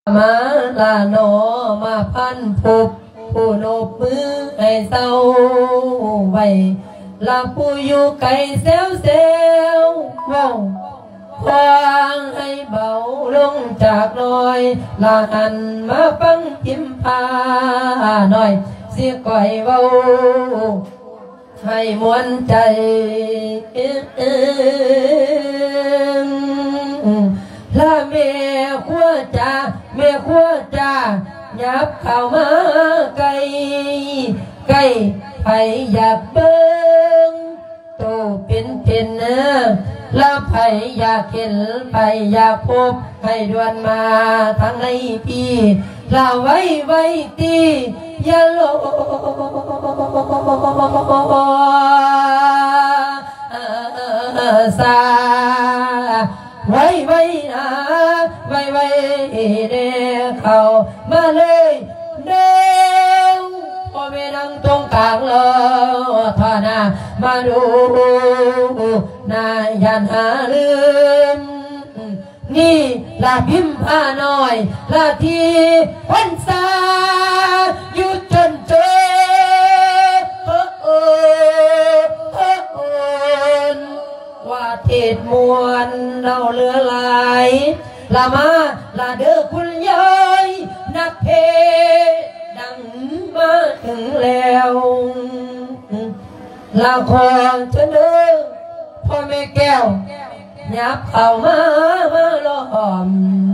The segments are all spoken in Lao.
ມາລະໜໍ ມາພັນພົບ ຜູ້ນົບມືໃຫ້ເຊົາໄວ້ ລະຜູ້ຢູ່ໄກແຊວໆ ເວົ້າຄວາງໃຫ້ເບົາລົງຈາກນ້ອຍ ລະຫັນມາຟັງພິມພານ້ອຍ ຊິກ້ອຍເວົ້າ ໃຫ້ມ່ວນໃຈ ລະແມ່ຄົວຈາ ແມ່ຄົວຈາ ຫຍັບເຂົ້າມາໃກ້ ໃກ້ ໃຜຢາກເບິ່ງໂຕເປັນໆ ລະໃຜຢາກເຫັນ ໃຜຢາກພົບ ໃຫ້ດ່ວນມາທາງໃນພີ້ ລະໄວໆຕິ ຢ່າລໍຊ້າ ໄວໆນາ ໄວໆແດ່ ເຂົ້າມາເລີຍເດີ ພໍ່ແມ່ນາງຕົງກາງລໍຖ້າໜ້າ ມາດູໜ້າຢ້ານຫາລືມ ນີ້ລະພິມພານ້ອຍ ລະທີ່ຄົນຊາຢູ່ຈົນເຈີ ວ່າເທດມ່ວນເລົ່າເຫຼືອຫຼາຍ ລະມາລະເດີຄຸນຍາຍ ນັກເພດັງມາເຖິງແລ້ວ ລະຂໍເຊີນເດີພໍ່ແມ່ແກ້ວ ຫຍັບເຂົ້າມາ ມາລ້ອມ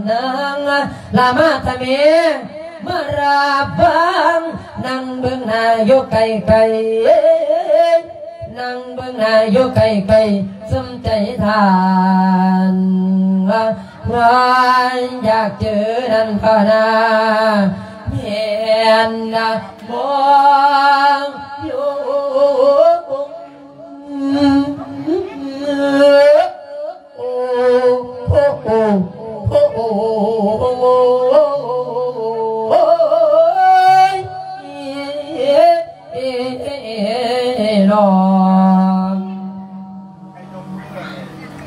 ນາງ ລະມາທະເມ ມາລາບວາງ ນັ່ງເບິ່ງໜ້າຢູ່ໃກ້ໆ ນັ່ງເບິ່ງໜ້າຢູ່ໃກ້ໆ ສົມໃຈທ່ານ ວ່າຢາກເຈີນັ້ນພະນາ ແມ່ນນະບໍ່ຢູ່ ໂອ້ ໂອ້ ໂອ້ ໂອ້ ໂອ້ຍ ເນາ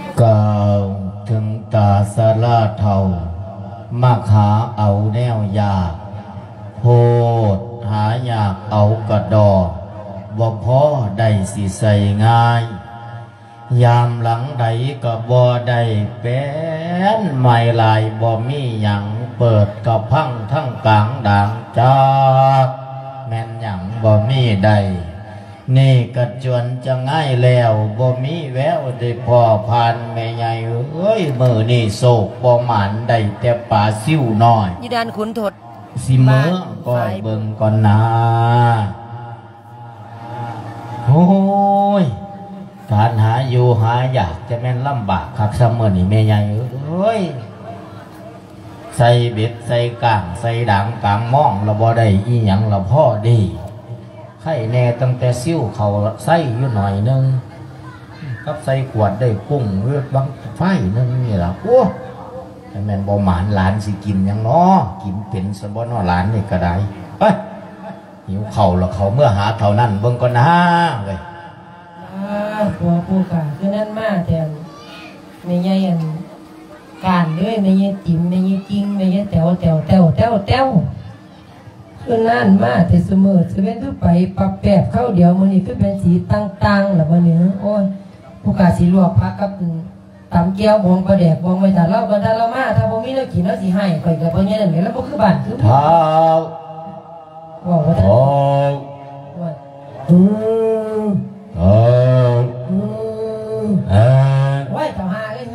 ະ. ກ່າວເຖິງຕາຊະລາເຖົ້າ ມັກຫາເອົາແນວຢາກ ໂພດຫາຢາກເອົາກະດໍ ບໍ່ພໍໄດ້ຊິໃຊ້ງ່າຍ ຍາມຫຼັງໃດກໍບໍ່ໄດ້ແປ້ນ ໄມ້ລາຍບໍ່ມີຫຍັງ ເປີດກະພັງທັງກາງດາງຈັກ ແມ່ນຫຍັງບໍ່ມີໄດ້ ນີ້ກະຈວນຈະງາຍແລ້ວ ບໍ່ມີແວວໄດ້ພໍ້ຜ່ານແມ່ໃຫຍ່ເອີຍ ມື້ນີ້ໂຊກບໍ່ໝານ ໄດ້ແຕ່ປາຊິວນ້ອຍ ຢູ່ດ່ານຂຸນທົດ ຊິເມືອ ບ້ານ ກ້ອຍເບິ່ງກ່ອນນາ. ໂອ້ຍ ການຫາຢູ່ຫາຢາກ ຈະແມ່ນລຳບາກຄັກຊຳມື້ນີ້ແມ່ໃຫຍ່ເອີຍ ໃສ່ເບັດໃສ່ກ້າງ ໃສ່ດາງກາງມອງລະບໍ່ໄດ້ອີ່ຫຍັງລະພໍດີ ໄຄແນ່ຕັ້ງແຕ່ຊິວເຂົ້າໄຊຢູ່ໜ້ອຍໜຶ່ງ ກັບໃສ່ຂວດໄດ້ກຸ້ງເວດບັງໄຟໜຶ່ງນີ້ລະ ໂອ້ ຈະແມ່ນບໍ່ໝານ ຫຼານຊິກິນຫຍັງເນາະ ກິນເປັນຊະບໍ່ເນາະ ຫຼານນີ້ກະໄດ້ ເອີຍ ຫິວເຂົ້າລະ ເຂົ້າເມືອຫາເຖົ້ານັ້ນເບິ່ງກ່ອນນາເວີຍ. ອາ ຜົວຜູ້ກະຄືນັ້ນມາແທ້ ແມ່ໃຫຍ່ອັນການເດີ ແມ່ໃຫຍ່ຕິມ ແມ່ໃຫຍ່ຈິງ ແມ່ໃຫຍ່ແຕວ ແຕວ ແຕວ ແຕວ ແຕວ ຄືນັ້ນມາແທ້ ຊຸມື້ຊຸເວັນຄືໄປປັບແປບຄາວດຽວ ມື້ນີ້ຄືເປັນສີຕ່າງໆລະບັດນີ້ ໂອ້ຍ ຜູ້ກະຊິລວກຜັກກັບ ຕຳແຈ່ວບອງປາແດກບອງໄວ້ຖ້າລາວ ບັດຖ້າລາວມາ ຖ້າບໍ່ມີແນວກິນລາວຊິຮ້າຍ ຂ້ອຍກໍບໍ່ແຍ່ນແຫຼະ ລາວບໍ່ຄືບ້ານຄືເມືອງ ທ້າວ ເວົ້າບໍ່ທັນ ທ້າວ ວ່າ ເອີ ທ້າວ ເອີ ເອີ ໂອ້ຍ ເຈົ້າຫາເອີຍ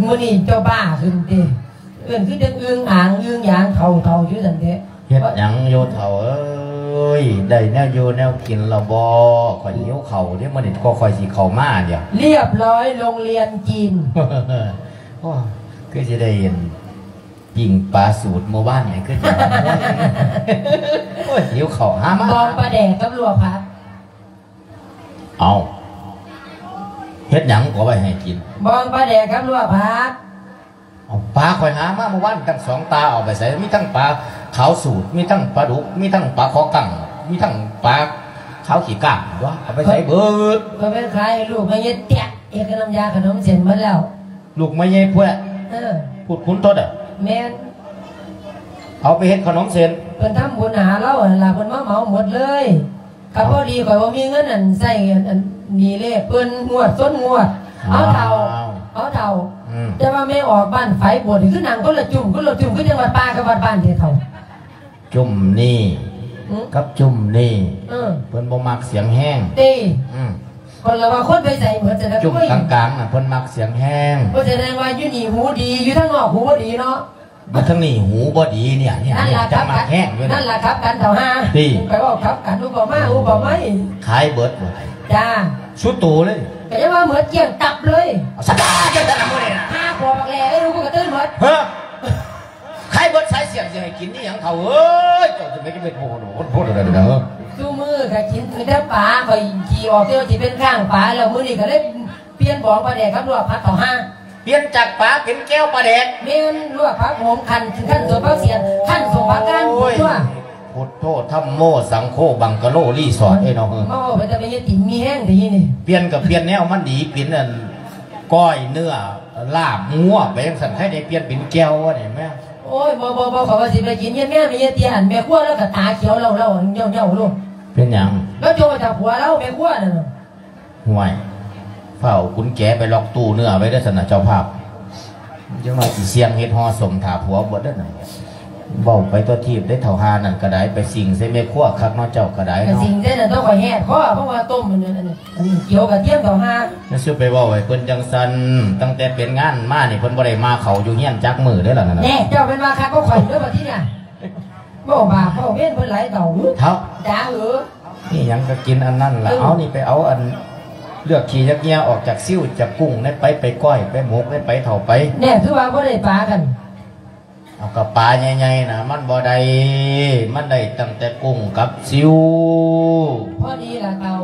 ມື້ນີ້ເຈົ້າບ້າຂຶ້ນຕິ ເອີ້ນຄືຈັງອຶ່ງອາງອຶ່ງຢາງເຖົ້າໆຢູ່ຊັ້ນແທ້ ເຮັດຫຍັງຢູ່ເຖົ້າເອີຍ ໄດ້ແນວຢູ່ແນວກິນລະບໍ່ ຂ້ອຍຫິວເຂົ້າເດ້ ມື້ນີ້ກໍຂ້ອຍຊິເຂົ້າມາດຽວ ລຽບຮ້ອຍ ໂລງລຽນຈີນ ໂອ້ ຄືຊິໄດ້ປີ້ງປາສູດມື້ວານນີ້ ຄືຊິ ໂອ້ຍ ຫິວເຂົ້າ ຫາມາ ບອງປາແດກກັບລວກຜັກ ເອົ້າ ເຮັດຫຍັງກໍໄວ້ໃຫ້ກິນ ບອງປາແດກກັບລວກຜັກ ເອົາ ປາຂ້ອຍຫາມາມື້ວານຕັ້ງສອງຕາ ເອົາໄປໃສ ມີທັງປາຂາວສູດ ມີທັງປາດຸກ ມີທັງປາຄໍກັງ ມີທັງປາຂາວຂີ້ກ້າງ ຕົວະ ເອົາໄປໃສເບິດ ຂ້ອຍໄປຂາຍໃຫ້ລູກແມ່ເຢັດແຕະ ເຮັດກັບນ້ຳຢາຂະໜົມເສັ້ນໝົດແລ້ວ ລູກແມ່ໃຫຍ່ພວກ ເອີ ພຸດຂຸນທົດ ແມ່ນ ເອົາໄປເຮັດຂະໜົມເສັ້ນ ເພິ່ນທຳບຸນຫາລາວຫັ້ນລະ ເພິ່ນມາເໝົາໝົດເລີຍ. ກໍພໍດີຂ້ອຍບໍ່ມີເງິນອັນໃຊ້ອັນ ອັນນີ້ເລີຍ ເພິ່ນງວດຊົນງວດ. ເອົາເຖົ້າ ເອົາເຖົ້າ ອືມ ແຕ່ວ່າແມ່ອອກບ້ານໄຟບວດນີ້ ຄືນັ່ງຄົນລະຈຸ້ມ ຄົນລະຈຸ້ມ ຄືຈັ່ງວັດປ່າກັບວັດບ້ານແທ້ເຖົ້າ. ຈຸ້ມນີ້ ຫື ກັບຈຸ້ມນີ້ ເອີ ເພິ່ນບໍ່ມັກສຽງແຮງ ຕິ ອືມ ເພິ່ນລະວ່າຄົນໄປໃສໝົດ ຈັ່ງໃດ ຈຸ້ມກາງໆນະ ເພິ່ນມັກສຽງແຮງ. ເພາະສະແດງວ່າຢູ່ນີ້ຫູດີ ຢູ່ທາງນອກຫູບໍ່ດີເນາະ. ມາທາງນີ້ຫູບໍ່ດີເນຍ ເນຍ ນັ້ນລະ ຈັກມັກແຮງຢູ່ ນັ້ນລະ ກັບກັນເຖົ້າຫາ ຕິ ໄປເວົ້າກັບກັນ ອຸປະມາອຸປະໄມ ຂາຍເບິດບໍ່ໄດ້ ຈ້າ ສຸດໂຕເລີຍ ກໍຍັງວ່າເໝິດກ້ຽງຕັບເລີຍ ເອົາສະຕາຈັງຊັ້ນນະມື້ນີ້ນະ ຫາພໍ່ບັກແຫຼເອີຍ ລູກກໍຕື່ນເໝິດ ເຮີ ຂາຍເບິດສາຍສ່ຽງ ຊິໃຫ້ກິນອີ່ຫຍັງເຖົ້າເອີຍ ເຈົ້າຈະໄປກິນເມັດໂພດໂພດໄດ້ເດີ ຊຸມື້ກໍກິນແຕ່ປາ ຂ້ອຍຂີ້ອອກແຕ່ວ່າຊິເປັນຄ້າງປາ ແລ້ວມື້ນີ້ກໍເລີຍປ່ຽນບອງປາແດກກັບລວກຜັກເຖົ້າຫາ ປ່ຽນຈາກປາເປັນແຈ່ວປາແດກ ແມ່ນ ລວກຜັກໂຫມ ຂັ້ນ ຂັ້ນສົມຜັກສຽນ ຂັ້ນສົມຜັກກາດ ໂອ້ຍ ພຸດໂທ ທຳໂມ ສັງໂຄ ບັງກະໂລ ຣີສອດ ເອີຍເນາະ ເອີ ມາເວົ້າໄປແຕ່ແມ່ຍາຍຕິມມີແຮງແທ້ນີ້ ປ່ຽນກໍປ່ຽນແນວມັນດີ ເປັນອັນ ກ້ອຍເນື້ອ ລາບງົວໄປຈັ່ງຊັ້ນ ໃຜໄດ້ປ່ຽນເປັນແຈ່ວວ່ານີ້ແມ່ ໂອ້ຍ ບໍ່ ບໍ່ ບໍ່ ຂ້ອຍວ່າຊິໄປກິນເຮືອນແມ່ ແມ່ຍາຍເຕ້ຍ ອັນແມ່ຄົວລາວກໍຕາຂຽວເຫຼົ່າໆ ເຍົ້າໆໂລດ ເປັນຫຍັງ ລາວໂຈະຈາກຜົວລາວ ແມ່ຄົວນັ້ນນະ. ຫ້ວຍ ຟ້າວເອົາກຸນແຈໄປລັອກຕູ້ເນື້ອໄວ້ເດີຊັ້ນນະເຈົ້າພາບ ຈັກໜ້ອຍຊິສ່ຽງເຮັດຫໍ່ສົມຖ້າຜົວເບິດເດີນະ ເວົ້າໄປຕົວະທີບເດ້ເຖົ້າຫ່ານັ້ນກໍໄດ້ ໄປສິງໃສ່ແມ່ຄົວຄັກເນາະ ເຈົ້າກໍໄດ້ເນາະ ສິງໃສ່ນັ້ນຕ້ອງຂ້ອຍແຮດຄໍ ເພາະວ່າຕົ້ມມັນ ອັນນີ້ ອັນນີ້ ກຽວກະທຽມເຖົ້າຫ່າ ຢ່າສູ່ໄປເວົ້າໃຫ້ເພິ່ນຈັ່ງຊັ້ນ ຕັ້ງແຕ່ເປັນງານມານີ້ເພິ່ນບໍ່ໄດ້ມາເຂົ້າຢູ່ເຮືອນຈັກມື້ເດ້ລະນັ້ນນະ ແນ່ ເຈົ້າແມ່ນວ່າຄັກກໍຂ້ອຍເດີບັດທີນີ້ ເວົ້າບາບເວົ້າເວນເພິ່ນຫຼາຍເທົ່າ ເຖົ້າ ຈ້າເອີ ມີຫຍັງກໍກິນອັນນັ້ນລະ ເອີ ເອົານີ້ໄປເອົາອັນ ເລືອກຂີ້ເລືອກເຫຍື້ອອອກຈາກຊິວຈາກກຸ້ງໄດ້ໄປ ໄປກ້ອຍໄປໝົກໄດ້ໄປເຖົ້າໄປ ແນ່ ຄືວ່າບໍ່ໄດ້ປາກັນ ເອົາກໍປາໃຫຍ່ໆນະ ມັນບໍ່ໄດ້ ມັນໄດ້ຕັ້ງແຕ່ກຸ້ງກັບຊິວ ພໍດີລະເຖົ້າ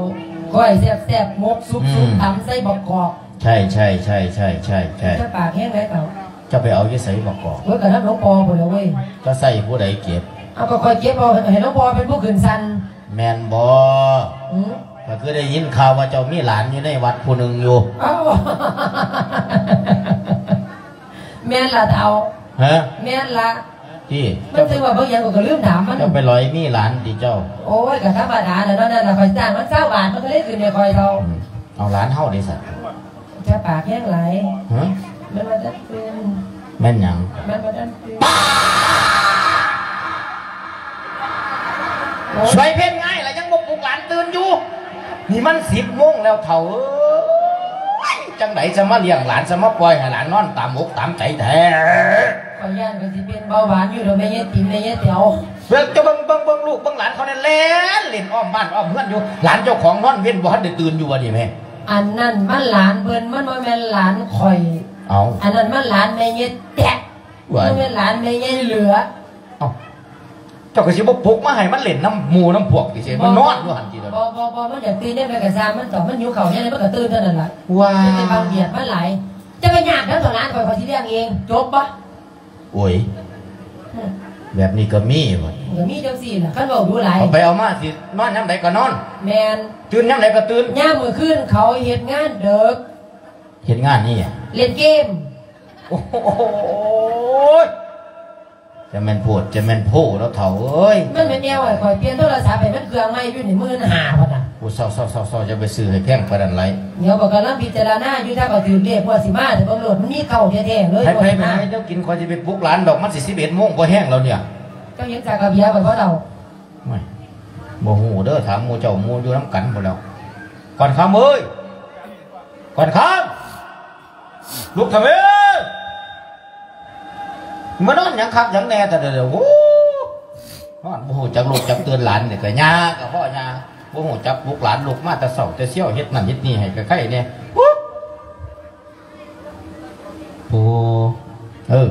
ກ້ອຍແຊບໆ ໝົກສຸກໆ ອືມ ຕຳໃສ່ບັກກອກ ໃຊ່ໆໆໆໆ ເຈົ້າປາກແຮງໃດເຖົ້າ ເຈົ້າໄປເອົາຢູ່ໃສບັກກອກ ໂອ້ຍ ກໍນຳຫຼວງພໍ່ພຸ້ນລະເວີຍ ກໍໃຊ້ຜູ້ໃດເກັບ ເອົາ ກໍຂ້ອຍເກັບເອົາ ໃຫ້ ໃຫ້ຫຼວງພໍ່ເປັນຜູ້ຂຶ້ນຊັ້ນ ແມ່ນບໍ່? ຫື? ຂ້ອຍຄືໄດ້ຍິນຂ່າວວ່າເຈົ້າມີຫຼານຢູ່ໃນວັດຜູ້ໜຶ່ງຢູ່ ເອົ້າ ແມ່ນລະເຖົ້າ ຮະ? ແມ່ນລະ ຕິ ມັນຖືວ່າເບິ່ງຫຍັງ ຂ້ອຍກໍລືມຖາມມັນ ເຈົ້າໄປຫຼອຍມີຫຼານຕິເຈົ້າ? ໂອ້ຍ ກໍທຳມະດາແຫຼະເນາະ ນັ້ນລະ ຂ້ອຍຈ້າງມັນຊາວບາດ ມັນກໍເລີຍຂຶ້ນໃຫ້ຂ້ອຍເທົ່າ ອືມ ເອົາຫຼານເຮົາເດຊະ? ຢ່າປາກແຮງຫຼາຍ ຮະ? ມັນວ່າຈະຕື່ນ ແມ່ນຫຍັງ? ມັນບໍ່ທັນຕື່ນ ສວຍເພັນງາຍລະຍັງບໍ່ປຸກຫຼານຕື່ນຢູ່ ນີ້ມັນສິບໂມງແລ້ວເຖົ້າເອີຍ ຈັ່ງໃດຈະມາລ້ຽງຫຼານ ຈະມາປ່ອຍໃຫ້ຫຼານນອນຕາມອົກຕາມໃຈແທ້ ຂ້ອຍຢ້ານຂ້ອຍຊິເປັນເບົາຫວານຢູ່ດອກ ແມ່ຍາຍຕິມ ແມ່ຍາຍແຕວ ເບິ່ງ ເຈົ້າເບິ່ງ ເບິ່ງ ເບິ່ງລູກເບິ່ງຫຼານເຂົາແດ່ ແລ່ນຫຼິ້ນອ້ອມບ້ານອ້ອມເຮືອນຢູ່ ຫຼານເຈົ້າຂອງນອນເວັນບໍ່ທັນໄດ້ຕື່ນຢູ່ວະນີ້ແມ່ ອັນນັ້ນມັນຫຼານເພິ່ນ ມັນບໍ່ແມ່ນຫຼານຂ້ອຍ ເອົ້າ ອັນນັ້ນມັນຫຼານແມ່ຍາຍແຕະ ວ້າຍ ມັນແມ່ນຫຼານແມ່ຍາຍເຫຼືອ ເອົ້າ ເຈົ້າກໍຊິບໍ່ປຸກມາໃຫ້ມັນຫຼິ້ນນຳໝູ່ນຳພວກຕິ ຊິມານອນຢູ່ຫັ້ນຕິ ບໍ່ ບໍ່ ບໍ່ ມັນຢາກຕື່ນຍາມໃດກໍຊ່າງມັນເຖາະ ມັນຫິວເຂົ້າຍາມໃດມັນກໍຕື່ນເທົ່ານັ້ນລະ ວ້າຍ ຢ່າໄປບັງບຽດມັນຫຼາຍ ຈະໄປຍາກນຳເຖົ້າຫຼານຂ້ອຍ ຂ້ອຍຊິລ້ຽງເອງ ຈົບບໍ່? ໂອ້ຍ ແບບນີ້ກໍມີວະ ກໍມີຈັ່ງຊີ້ລະ ຄັນເວົ້າດູຫຼາຍ ເອົາໄປເອົາມາຊິນອນຍາມໃດກໍນອນ ແມ່ນ ຕື່ນຍາມໃດກໍຕື່ນ ຍາມມື້ຄືນເຂົາເຮັດງານເດິກ ເຮັດງານອີ່ຫຍັງ? ຫຼິ້ນເກມ ໂອ້ຍ ຈະແມ່ນໂພດ ຈະແມ່ນໂພເນາະເຖົ້າເອີຍ ມັນແມ່ນແນວໃຫ້ຂ້ອຍປ່ຽນໂທລະສັບໃຫ້ມັນເຄື່ອງໃໝ່ຢູ່ນີ້ ໝື່ນຫ້າພັນນະ ໂອ້ ເຊົາໆໆໆ ຢ່າໄປຊື້ໃຫ້ແພງປານນັ້ນຫຼາຍ ດຽວຂ້ອຍກຳລັງພິຈາລະນາຢູ່ ຖ້າຂ້ອຍຖືກເລກງວດຊິມາ ຖ້າເບິ່ງໂລດ ມັນມີເກົ້າແທ້ໆເລີຍ ໄປໆ ໄປຫາແນວກິນ ຂ້ອຍຊິໄປປຸກຫຼານດອກ ມັນຊິສິບເອັດໂມງ ບໍ່ແຮງແລ້ວເນຍ ເຈົ້າເຫັນສາກກະເບຍຂ້ອຍບໍ່ເຖົ້າ? ໂອ້ຍ ບໍ່ຮູ້ເດີ ຖາມໝູ່ເຈົ້າ ໝູ່ຢູ່ນຳກັນພຸ້ນແລ້ວ ກ່ອນຄຳເອີຍ ກ່ອນຄຳ ລຸກທຳເອີຍ ມານອນຫຍັງຄັກຫຍັງແນ່ແທ້ເດີ ໂອ້ ນອນບໍ່ຮູ້ຈັກລຸກຈັກຕື່ນ ຫຼານນີ້ກໍຍ່າກໍພໍຍ່າ ບໍ່ຮູ້ຈັກປຸກຫຼານ ລຸກມາແຕ່ເຊົ້າແຕ່ຊຽວ ເຮັດນັ້ນເຮັດນີ້ໃຫ້ໄຄໆແນ່ ໂອ້ ໂອ້ ເອີ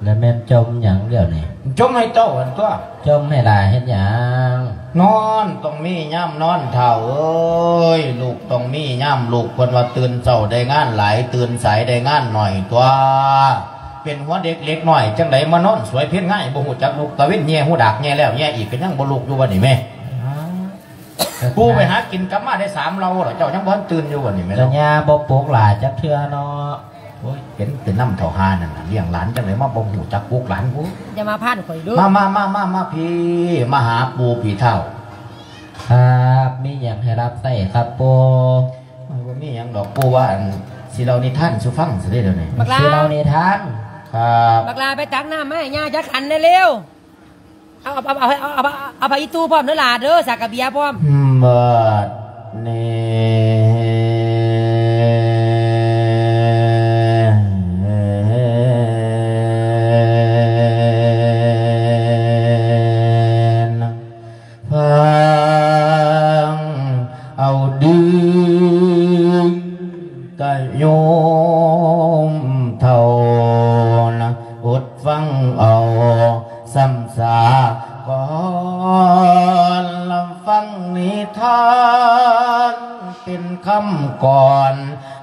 ແລ້ວແມ່ນຈົ່ມຫຍັງດຽວນີ້? ຈົ່ມໃຫ້ເຕົ້າຫັ້ນຕົວະ. ຈົ່ມໃຫ້ຫຼ້າເຮັດຫຍັງ? ນອນຕ້ອງມີຍາມນອນ ທ້າວເອີຍ, ລຸກຕ້ອງມີຍາມລຸກ. ເພິ່ນວ່າຕື່ນເຊົ້າໄດ້ງານຫຼາຍ, ຕື່ນສາຍໄດ້ງານໜ້ອຍຕົວະ. ເປັນຫົວເດັກເລັກນ້ອຍ ຈັ່ງໃດມານອນສວຍເພັນງາຍ ບໍ່ຮູ້ຈັກລຸກ. ຕາເວັນແຍ່ຫູດາກແຍ່ແລ້ວແຍ່ອີກ ກໍຍັງບໍ່ລຸກຢູ່ບັດນີ້ແມ່. ປູໄປຫາກິນກັບມາໄດ້ສາມເຫຼົ່າແລ້ວ ເຈົ້າຍັງບໍ່ທັນຕື່ນຢູ່ບໍນີ້ແມ່? ກໍຍ່າບໍ່ປຸກຫຼ້າຈັກເທື່ອເນາະ. ໂອ້ຍ ເປັນ ເປັນນຳເຖົ້າຫ່ານັ້ນນະ ລ້ຽງຫຼານຈັ່ງໃດມາບໍ່ຮູ້ຈັກລູກຫຼານພຸ້ນ. ຢ່າມາຜ່ານຂ້ອຍເດີ້. ມາ ມາ ມາ ມາ ມາພີ້ ມາຫາປູ່ພີ້ທ້າວ. ຄັບ ມີຫຍັງໃຫ້ຮັບໃຊ້ຄັບປູ່? ໂອ້ຍ ບໍ່ມີຫຍັງດອກ ປູ່ວ່າ ອັນ ຊິເລົ່ານິທານສູ່ຟັງຊະເດ້ດຽວນີ້. ບັກຫຼ້າ ຊິເລົ່ານິທານ. ຄັບ ບັກຫຼ້າ ໄປຕັກນ້ຳມາໃຫ້ຍ່າຈັກຂັນແດ່ເລັວ. ເອົາ ເອົາ ເອົາ ເອົາ ເອົາ ເອົາຜ້າອີ່ຕູພ້ອມເດີ້ຫຼ້າເດີ້ ສາກກະເບຍພ້ອມ. ບັດນີ້ ຟັງເອົາເດີ້ ກະໂຍມເຖົ້ານະ ອົດ ຟັງເອົາຊ້ຳສາກ່ອນ ຟັງນິທານເປັນຄຳກ່ອນ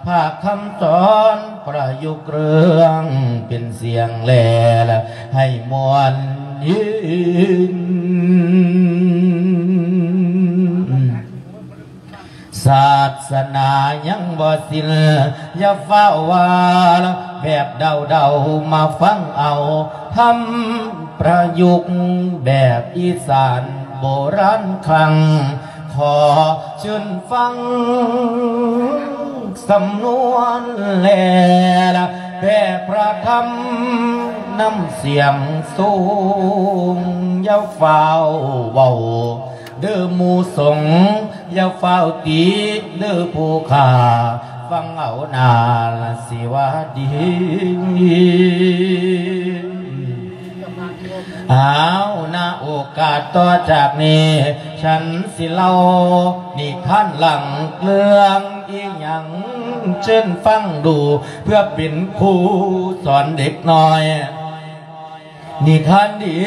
ພາກຄຳສອນປະຍຸກເລື່ອງເປັນສຽງແລ ໃຫ້ມ່ວນຍືນ. ສາດສະໜາຍັງບໍ່ສິ້ນ ຢ່າຟ້າວວ່າແບບເດົາໆ ມາຟັງເອົາທຳປະຍຸກແບບອີສານໂບລານຄັງ. ຂໍເຊີນຟັງສຳນວນແລ ແປພະທຳນຳສຽງສູງ ຢ່າຟ້າວເວົ້າ ເດີ້ໝູ່ສົງ ຢ່າຟ້າວຕິເດີ້ຜູ້ຂ້າ ຟັງເອົາໜ້າລະຊິວ່າດີ. ເອົາ ນະໂອກາດຕໍ່ຈາກນີ້ ສັນຊິເລົ່ານິທານຫຼັງເລື່ອງອີ່ຫຍັງ ເຊີນຟັງດູ ເພື່ອເປັນຄູສອນເດັກນ້ອຍ. ນິທານດີ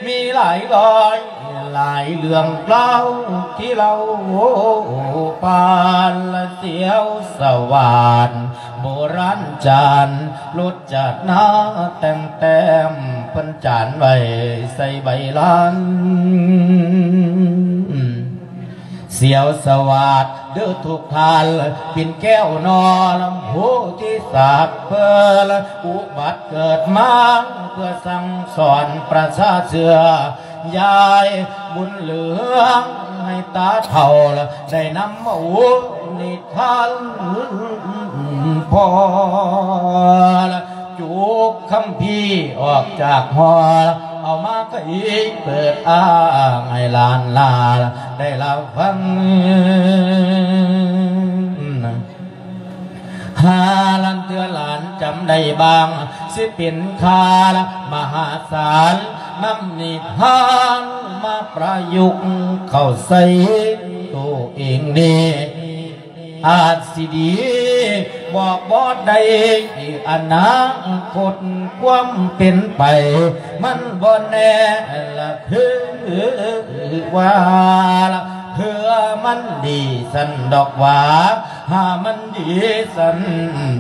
ມີຫຼາຍຮ້ອຍຫຼາຍເລື່ອງລາວ ທີ່ເລົ່າປານລະສຽວສະຫວາດ ໂບລານຈານລົດຈາດນາ ແຕ່ງແຕ້ມເພິ່ນຈານໄວ້ໃສ່ໃບລານ. ສຽວສະຫວາດເດີ້ທຸກທ່ານ ປິ່ນແກ້ວໜໍລຳໂພທິສາດເພິ່ນ ອຸບັດເກີດມາເພື່ອສັ່ງສອນປະຊາເຊື້ອ ຍາຍບຸນເຫຼືອງໃຫ້ຕາເຖົ້າ ໄດ້ນຳເອົານິທານພໍ່ ຈຸກຄຳພີອອກຈາກຫໍ ເອົາມາໄຂເປີດອ້າງໃຫ້ຫຼານຫຼານໄດ້ລະຟັງ. ຫາລານເທື່ອຫຼານຈຳໄດ້ບ້າງ ຊິເປັນຄ່າລະມະຫາສານ ນຳນິທານມາປະຍຸກເຂົ້າໃສ່ໂຕເອງນີ້ ອາດຊິດີບອກບໍ່ໄດ້ອະນາຄົດ ຄວາມເປັນໄປມັນບໍ່ແນ່ລະ ຄືວ່າລະ ເພື່ອມັນດີຊັ້ນດອກຫວາ ຫາມັນດີຊັ້ນ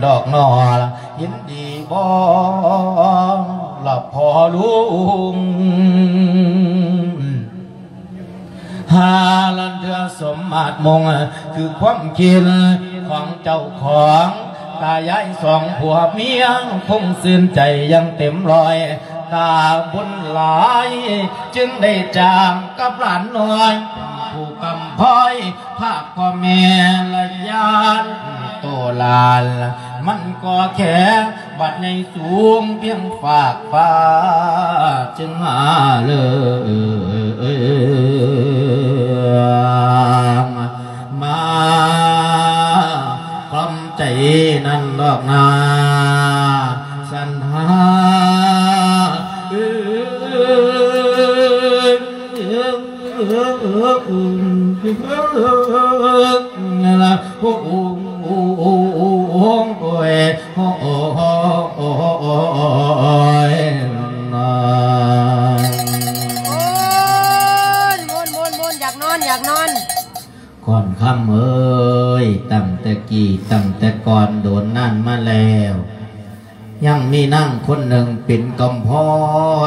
ດອກໜໍລະ ເຫັນດີບໍ່ລະພໍ່ລຸງ? ຫາລານເທື່ອສົມມາດມຸງ ຄືຄວາມຄິດຂອງເຈົ້າຂອງ ຕາຍາຍສອງຜົວເມຍຄົງຊື່ນໃຈຢ່າງເຕັມຮ້ອຍ ຕາບຸນຫຼາຍຈຶ່ງໄດ້ຈາກກັບຫຼານນ້ອຍ ຜູ້ກຳພ້ອຍພາກພໍ່ແມ່ລະຢ້ານໂຕຫຼານ ມັນກໍແຄ່ ບັດໃຫຍ່ສູງພຽງຟາກຟ້າ ຈຶ່ງຫາເລີງມາຄວາມໃຈນັ້ນດອກນາ ສັນຫາ โอ้ย ม่วน ม่วน ม่วน อยากนอน อยากนอน ก่อนค่ำเอ้ย ตั้งแต่กี้ ตั้งแต่ก่อนโดนนานมาแล้ว ยังมีนางคนหนึ่งเป็นกำพร้อ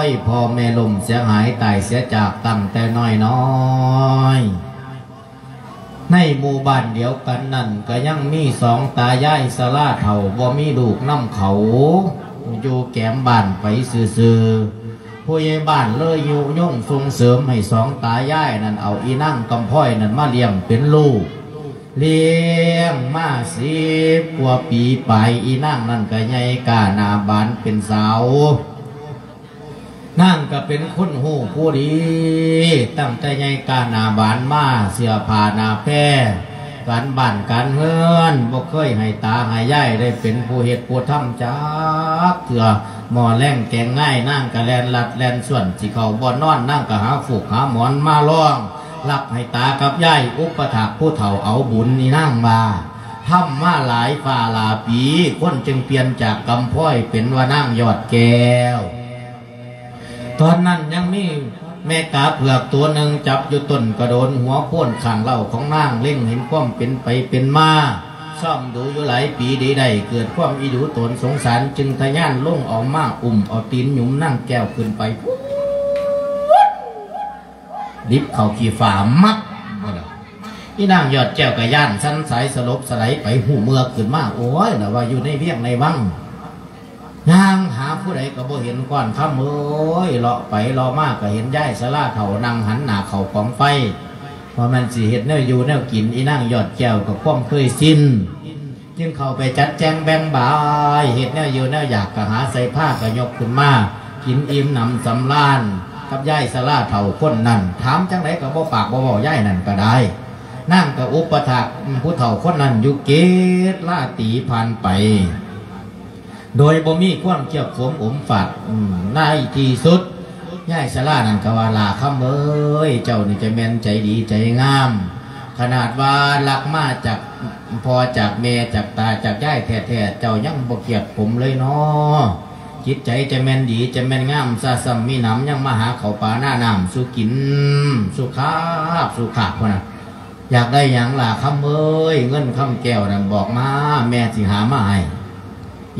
ย พ่อแม่ล้มเสียหายตายเสียจากตั้งแต่น้อยๆ ໃນໝູ່ບ້ານດຽວກັນນັ້ນ ກໍຍັງມີສອງຕາຍາຍຊະລາເຖົ້າ ບໍ່ມີລູກນຳເຂົາ ຢູ່ແກມບ້ານໄປຊື່ໆ. ຜູ້ໃຫຍ່ບ້ານເລີຍຍຸຍົງສົ່ງເສີມໃຫ້ສອງຕາຍາຍນັ້ນ ເອົາອີນາງກຳພ້ອຍນັ້ນມາລ້ຽງເປັນລູກ. ລ້ຽງມາສິບກວ່າປີປາຍ ອີນາງນັ້ນກໍໃຫຍ່ກ້າໜ້າບານເປັນສາວ. ນາງກໍເປັນຄົນຮູ້ຜູ້ດີ ຕັ້ງແຕ່ໃຫຍ່ກ້າໜ້າບານມາ ເສື້ອຜ້າໜ້າແພ ການບ້ານການເຮືອນ ບໍ່ເຄີຍໃຫ້ຕາໃຫ້ຍາຍໄດ້ເປັນຜູ້ເຮັດຜູ້ທຳຈັກເທື່ອ. ໝໍ້ແລງແກງງາຍ ນາງກໍແລ່ນລັດແລ່ນຊວນ ຊິເຂົ້າບ່ອນນອນ ນາງກໍຫາຟູກຫາໝອນມາລອງ ຮັບໃຫ້ຕາກັບຍາຍ ອຸປະຖາກຜູ້ເຖົ້າເອົາບຸນ. ອີນາງວ່າ ທຳມາຫຼາຍຟ້າຫຼາຍປີ ຄົນຈຶ່ງປ່ຽນຈາກກຳພ້ອຍເປັນວ່ານາງຍອດແກ້ວ. ຕອນນັ້ນຍັງມີແມ່ກາເຜືອກຕົວໜຶ່ງ ຈັບຢູ່ຕົ້ນກະໂດນ ຫົວໂພນຂ້າງເລົ້າຂອງນາງ ເລັງເຫັນຄວາມເປັນໄປເປັນມາ ຊອມດູຢູ່ຫຼາຍປີ ໄດ້ ໄດ້ເກີດຄວາມອີດູໂຕນສົງສານ ຈຶ່ງທະຍານລົງເອົາມາ ອຸ້ມເອົາຕີນຫຍຸມນາງແກ້ວຂຶ້ນໄປພຸ້ນ ດິບເຂົ້າຂີ້ຟ້າມັບ. ອີນາງຍອດແກ້ວກໍຢ້ານສັ່ນສາຍ ສະຫຼົບສະໄຫຼໄປ ຮູ້ເມື່ອຂຶ້ນມາ ໂອ້ຍ ລະວ່າຢູ່ໃນວຽງໃນວັງ ຍ່າງຫາຜູ້ໃດກໍບໍ່ເຫັນ. ກ້ອນຄຳເອີຍ ເລາະໄປເລາະມາກໍເຫັນຍາຍຊະລາເຖົ້ານັ່ງຫັນໜ້າເຂົ້າກອງໄຟ ວ່າແມ່ນຊິເຮັດແນວຢູ່ແນວກິນ. ອີນາງຍອດແກ້ວກໍຄວາມເຄີຍຊິນ ຈຶ່ງເຂົ້າໄປຈັດແຈງແບ່ງບາຍ ເຮັດແນວຢູ່ແນວຢາກກໍຫາໃສ່ພາ ກໍຍົກຂຶ້ນມາກິນອີ່ມໜຳສຳລານກັບຍາຍຊະລາເຖົ້າຄົນນັ້ນ. ຖາມຈັ່ງໃດກໍບໍ່ປາກບໍ່ເວົ້າ ຍາຍນັ້ນກໍໄດ້. ນາງກໍອຸປະຖາກຜູ້ເຖົ້າຄົນນັ້ນຢູ່ເກດລາຕີຜ່ານໄປ ໂດຍບໍ່ມີຄວາມກຽບຂົມອົມຝາດ. ອືມ ໃນທີ່ສຸດ ຍາຍຊະລານັ້ນກໍວ່າ ຫຼ້າຄຳເອີຍ ເຈົ້ານີ້ຈະແມ່ນໃຈດີໃຈງາມ ຂະໜາດວ່າລັກມາຈາກພໍ່ຈາກແມ່ ຈາກຕາຈາກຍາຍແທ້ໆ ເຈົ້າຍັງບໍ່ກຽບຂົມເລີຍເນາະ. ຈິດໃຈຈະແມ່ນດີຈະແມ່ນງາມຊະ ຊ້ຳມີໜຳ ຍັງມາຫາເຂົ້າປາໜ້ານ້ຳສູ່ກິນ ສູ່ຄາບສູ່ຄາບພຸ້ນນະ. ຢາກໄດ້ຫຍັງຫຼ້າຄຳເອີຍ ເງິນຄຳແກ້ວນັ້ນບອກມາ ແມ່ຊິຫາມາໃຫ້.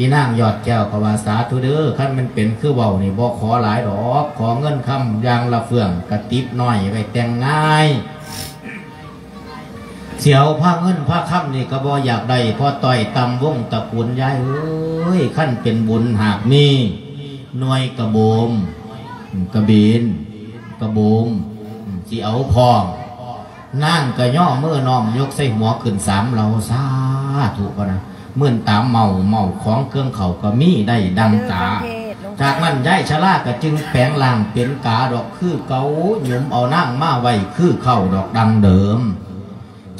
ອີນາງຍອດແກ້ວກໍວ່າ ສາທຸເດີ ຄັນມັນເປັນຄືເວົ້ານີ້ ບໍ່ຂໍຫຼາຍດອກ ຂໍເງິນຄຳຢ່າງລະເຟືອງ ກະຕິບນ້ອຍໄວ້ແຕ່ງງ່າຍ. ສຽວພາເງິນພາຄຳນີ້ກໍບໍ່ຢາກໄດ້ ເພາະຕ້ອຍຕ່ຳວົງຕະກູນ ຍາຍເອີຍ. ຄັນເປັນບຸນຫາກມີ ໜ່ວຍກະໂບມ ກະເບນ ກະໂບມ ຊິເອົາພ້ອມ. ນາງກໍຍໍມືນ້ອມຍົກໃສ່ຫົວຂຶ້ນສາມເຫຼົ່າ ສາທຸ ພະນະ. ມື່ນຕາເມົາ ເມົາຂອງເຄື່ອງເຂົ້າກໍມີໄດ້ດັ່ງຕາ. ຈາກນັ້ນຍາຍຊະລາກໍຈຶ່ງແປງຮ່າງເປັນກາດອກຄືເກົ່າ ຫຍຸມເອົານາງມາໄວ້ຄືເກົ່າດອກດັ່ງເດີມ.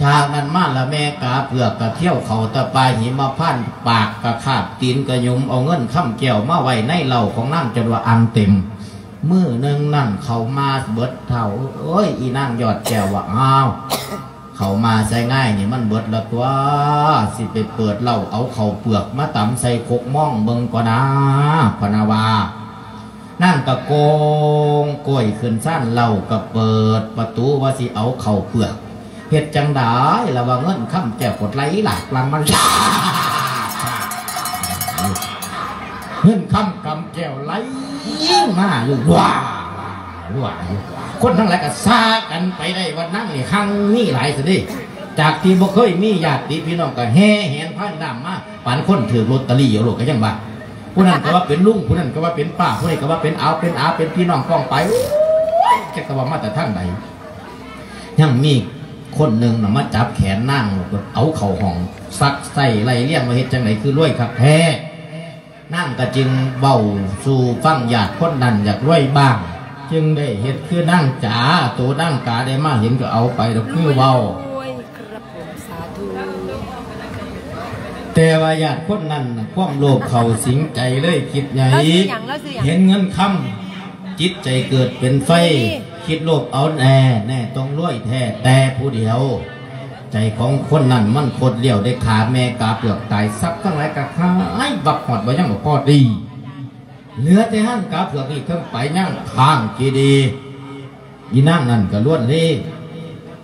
ຈາກນັ້ນມາລະແມ່ກາເຜືອກກໍຖ້ຽວເຂົ້າແຕ່ປ່າຫິມະພານ ປາກກໍຄາບ ຕີນກໍຫຍຸມເອົາເງິນຄຳແກ້ວມາໄວ້ໃນເຫຼົ່າຂອງນາງຈົນວ່າອ່າງເຕັມ. ມື້ໜຶ່ງນັ້ນເຂົ້າມາເບິດເຖົ້າເອີຍ ອີນາງຍອດແກ້ວວ່າ ອ້າວ ເຂົ້າມາໃສ່ງ່າຍນີ້ມັນເບິດລະຕົວະ ຊິໄປເປີດເຫຼົ້າເອົາເຂົ້າເປືອກມາຕຳໃສ່ຄົກມອງເບິ່ງກ່ອນນາ ພະນະວ່າ. ນາງກະໂກງໂກຍຂຶ້ນຊານເຫຼົ້າ ກະເປີດປະຕູວ່າຊິເອົາເຂົ້າເປືອກ. ເຮັດຈັ່ງໃດລະວ່າເງິນຄຳແກ້ວກົດໄຫຼຫຼາກຫຼັງມາ ເງິນຄຳກຳແກ້ວໄຫຼມາຢູ່ ວ້າ ວ້າຢູ່. ຄົນທັງຫຼາຍກະຊາກັນໄປໄດ້ວ່ານາງນີ້ຮັ່ງມີຫຼາຍຊະເດ. ຈາກທີ່ບໍ່ເຄີຍມີຍາດຕິພີ່ນ້ອງກະແຫ່ແຫນພານນ້ຳມາ ປານຄົນຖືກລົດຕະລີ້ເອົາໂລດກະຍັງວ່າ. ຜູ້ນັ້ນກະວ່າເປັນລຸງ ຜູ້ນັ້ນກະວ່າເປັນປ້າ ຜູ້ນີ້ກະວ່າເປັນອາວເປັນອາ ເປັນພີ່ນ້ອງປ້ອງປາຍ. ໂອ້ຍ ຈັກກະວ່າມາແຕ່ທາງໃດ. ຍັງມີຄົນໜຶ່ງນະມາຈັບແຂນນາງ ເອົາເຂົ້າຫ້ອງ ຊັກໄສ້ໄລ່ລຽງວ່າເຮັດຈັ່ງໃດຄືລວຍຄັກແທ້. ນາງກະຈຶ່ງເວົ້າສູ່ຟັງ ຍາດຄົນນັ້ນຢາກລວຍບ້າງ ຈຶ່ງໄດ້ເຮັດຄືນາງຈາ. ໂຕນາງກາໄດ້ມາເຫັນກະເອົາໄປດອກຄືເວົ້າ. ແຕ່ວ່າຍາດຄົນນັ້ນນະ ຄວາມໂລບເຂົ້າສິງໃຈເລີຍຄິດໃຫຍ່ ເຫັນເງິນຄຳ ຈິດໃຈເກີດເປັນໄຟ ຄິດໂລບເອົາແນ່ ແນ່ຕ້ອງລວຍແທ້ແຕ່ຜູ້ດຽວ. ໃຈຂອງຄົນນັ້ນມັນຄົດລ້ຽວ ໄດ້ຂ້າແມ່ກາເຜືອກຕາຍ ຊັບທັງຫຼາຍກະຫາຍວັບ ຮອດບໍ່ຍັງບໍ່ພໍດີ ເຫຼືອແຕ່ຮ່າງກາເຜືອກນີ້ ເທິງໄປຍັງຂ້າງເຈດີ. ອີນາງນັ້ນກະລວນເລ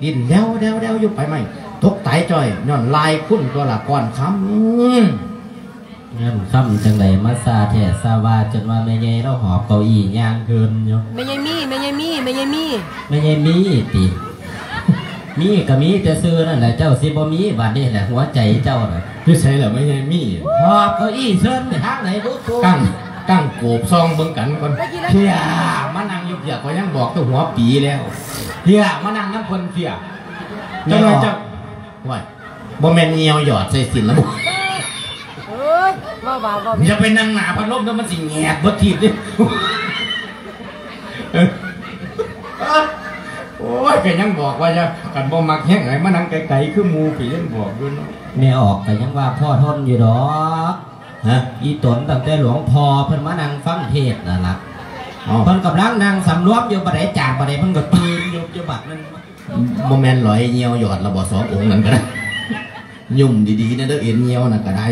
ດີ້ນແລ້ວໆໆຢູ່ ໄຟໄໝ້ຕົກຕາຍຈ້ອຍ ຍ້ອນລາຍຄຸນຕົວະລະ ກ້ອນຄຳ. ເງິນຄຳຈັ່ງໃດມາຊ້າແທ້ຊ້າວ່າ ຈົນວ່າແມ່ໃຫຍ່ລາວຫອບເກົ້າອີ້ຍ່າງເດີ່ນຢູ່. ແມ່ໃຫຍ່ມີ ແມ່ໃຫຍ່ມີ ແມ່ໃຫຍ່ມີ ແມ່ໃຫຍ່ມີຕິ? ມີກໍມີແຕ່ຊື່ນັ້ນແຫຼະ ເຈົ້າຊິບໍ່ມີບາດນີ້ແຫຼະ ຫົວໃຈເຈົ້ານະ. ຢູ່ໃສລະແມ່ໃຫຍ່ມີ? ຫອບເກົ້າอี้ເຊີນໄປທາງໃດບຸ? ຕັ້ງ ຕັ້ງໂກບສ່ອງເບິ່ງກັນກ່ອນ. ເພຍ ມານັ່ງຢູ່ເພຍ ຂ້ອຍຍັງບອກແຕ່ຫົວປີແລ້ວ. ເພຍ ມານັ່ງນຳເພິ່ນເພຍ. ຈັກໜ່ອຍເຈົ້າ ໂອ້ຍ ບໍ່ແມ່ນຍ່ຽວຢອດໃສ່ຊີ້ນລະບໍ? ເອີຍ ເວົ້າບາບບໍ່ ຢ່າໄປນັ່ງໜ້າພັດລົມເດີ ມັນຊິແຫຍກເບິດທີບເດ້. ໂອ້ຍ ກໍຍັງບອກວ່າຢ່າ ຄັນບໍ່ມັກແຮງໃຫ້ມານັ່ງໄກໆຄືໝູ່ ກໍຍັງບອກຢູ່ເນາະ. ແມ່ອອກກໍຍັງວ່າພໍທົນຢູ່ດອກ. ຮະ? ອີຕົນຕັ້ງແຕ່ຫຼວງພໍ່ເພິ່ນມານັ່ງຟັງເທດນັ້ນລະ. ເອົ້າ ເພິ່ນກຳລັງນັ່ງສຳລວມຢູ່ ບັດໃດຈາກບັດໃດ ເພິ່ນກໍຕື່ນຢູ່ ຢູ່ບັດນັ້ນ. ບໍ່ແມ່ນຫຼອຍຍ່ຽວຢອດລະບໍ ສອງອົງນັ້ນກໍໄດ້. ຫຍຸ້ມດີໆແດ່ເດີ ເອັນຍ່ຽວນັ້ນກໍໄດ້.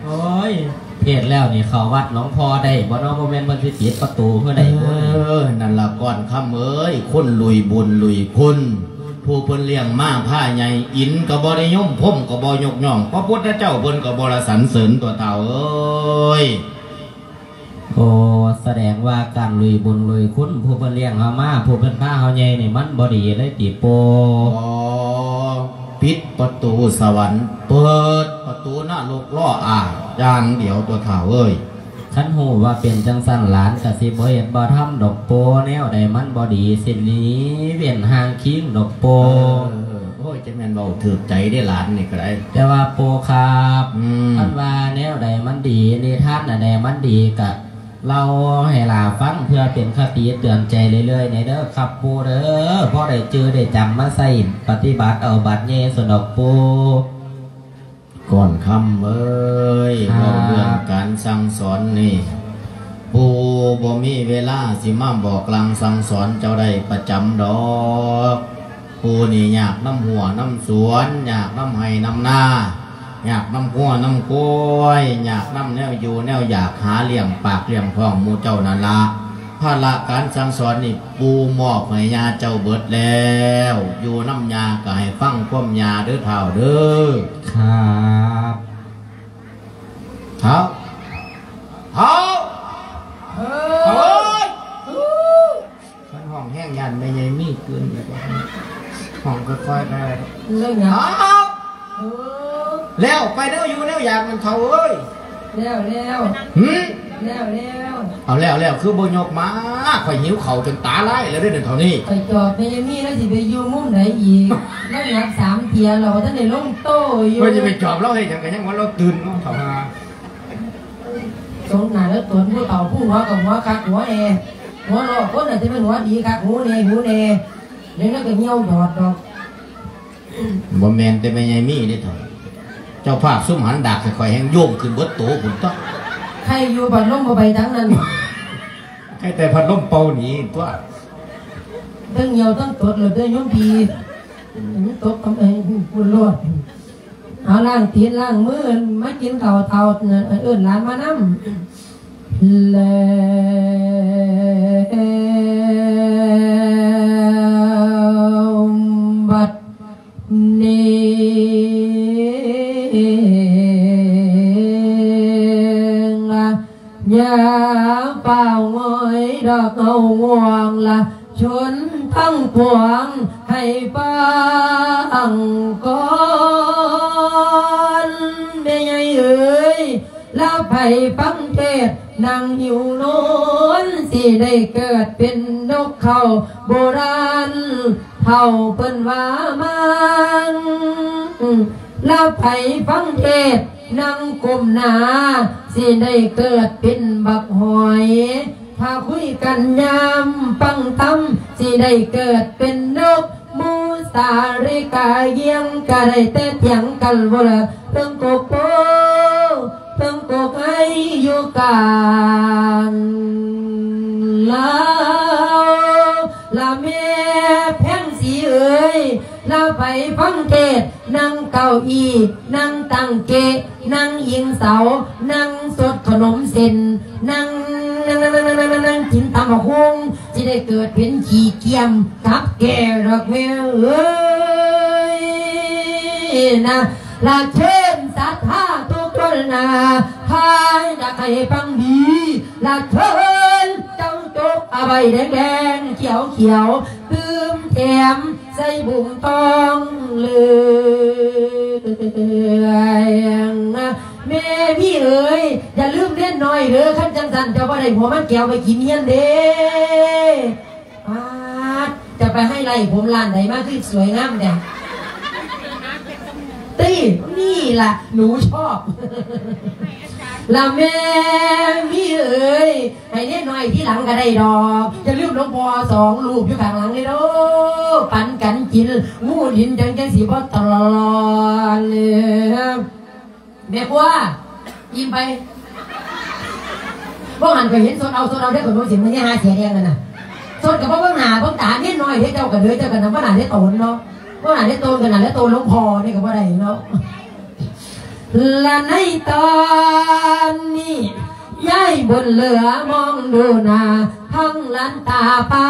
ໂອ້ຍ ເທດແລ້ວນີ້ເຂົ້າວັດຫຼວງພໍ່ໄດ້ບໍ່ເນາະ? ບໍ່ແມ່ນເພິ່ນຊິປິດປະຕູເພື່ອໃດ. ເອີ ນັ້ນລະ ກ່ອນຄຳເອີຍ ຄົນລຸຍບຸນລຸຍຄຸນ ຜູ້ເພິ່ນລ້ຽງມາພາໃຫຍ່ ອິນກໍບໍ່ນິຍົມ ພົມກໍບໍ່ຍົກຍ້ອງ ພະພຸດທະເຈົ້າເພິ່ນກໍບໍ່ລະສັນເສີນຕົວະທ້າວເອີຍ. ໂອ້ ສະແດງວ່າການລຸຍບຸນລຸຍຄຸນ ຜູ້ເພິ່ນລ້ຽງເຮົາມາ ຜູ້ເພິ່ນພາເຮົາໃຫຍ່ນີ້ ມັນບໍ່ດີເລີຍຕິປູ່? ອໍ ປິດປະຕູສະຫວັນ ເປີດປະຕູນະລົກລໍ້ອາຢ່າງດຽວຕົວະທ້າວເອີຍ. ຄັນຮູ້ວ່າເປັນຈັ່ງຊັ້ນ ຫຼານກະຊິບໍ່ເຮັດບໍ່ທຳດອກປູ່ ແນວໃດມັນບໍ່ດີ ຊິໜີເວັ້ນຫ່າງຄີງດອກປູ່. ເອີ ໂອ້ຍ ຈະແມ່ນເວົ້າຖືກໃຈເດ້ຫຼານນີ້ກໍໄດ້. ແຕ່ວ່າປູ່ຄັບ ອືມ ຄັນວ່າແນວໃດມັນດີ ນິທານອັນໃດມັນດີ ກະເລົ່າໃຫ້ຫຼາຟັງ ເພື່ອເປັນຄະຕິເຕືອນໃຈເລື້ອຍໆ ແດ່ເດີຄັບປູ່ເດີ ພໍໄດ້ຈື່ໄດ້ຈຳມາໃຊ້ປະຕິບັດເອົາບາດໃຫຍ່ຊັ້ນດອກປູ່. ກ່ອນຄຳເອີຍ ຄັບ ເວົ້າເລື່ອງການສັ່ງສອນນີ້ ປູ່ບໍ່ມີເວລາຊິມາບອກລາງສັ່ງສອນເຈົ້າໄດ້ປະຈຳດອກ. ປູ່ນີ້ຍາກນຳຮົ້ວນຳສວນ ຍາກນຳໄຮ່ນຳນາ ຍາກນຳງົວນຳຄວາຍ ຍາກນຳແນວຢູ່ແນວຢາກ ຫາລ້ຽງປາກລ້ຽງທ້ອງໝູ່ເຈົ້ານັ້ນລະ. ພາລະການສັ່ງສອນນີ້ ປູ່ມອບໃຫ້ຍ່າເຈົ້າເບິດແລ້ວ ຢູ່ນຳຍ່າກໍໃຫ້ຟັງຄວາມຍ່າເດີທ້າວເດີ. ຄັບ ທ້າວ ທ້າວ ເອີຍ ຄັນຮ້ອງແຮງຢ້ານແມ່ໃຫຍ່ມີຕື່ນອີກ. ຮ້ອງຄ່ອຍໆ ໄປ. ເລື່ອງຫຍັງ? ອ້າວ ເອີ ແລ້ວໄປແນວຢູ່ແນວຢາກນັ້ນເຖົ້າເອີຍ. ແລ້ວ ແລ້ວ ຫື? ແລ້ວ ແລ້ວ ເອົາແລ້ວ ແລ້ວຄືບໍ່ຍົກມາ? ຂ້ອຍຫິວເຂົ້າຈົນຕາລາຍແລ້ວເດ້ເຖົ້ານີ້. ຂ້ອຍຈອບແມ່ຍາຍມີ ລາວຊິໄປຢູ່ມຸມໃດອີກ? ລາວຫຍັບສາມເທື່ອແລ້ວ ບໍ່ທັນໄດ້ລົງໂຕຢູ່. ຂ້ອຍຊິໄປຈອບລາວເຮັດຫຍັງ? ກໍຍັງວ່າລາວຕື່ນເນາະ ເຖົ້າຫ່າ. ສົມໜ້າແລ້ວຕົນຜູ້ເຖົ້າຜູ້ຫົວກໍຫົວຄັກຫົວແນ່ ຫົວລໍ້ຄົນນະ ຊິແມ່ນຫົວດີຄັກ ຫູແນ່ຫູແນ່ ແລ້ວກໍຍ່ຽວຢອດດອກ. ບໍ່ແມ່ນແຕ່ແມ່ໃຫຍ່ມີເດ້ເຖົ້າ ເຈົ້າພາບຊຸມຫັນດາກໃຫ້ຂ້ອຍແຮ່ງໂຍງຂຶ້ນເບິດໂຕພຸ້ນຕົວະ. ໃຄຢູ່ພັດລົມບໍ່ໄປທາງນັ້ນ ໃຄແຕ່ພັດລົມເປົ່າໜີຕົວະ. ທັງຍ່ຽວທັງຕົດໂລດເດີໂຍມພີ່ ຕົກກຳແພງພຸ້ນໂລດ. ເອົາ ລ້າງຕີນລ້າງມື ມາກິນເຂົ້າເຖົ້າ ເອີ້ນຫຼານມານຳ. ແລ້ວບັດນີ້ ຢ່າຟ້າວງອຍດອກເອົາງ່ວງລະ ຊົນທັງປວງໃຫ້ຟັງກ່ອນ ແມ່ໃຫຍ່ເອີຍ ລະໃຜຟັງເທດນັ່ງຫິວນອນ ຊິໄດ້ເກີດເປັນນົກເຂົາໂບລານ ເຖົ້າເພິ່ນວ່າມາງ ລະໃຜຟັງເທດນັ່ງກົ້ມໜ້າ ຊິໄດ້ເກີດເປັນບັກຫອຍ ຖ້າຄຸຍກັນຍາມຟັງທຳ ຊິໄດ້ເກີດເປັນນົກ ໝູສາລິກາຢ້ຽງ ກະໄດ້ແຕ່ຖຽງກັນໂວລະ ເທິງກົກໂພ ເທິງກົກໄຮຢູ່ກາງລາວ ລະແມ່ແພງສີເອີຍ ລະໃຜຟັງເທດ ນັ່ງເກົ້າອີ່ ນັ່ງຕັ້ງເກະ ນັ່ງອີງເສົາ ນັ່ງສົດຂະໜົມເສັ້ນ ນັ່ງ ນັ່ງ ນັ່ງ ນັ່ງ ນັ່ງ ນັ່ງ ນັ່ງກິນຕຳບັກຫຸ່ງ ຊິໄດ້ເກີດເປັນຂີ້ກ້ຽມກັບແກ່ດອກແມ່ເອີຍນະ ລະເຊີນສັດທາທຸກຄົນນະ ຖ້າຢາກໃຫ້ຟັງດີ ລະເຊີນເຈົ້າຈົກອາໄວ້ແດງໆ ຂຽວໆ ຕື່ມແຖມ ໃສ່ບຸ້ງທອງເຫຼືອງນະ ແມ່ມີເອີຍ ຢ່າລືມເນນນ້ອຍເດີ ຄັນຈັ່ງຊັ້ນເຈົ້າບໍ່ໄດ້ຫົວມັນແກ້ວໄປກິນຮຽນເດ້. ປາດ ຈະໄປໄຮໄລ້ຜົມຮ້ານໃດມາຄືສວຍງາມແທ້ຕິ? ນີ້ລະໜູຊອບ ລະແມ່ມີເອີຍ ໃຫ້ເນນນ້ອຍທີຫຼັງກໍໄດ້ດອກ ຢ່າລືມຫຼວງພໍ່ສອງຮູບຢູ່ຂ້າງຫຼັງເດີ ປັນກັນກິນ ງູດິນຈັ່ງ ຈັ່ງຊິບໍ່ຕະຫຼອນ. ແມ່ຄົວ ອີ່ມໄປ? ບໍ່ຫັ້ນກໍເຫັນສົດເອົາ ສົດເອົາເດີ ຂ້ອຍບໍ່ເຫັນມັນຫາເສຍແດງນັ້ນນະ ສົດກໍບໍ່ເບິ່ງໜ້າເບິ່ງຕາເນນນ້ອຍເດ້ ເຈົ້າກໍເດີ ເຈົ້າກໍນຳບໍ່ໜ້າເດ້ໂຕນເນາະ ບໍ່ໜ້າເດ້ໂຕນ ກໍໜ້າເດ້ໂຕນຫຼວງພໍ່ນີ້ກໍບໍ່ໄດ້ເນາະ. ລະໃນຕອນນີ້ ຍາຍບຸນເຫຼືອມອງດູໜ້າ ທັງຫຼານຕາພາ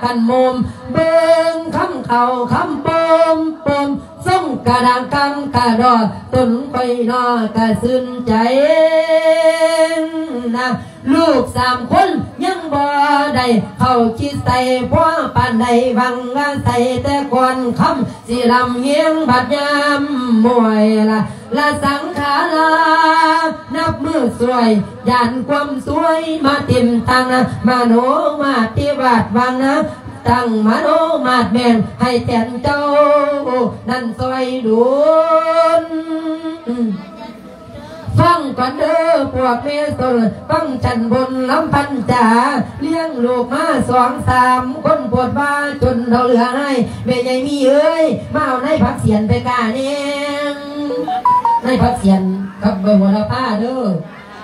ກັນໂມມ ເບິ່ງຄຳເຂົາຄຳໂປມໂປມ ຊົງກະດັງກັງກະດໍ ຕົນຂ້ອຍນໍກະຊື່ນໃຈນະ. ລູກສາມຄົນຍັງບໍ່ໄດ້ເຂົ້າຄິດໃສ່ ພໍປານໃດຫວັງວ່າໃສ່ແຕ່ກ່ອນຄ່ຳ ຊິລຳຮຽງບັດຍາມມວຍລະ ລະສັງຂາລາ ນັບມື້ຊ່ວຍ ຢ້ານຄວາມຊວຍມາເຕັມທັງນະ ມະໂນມາດທີ່ວາດຫວັງນະ ຕັ້ງມະໂນມາດແມ່ນ ໃຫ້ແທນເຈົ້ານັ້ນຊ່ອຍດຸນ. ຟັງກ່ອນເດີພວກແມ່ຊົນ ຟັງຊັ້ນບົນລຳພັນຈາ ລ້ຽງລູກມາສອງສາມຄົນ ໂພດວ່າຈົນເຖົ້າເຫຼືອຫາຍ ແມ່ໃຫຍ່ມີເອີຍ ມາເອົານາຍຜັກສຽນໄປກ້າແດ່. ນາຍຜັກສຽນກັບໃບໂຫລະພາເດີ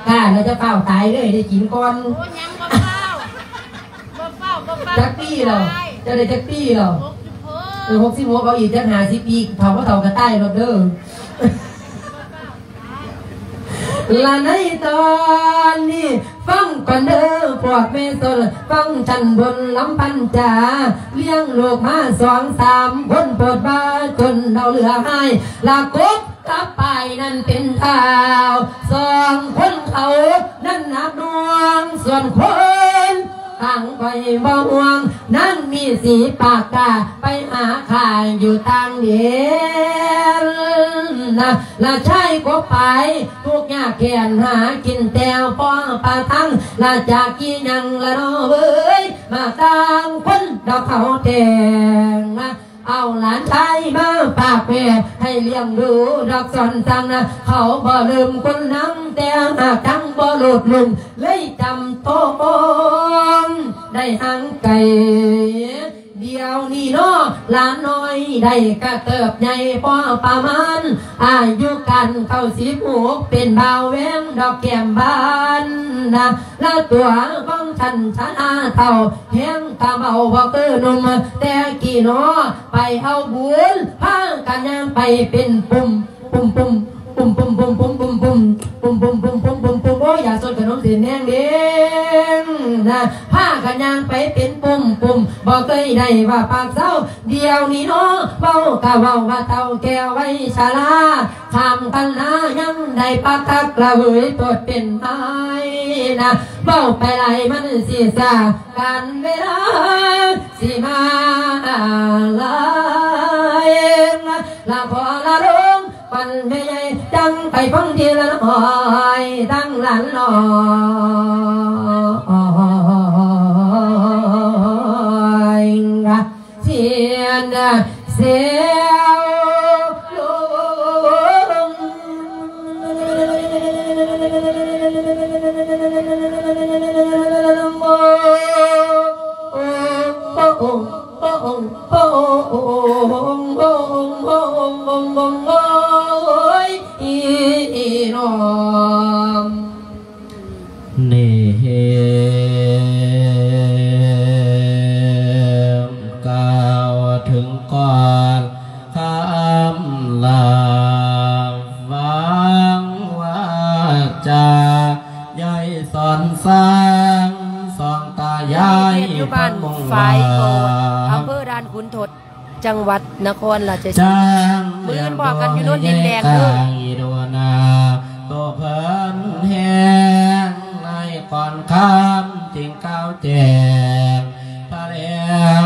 ກ້າແລ້ວຈະຟ້າວຕາຍເດີ ໃຫ້ໄດ້ກິນກ່ອນ. ໂອ້ ຍັງບໍ່ຟ້າວ ບໍ່ຟ້າວ ບໍ່ຟ້າວ ຈັກປີແລ້ວ? ເຈົ້າໄດ້ຈັກປີແລ້ວ? ຫົກສິບຫົກ ເອີ ຫົກສິບຫົກ ເອົາອີກຈັກຫ້າສິບປີ ເຖົ້າບໍ່ເຖົ້າກໍຕາຍໂລດເດີ. ລະໃນຕອນນີ້ ຟັງກ່ອນເດີພວກແມ່ຊົນ ຟັງຊັ້ນບົນລຳພັນຈາ ລ້ຽງລູກມາສອງສາມຄົນ ໂພດວ່າຈົນເຖົ້າເຫຼືອຫາຍ ລະກົບກັບປາຍນັ້ນເປັນທ້າວ ສອງຄົນເຂົານັ້ນໜັກໜ່ວງ ສ່ວນຄົນ ທາງຂ້ອຍບໍ່ຫ່ວງ ນາງມີສີປາກກ້າ ໄປຫາຂ້າຢູ່ຕ່າງແດນນະ ລະຊາຍກົບປາຍ ທຸກຍາກແຄ້ນຫາກິນແຕ່ພໍປະທັງ ລະຈາກກີ່ຍັງລະເນາະເອີຍ ມາຕ່າງຄົນດອກເຂົາແທ້ງນະ ເອົາຫຼານຊາຍມາຝາກແມ່ ໃຫ້ລ້ຽງດູດອກສອນສັ່ງນະ ເຂົາບໍ່ລືມຄຸນນາງ ແຕ່ຫາກທັງບໍ່ໂລດລຸງ ເລີຍຈຳຕ້ອງໄດ້ຫ່າງໄກ. ດຽວນີ້ເນາະ ຫຼານນ້ອຍໄດ້ກະເຕີບໃຫຍ່ພໍປະມານ ອາຍຸການເກົ້າສິບຫົກ ເປັນບ່າວແວງດອກແກ້ມບານນະ ລະຕົວຂອງທ່ານຊະນາເຖົ້າ ແຮງກະເບົາບໍ່ຄືໜຸ່ມແຕ່ກີ້ເນາະ ໄປເອົາບຸນ ພາກັນຍ່າງໄປເປັນປຸ່ມ ປຸ້ມໆ ປຸ້ມໆ ປຸ້ມໆ ປຸ້ມໆ ປຸ້ມໆ ປຸ້ມໆ ປຸ້ມໆ ປຸ້ມໆ ໂອ້ຍ ຢາສົດຂະໜົມເສັ້ນແດງເດ້ງນະ ພາກັນຍ່າງໄປເປັນປຸ້ມໆ ບໍ່ເຄີຍໄດ້ວ່າປາກເຊົາ ດຽວນີ້ເນາະ ເວົ້າກະເວົ້າວ່າເຖົ້າແກ່ໄວຊະລາ ຂ້າມຄັນນາຍັງໄດ້ປາກຄັກລະເວີຍ ໂປດເປັນໄມ້ນະ ເວົ້າໄປຫຼາຍມັນຊິຊ້າ ການເວລາຊິມາຫຼາຍ ລະຂໍລະລົງ ປັນແມ່ໃຫຍ່ ຈັ່ງໄປຟັງທີລະນ້ອຍ ທັງຫຼານນ້ອຍ ສຽນສຽວລົງ ໂອ້ຍ ອີນ້ອງ ນີ້ ກ່າວເຖິງກ່ອນຄຳລາວາງວາຈາ ຍາຍສອນສ້າງ ສອງຕາຍາຍ ຢູ່ບ້ານຝາຍໂກດ ອຳເພີດ່ານຂຸນທົດ ຈັງຫວັດນະຄອນລາຊະສີມາ ມື້ອື່ນພໍ້ກັນຢູ່ໂນນດິນແດງເດີ. ໂຕເພິ່ນແຮງໃນກ່ອນຄ່ຳຈຶ່ງກ່າວແຈ້ງ ພະແລ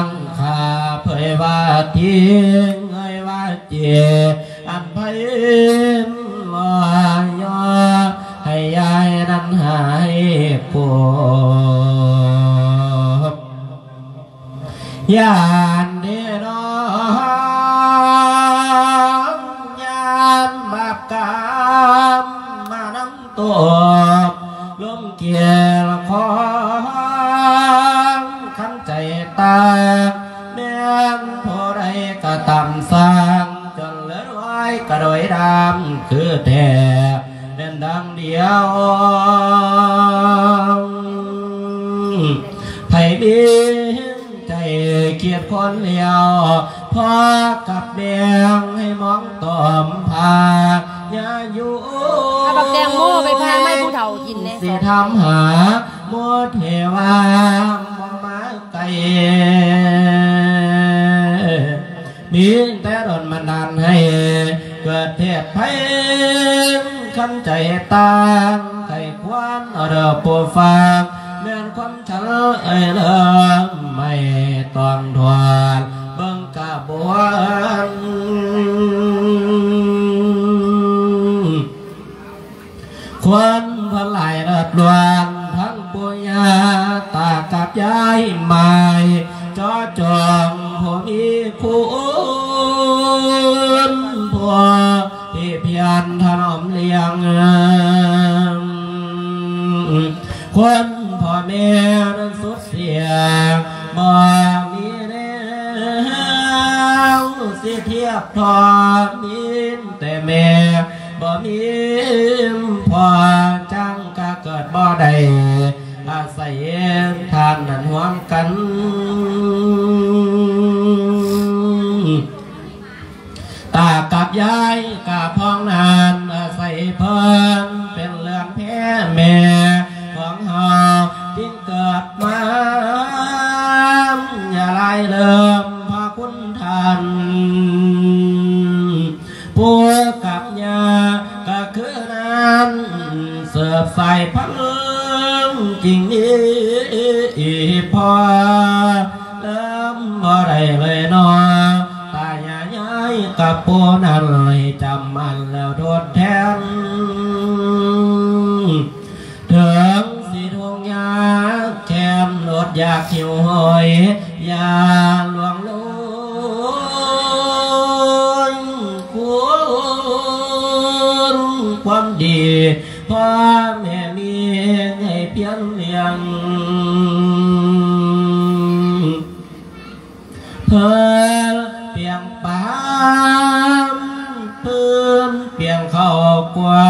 ງຂ້າເຜີຍ ວ່າຕິງເອີຍວ່າເຈ ອັນໃຜມາຍໍໃຫ້ຍາຍນັ້ນຫາຍໂກບ ຢ້ານເດນ້ອງ ຢ້ານບາບກຳມານຳຕົບ ລົມກຽນຂອງຄັນໃຈຕາ ແມ່ນຜູ້ໃດກະຕາມສ້າງ ຈົນເຫຼືອນ້ອຍກະໂດຍດຳຄືແທ້ ແມ່ນດັ່ງດຽວ ໃຜມີໃຈຄຽດຄົນແລ້ວ ພໍ່ກັບແມ່ໃຫ້ມອງຕອມພາ ຢ່າຢູ່ ເອົາບັກແຕງໂມໄປຜ່າໄມ້ຜູ້ເຖົ້າກິນແດ່ ຊິຖາມຫາໝົດເທວາ ບໍ່ມາ ໄກ ມີແຕ່ດົນບັນດານໃຫ້ເກີດເທດໄພ ຄັນໃຈຕ່າງໃຫ້ຄວນເດີຜູ້ຟັງ ແມ່ນຄວາມສັນເອີຍເລີ່ມໃໝ່ຕ້ອງທອນເບິ່ງກະບວນ ຄວນເພິ່ນຫຼາຍເລີດລ້ວນ ທັງປູ່ຍ່າຕາກັບຍາຍໝາຍ ເຈາະຈົງຜູ້ມີຄຸນ ຜູ້ທີ່ພຽນຖະໜອມລ້ຽງ ຄວນພໍ່ແມ່ນັ້ນສຸດ ສຽງບໍ່ມີແນວ ຊິທຽບທອດມີແຕ່ແມ່ ບໍ່ມີພໍ່ ຈັ່ງກະເກີດບໍ່ໄດ້ ອາໄສທ່ານນັ້ນຮ່ວມກັນ ຕາກັບຍາຍກະພ້ອງນັ້ນ ອາໄສເພິ່ນເປັນເຮືອນແພແມ່ຂອງເຮົາ ຈຶ່ງເກີດມາ ຢ່າລາຍເລີມພະຄຸນທ່ານ ປູ່ກັບຍ່າກະຄືນັ້ນ ເສີບສາຍພັນຈຶ່ງມີພໍ່ ເລີ່ມບໍ່ໄດ້ເລີຍນໍ ຕາຍາຍຍາຍກັບປູ່ນັ້ນ ໃຫ້ຈຳໝັ້ນແລ້ວທົດແທນ ເຖິງຊິທຸກຍາກແຄ້ນ ອົດຢາກຫິວໂຫຍ ຢ່າລ່ວງໂລຍ ຄຸນຄວາມດີ ພໍ່ແມ່ມີໃຫ້ພຽງລ້ຽງ ເພິ່ນປຽງປາມ ເພິ່ນປຽງເຂົ້າກວ່າ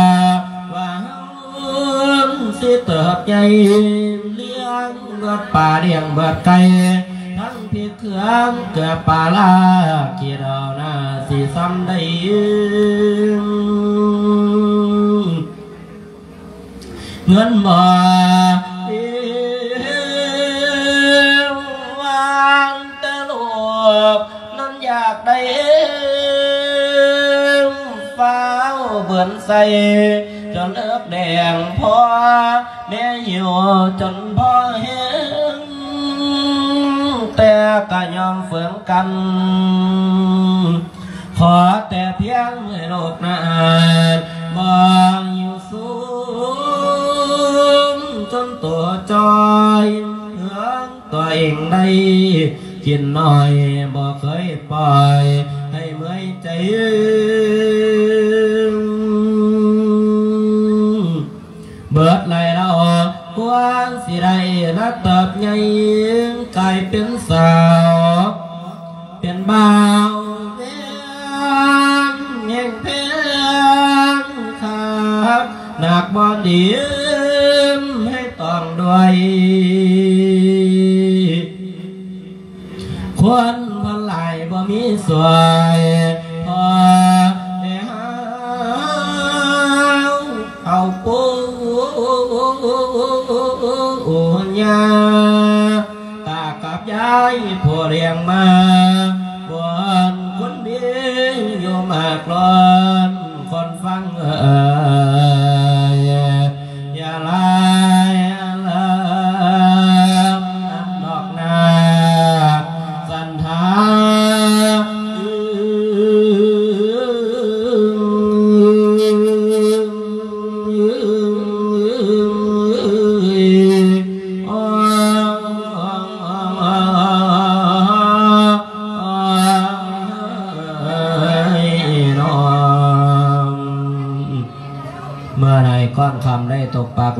ວ່າເຮົາຊິເຕີບໃຫຍ່ ລ້ຽງເບິດປາ ລ້ຽງເບິດໄກ່ ທັງພິກເຄື່ອງເກືອປາລາ ຄິດເອົາໜ້າຊິສ່ຳໄດ້ ເງິນບໍ່ມີ ຫວ່າງແຕ່ລູກນັ້ນຢາກໄດ້ ຟ້າວເບືອນໃສ່ ຈົນເອິກແດງພໍ ແມ່ຫິວຈົນພໍແຮງ ແຕ່ກະຍອມເຝືອງກັນ ຂໍແຕ່ພຽງໃຫ້ລູກນັ້ນ ບໍ່ຫິວສູງ ຈົນໂຕຈ່ອຍ ເຮືອງຕົວເອງໄດ້ ກິນໜ້ອຍ ບໍ່ເຄີຍປ່ອຍ ໃຫ້ເມື່ອຍໃຈ ເບີດໄຫຼລະອອກ ກວ່າຊິໄດ້ລະເຕີບໃຫຍ່ ກາຍເປັນສາວ ເປັນບ່າວແພງ ແຮງແພງຄັກ ໜັກບໍ່ດີມໃຫ້ຕ້ອງດ້ວຍ ຄົນເພິ່ນຫຼາຍບໍ່ມີຊ່ວຍ ພໍແຕ່ເຮົາເອົາປູ່ຍ່າ ຕາກັບຍາຍຜູ້ລ້ຽງມາ ບຸນຄຸນມີຢູ່ມາກລ້ອນ ຄົນຟັງເອີຍ ຢ່າລາຍເລີມນຳດອກນາກສັນທາ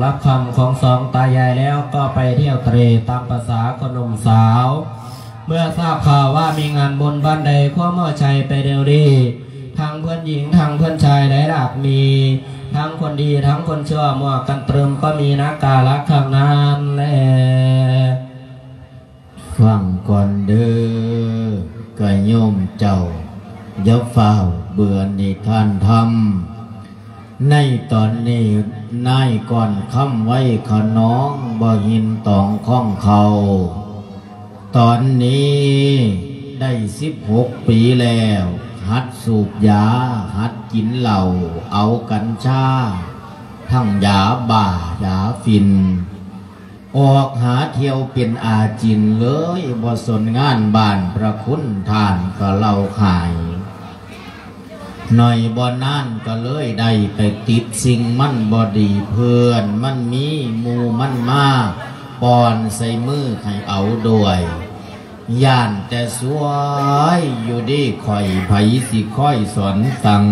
ລັບຄ່ຳຂອງສອງຕາຍາຍແລ້ວ ກໍໄປທ່ຽວເຕຣຕາມພາສາຄົນໜຸ່ມສາວ. ເມື່ອຊາບຂ່າວວ່າມີງານບຸນບ້ານໃດ ຄວາມເອົາໃຈໄປແນວນີ້ ທັງເພື່ອນຍິງ ທັງເພື່ອນຊາຍໄດ້ຫຼາກມີ ທັງຄົນດີ ທັງຄົນຊົ່ວ ໝວກກັນຕຶມກໍມີນະກາລະຂ້າງນັ້ນແລ. ຟັງກ່ອນເດີ ກະໂຍມເຈົ້າ ຢ່າຟ້າວເບື່ອນິທານທຳ. ໃນຕອນນີ້ ນາຍກ້ອນຄຳໄວຂະໜອງ ບໍ່ຫີນຕອງຄອງເຂົ້າ ຕອນນີ້ໄດ້ສິບຫົກປີແລ້ວ ຫັດສູບຢາ ຫັດກິນເຫຼົ້າ ເອົາກັນຊາ ທັງຢາບ້າ ຢາຝິ່ນ ອອກຫາທ່ຽວເປັນອາຈິນເລີຍ ບໍ່ສົນງານບ້ານພະຄຸນທ່ານກະເຫຼົ້າຂາຍ. ໜ້ອຍບໍ່ນານກະເລີຍໄດ້ໄປຕິດສິ່ງມັນບໍ່ດີ ເພື່ອນມັນມີ ໝູ່ມັນມາປ້ອນໃສ່ມືໃຫ້ເອົາດ້ວຍ ຢ້ານແຕ່ຊວຍຢູ່ດີຂ້ອຍ ໃຜຊິຄອຍສອນສັ່ງ.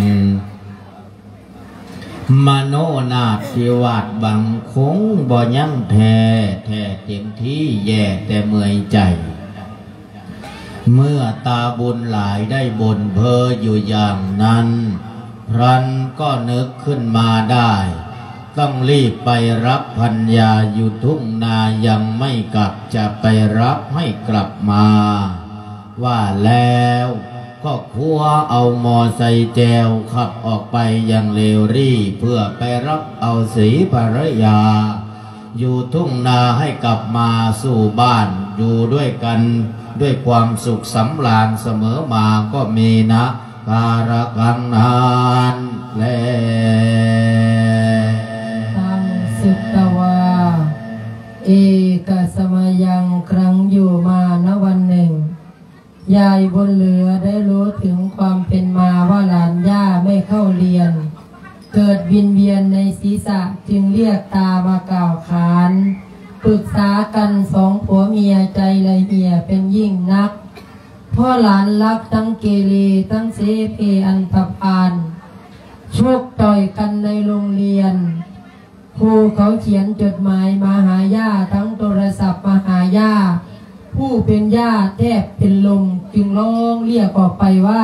ມະໂນນາດທີ່ວາດຫວັງຄົງບໍ່ຍັງແທ້ ແທ້ເຕັມທີ່ແຢ່ແຕ່ເມື່ອຍໃຈ. ເມື່ອຕາບຸນຫຼາຍໄດ້ບົ່ນເພ້ອຢູ່ຢ່າງນັ້ນ ພລັນກໍນຶກຂຶ້ນມາໄດ້ ຕ້ອງລີບໄປຮັບພັນຍາຢູ່ທົ່ງນາ ຍັງໄມ່ກັບ ຈະໄປຮັບໃຫ້ກັບມາ. ວ່າແລ້ວກໍຄົວເອົາໝໍ້ໃສ່ແຈວ ຂັບອອກໄປຢ່າງເລວຣີ ເພື່ອໄປຮັບເອົາສີພັນລະຍາຢູ່ທົ່ງນາ ໃຫ້ກັບມາສູ່ບ້ານ ຢູ່ດ້ວຍກັນດ້ວຍຄວາມສຸກສຳລານສະເໝີມາ ກໍມີນະກາລະຄັງນັ້ນແລ. ຕັງສຸດຕະວາ ເອກະສະມະຍັງ ຄັ້ງຢູ່ມານະວັນໜຶ່ງ ຍາຍບຸນເຫຼືອໄດ້ຮູ້ເຖິງຄວາມເປັນມາວ່າຫຼານຍ່າໄມ່ເຂົ້າລຽນ ເກີດວິນວຽນໃນສີສະ ຈຶ່ງລຽກຕາມາກ່າວຂານ ປຶກສາກັນສອງຜົວເມຍ ໃຈລະເຫ່ຍເປັນຍິ່ງນັກ ເພາະຫຼານລັກທັງເກເລ ທັງເສເພອັນທະພານ ຊົກຕ່ອຍກັນໃນໂຮງລຽນ. ຄູເຂົາຂຽນຈົດໝາຍມາຫາຍ່າ ທັງໂທລະສັບມາຫາຍ່າ ຜູ້ເປັນຍ່າແທບເປັນລົມ ຈຶ່ງຮ້ອງລຽກອອກໄປວ່າ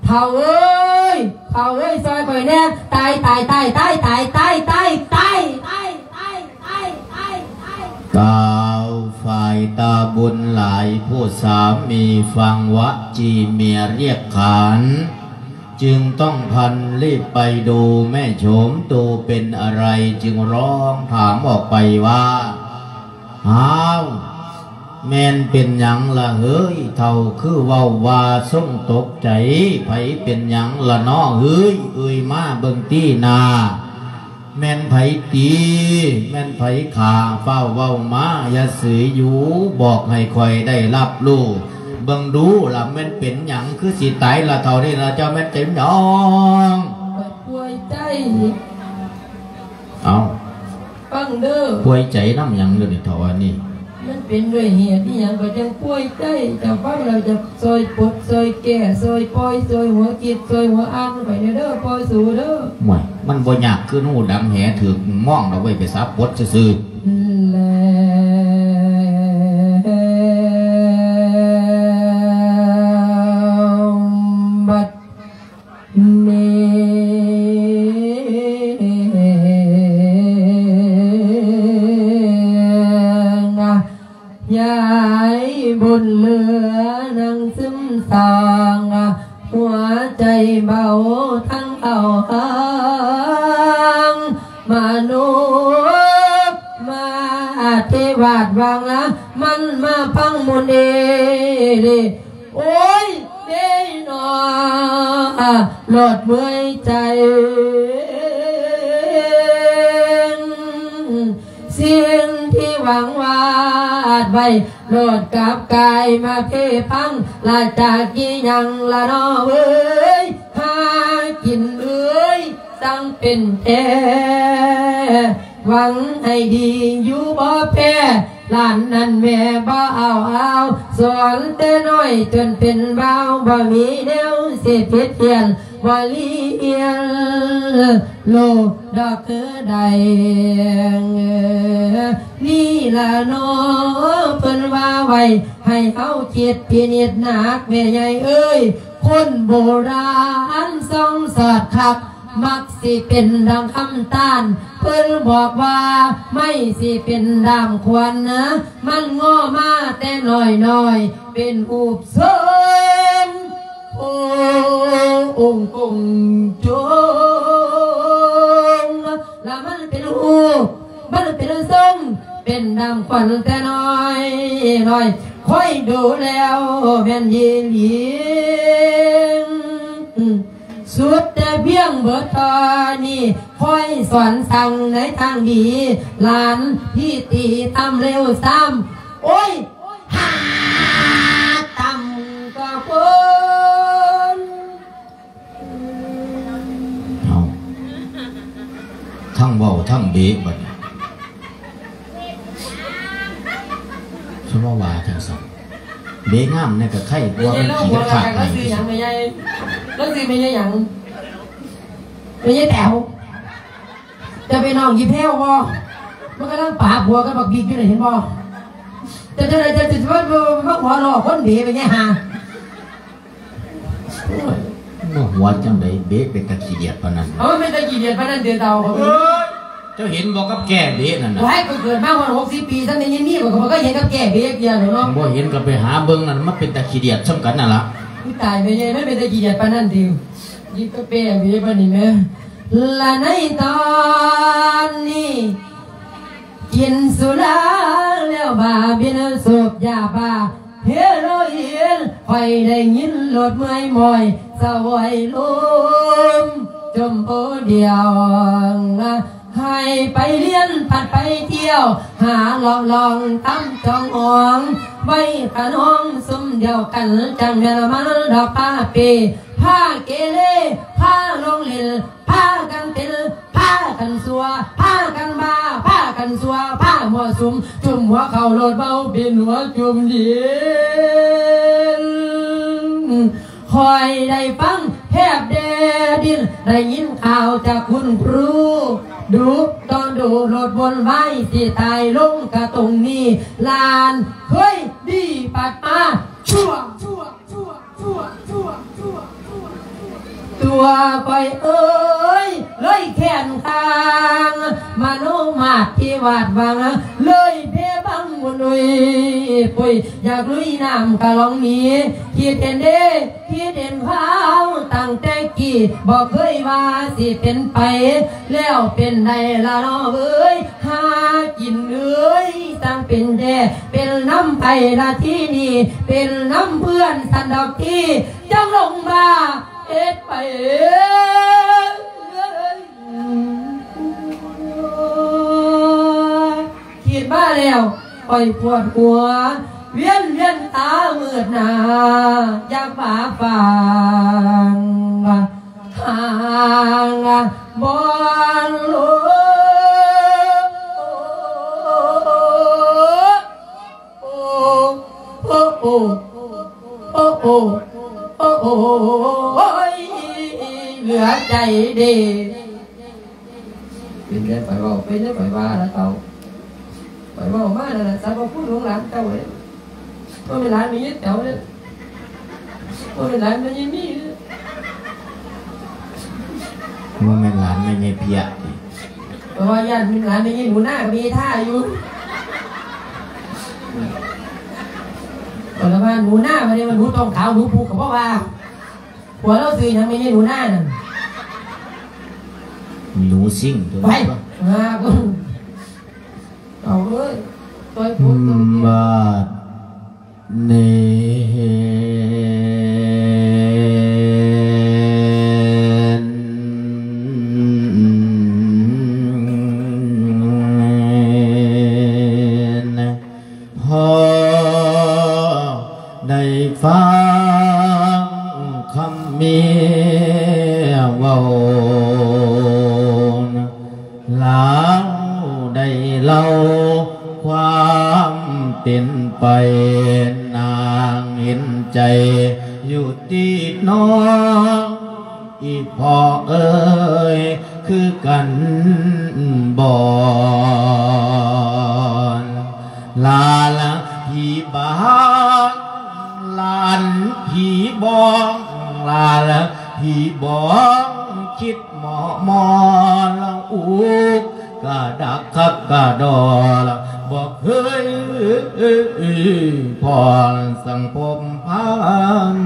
ທ້າວເອີຍ! ທ້າວເອີຍ! ຊ່ອຍຂ້ອຍແດ່! ຕາຍ ຕາຍ ຕາຍ! ກ່າວຝ່າຍຕາບຸນຫຼາຍ ຜູ້ສາມີຟັງວະຈີເມຍລຽກຂານ ຈຶ່ງຕ້ອງພັນລີບໄປດູແມ່ໂສມ ຕູເປັນອະໄລ ຈຶ່ງຮ້ອງຖາມອອກໄປວ່າ ອ້າວ ແມ່ນເປັນຫຍັງລະເຮີ້ຍ ເຖົ້າຄືເວົ້າວ່າຊົງຕົກໃຈ ໃຜເປັນຫຍັງລະນໍເຮີ້ຍ ເອີຍມາເບິ່ງຕີໜ້າ ແມ່ນໃຜຕີ ແມ່ນໃຜຂ້າ ຟ້າວເວົ້າມາ ຢ່າເສີຍຢູ່ ບອກໃຫ້ຂ້ອຍໄດ້ຮັບຮູ້ເບິ່ງດູລະ ແມ່ນເປັນຫຍັງຄືຊິຕາຍລະເຖົ້ານີ້ລະ ເຈົ້າແມ່ນເປັນຫຍັງ? ປ່ວຍໃຈ. ເອົ້າ ຟັງເດີ ປ່ວຍໃຈນຳຫຍັງເດີນີ້ ເຖົ້າອັນນີ້? ມັນເປັນດ້ວຍເຫດອີ່ຫຍັງກໍຈັ່ງປ່ວຍໃຈ? ເຈົ້າຟັງແລ້ວຈະຊ່ອຍປົດ ຊ່ອຍແກ້ ຊ່ອຍປ່ອຍ ຊ່ອຍຫົວຄິດ ຊ່ອຍຫົວອ່ານຂ້ອຍແດ່ເດີ ປ່ອຍສູເດີ. ໂອ້ຍ ມັນບໍ່ຍາກ ຄືໜູດຳແຫຖືກມອງດອກເວີຍ ໄປສາປົດຊື່ໆ. ແລ້ວບັດ ນີ້ ຍາຍບຸນເຫຼືອນັ່ງຊຶມຊອງ ຫົວໃຈເບົາທັງເອົາຫາງ ມະນຸດມາອະທິວາດຫວັງ ມັນມາຟັງມຸນເອເລ. ໂອ້ຍ ເດນອ ໂລດເມື່ອຍໃຈ ສິ່ງທີ່ຫວັງວາດໄວ້ ໂລດກັບກາຍມາເພພັງ ລະຈາກອີ່ຫຍັງລະນໍເອີຍ ຫາກິນເອີຍ ຈັ່ງເປັນແທ້ ຫວັງໃຫ້ດີຢູ່ບໍ່ແພ້ ຫຼານນັ້ນແມ່ບໍ່ເອົາອາວ ສອນແຕ່ນ້ອຍຈົນເປັນບ່າວ ບໍ່ມີແນວຊິຜິດພຽນ ວ່າລ້ຽງລູກດອກຄືໃດ ນີ້ລະເນາະ ເພິ່ນວ່າໄວ້ໃຫ້ເຮົາຄິດພິນິດໜັກ ແມ່ໃຫຍ່ເອີຍ ຄົນໂບລານສ່ອງສອດຄັກ ມັກຊິເປັນດັ່ງຄຳຕ້ານ ເພິ່ນບອກວ່າໄມ້ຊິເປັນດ້າມຂວັນ ມັນງໍມາແຕ່ນ້ອຍໆ ເປັນຮູບຊົງ ໂອ້ງກົງຈົງ ລະມັນເປັນຮູບ ມັນເປັນຊົງ ເປັນດັ່ງຂວັນແຕ່ນ້ອຍໆ ຄອຍດູແລ້ວແມ່ນອີຫຼີ ສຸດແຕ່ພຽງເບີດເທົ່ານີ້ ຄອຍສອນສັ່ງໃນທາງດີ ຫຼານທີ່ຕີຕ່ຳເລວຊ້ຳ ໂອ້ຍ ຫາຕ່ຳກວ່າຄົນ ເອົາ ທັງເວົ້າທັງເບະບັດນີ້ ສະມາວ່າຈັ່ງຊັ້ນ ເບະງາມແດ່ກະໄຄ ກວ່າມັນຂີ້ກະຂາດ ລາວຊື່ຫຍັງແມ່ໃຫຍ່? ລາວຊື່ແມ່ໃຫຍ່ຫຍັງ? ແມ່ໃຫຍ່ແຕວ. ຈະເປັນນ້ອງອີ່ແພ້ວບໍ່? ມັນກຳລັງປາຜົວກັບບັກບິກຢູ່ນີ້ ເຫັນບໍ່? ຈະຈັ່ງໃດ ຈະ ຈະ ຈະມາ ມາຫົວລໍ້ຄົນເບໄປແດ່ຫາ. ໂອ້ຍ ມາຫົວຈັ່ງໃດ ເບເປັນຕາຂີ້ດຽດປານນັ້ນ. ເອົາ ມັນເປັນຕາຂີ້ດຽດປານນັ້ນເດເຕົາ. ເອີຍ ເຈົ້າເຫັນບໍ່ກັບແກ້ເບນັ້ນນະ? ໂອ້ຍ ຂ້ອຍເກີດມາຮອດຫົກສິບປີ ຊັ້ນໄດ້ຍິນມີ ຂ້ອຍກໍບໍ່ເຄີຍເຫັນກັບແກ້ເບຈັກເທື່ອດອກເນາະ. ບໍ່ເຫັນກໍໄປຫາເບິ່ງນັ້ນ ມັນເປັນຕາຂີ້ດຽດສ່ຳກັນນັ້ນລະ. ອຸ້ຍ ຕາຍ ແມ່ໃຫຍ່ ມັນເປັນຕາຂີ້ດຽດປານນັ້ນຕິ? ຍິບກັບແກ້ເບປານນີ້ແມ. ລະໃນຕອນນີ້ ກິນສຸລາແລ້ວບ້າບິນສູບຢາບ້າເຮໂຣອິນ ຂ້ອຍໄດ້ຍິນໂລດເມື່ອຍໝ້ອຍສະຫວອຍລົມ ຈົມໂພດຽວ ໃຫ້ໄປລຽນພັດໄປທ່ຽວ ຫາລອງລອງຕຳຈອງອອງ ໄວ້ຂະນອງຊຸມດຽວກັນ ຈັ່ງແມ່ນມັນດອກປາເປ ພາເກເລ ພາລົງຫຼິ້ນ ພາກັນເຕັ້ນ ພາກັນຊົ່ວ ພາກັນບ້າ ພາກັນຊົ່ວ ພາມົ້ວສຸມ ຈຸ້ມຫົວເຂົ້າໂລດເບົາ ປິ່ນຫົວຈຸ້ມດິນ. ຂ້ອຍໄດ້ຟັງແທບແດ່ດິນ ໄດ້ຍິນຂ່າວຈາກຄຸນຄູ ດຸຕອນດຸໂລດວົນວາຍ ຊິຕາຍລົງກະຕົງນີ້ ຫຼານເຄີຍດີປັດມາ ຊົ່ວ ຕົວຂ້ອຍເອີຍ ເລີຍແຄ້ນຄ້າງ ມະໂນມາດທີ່ວາດຫວັງ ເລີຍເພບັງວຸ້ນອຸຍປຸຍ ຢາກລຸຍນ້ຳກະລອງໜີ ຄິດເຫັນເດ້ ຄິດເຫັນຄາວຕັ້ງແຕ່ກີ້ ບໍ່ເຄີຍວ່າຊິເປັນໄປ ແລ້ວເປັນໄດ້ລະເນາະເອີຍ ຫາກິນເອີຍ ຈັ່ງເປັນແທ້ ເປັນນຳໃຜລະທີນີ້ ເປັນນຳເພື່ອນຊັ້ນດອກທີ ຈັ່ງລົງມາເຮັດໄປ. ຄິດມາແລ້ວຂ້ອຍປວດຫົວ ວຽນວຽນຕາມືດໜ້າ ຢາກວ່າຟັງທາງບ່ອນໂລ ໂອ້ ໂອ້ ໂອ້ ໂອ້ ໂອ້ ໂອ້ຍ ເຫຼືອໃຈເດ. ເປັນໄດຂ້ອຍເວົ້າ ເປັນໄດຂ້ອຍວ່າລະເຕົາ. ຂ້ອຍເວົ້າມານັ້ນລະ ສັບພະຄຸນຂອງຫຼານເຈົ້າເດ້. ບໍ່ແມ່ນຫຼານແມ່ຍາຍແຕ໋ວເດ້. ບໍ່ແມ່ນຫຼານແມ່ຍາຍມີເດ້. ບໍ່ແມ່ນຫຼານແມ່ຍາຍເພຍຕິ? ເພາະວ່າຢ້ານເປັນຫຼານແມ່ຍາຍໜູນາກັບແມ່ຍາຍທາຢູ່. ເພາະວ່າໜູນາ ບໍ່ໄດ້ວ່າໜູຕ້ອງຂາວ ໜູພູກກໍບໍ່ວ່າ. ຜົວລາວຊື່ຫຍັງແມ່ຍາຍໜູນານັ້ນ? ໜູຊິງຕົວ ໄປ ນັ້ນ. ເອົາເອີຍ ຕ່ອຍໂພດ ບາດນີ້ ພໍໄດ້ຟັງຄຳເມຍເວົ້າ ລາວໄດ້ເລົ່າຄວາມເປັນໄປ ນາງເຫັນໃຈຢູ່ຕິນ້ອງ. ອີ່ພໍ່ເອີຍ ຄືກັນບໍ່ ຫຼານພີ່ບາງ ຫຼານພີ່ບອງ ຫຼານພີ່ບອງ ຄິດໝໍ່ມອນ ອຸກກະດັກຄັກກະດໍ ບໍ່ເຄີຍພໍນສັງພົມພັນ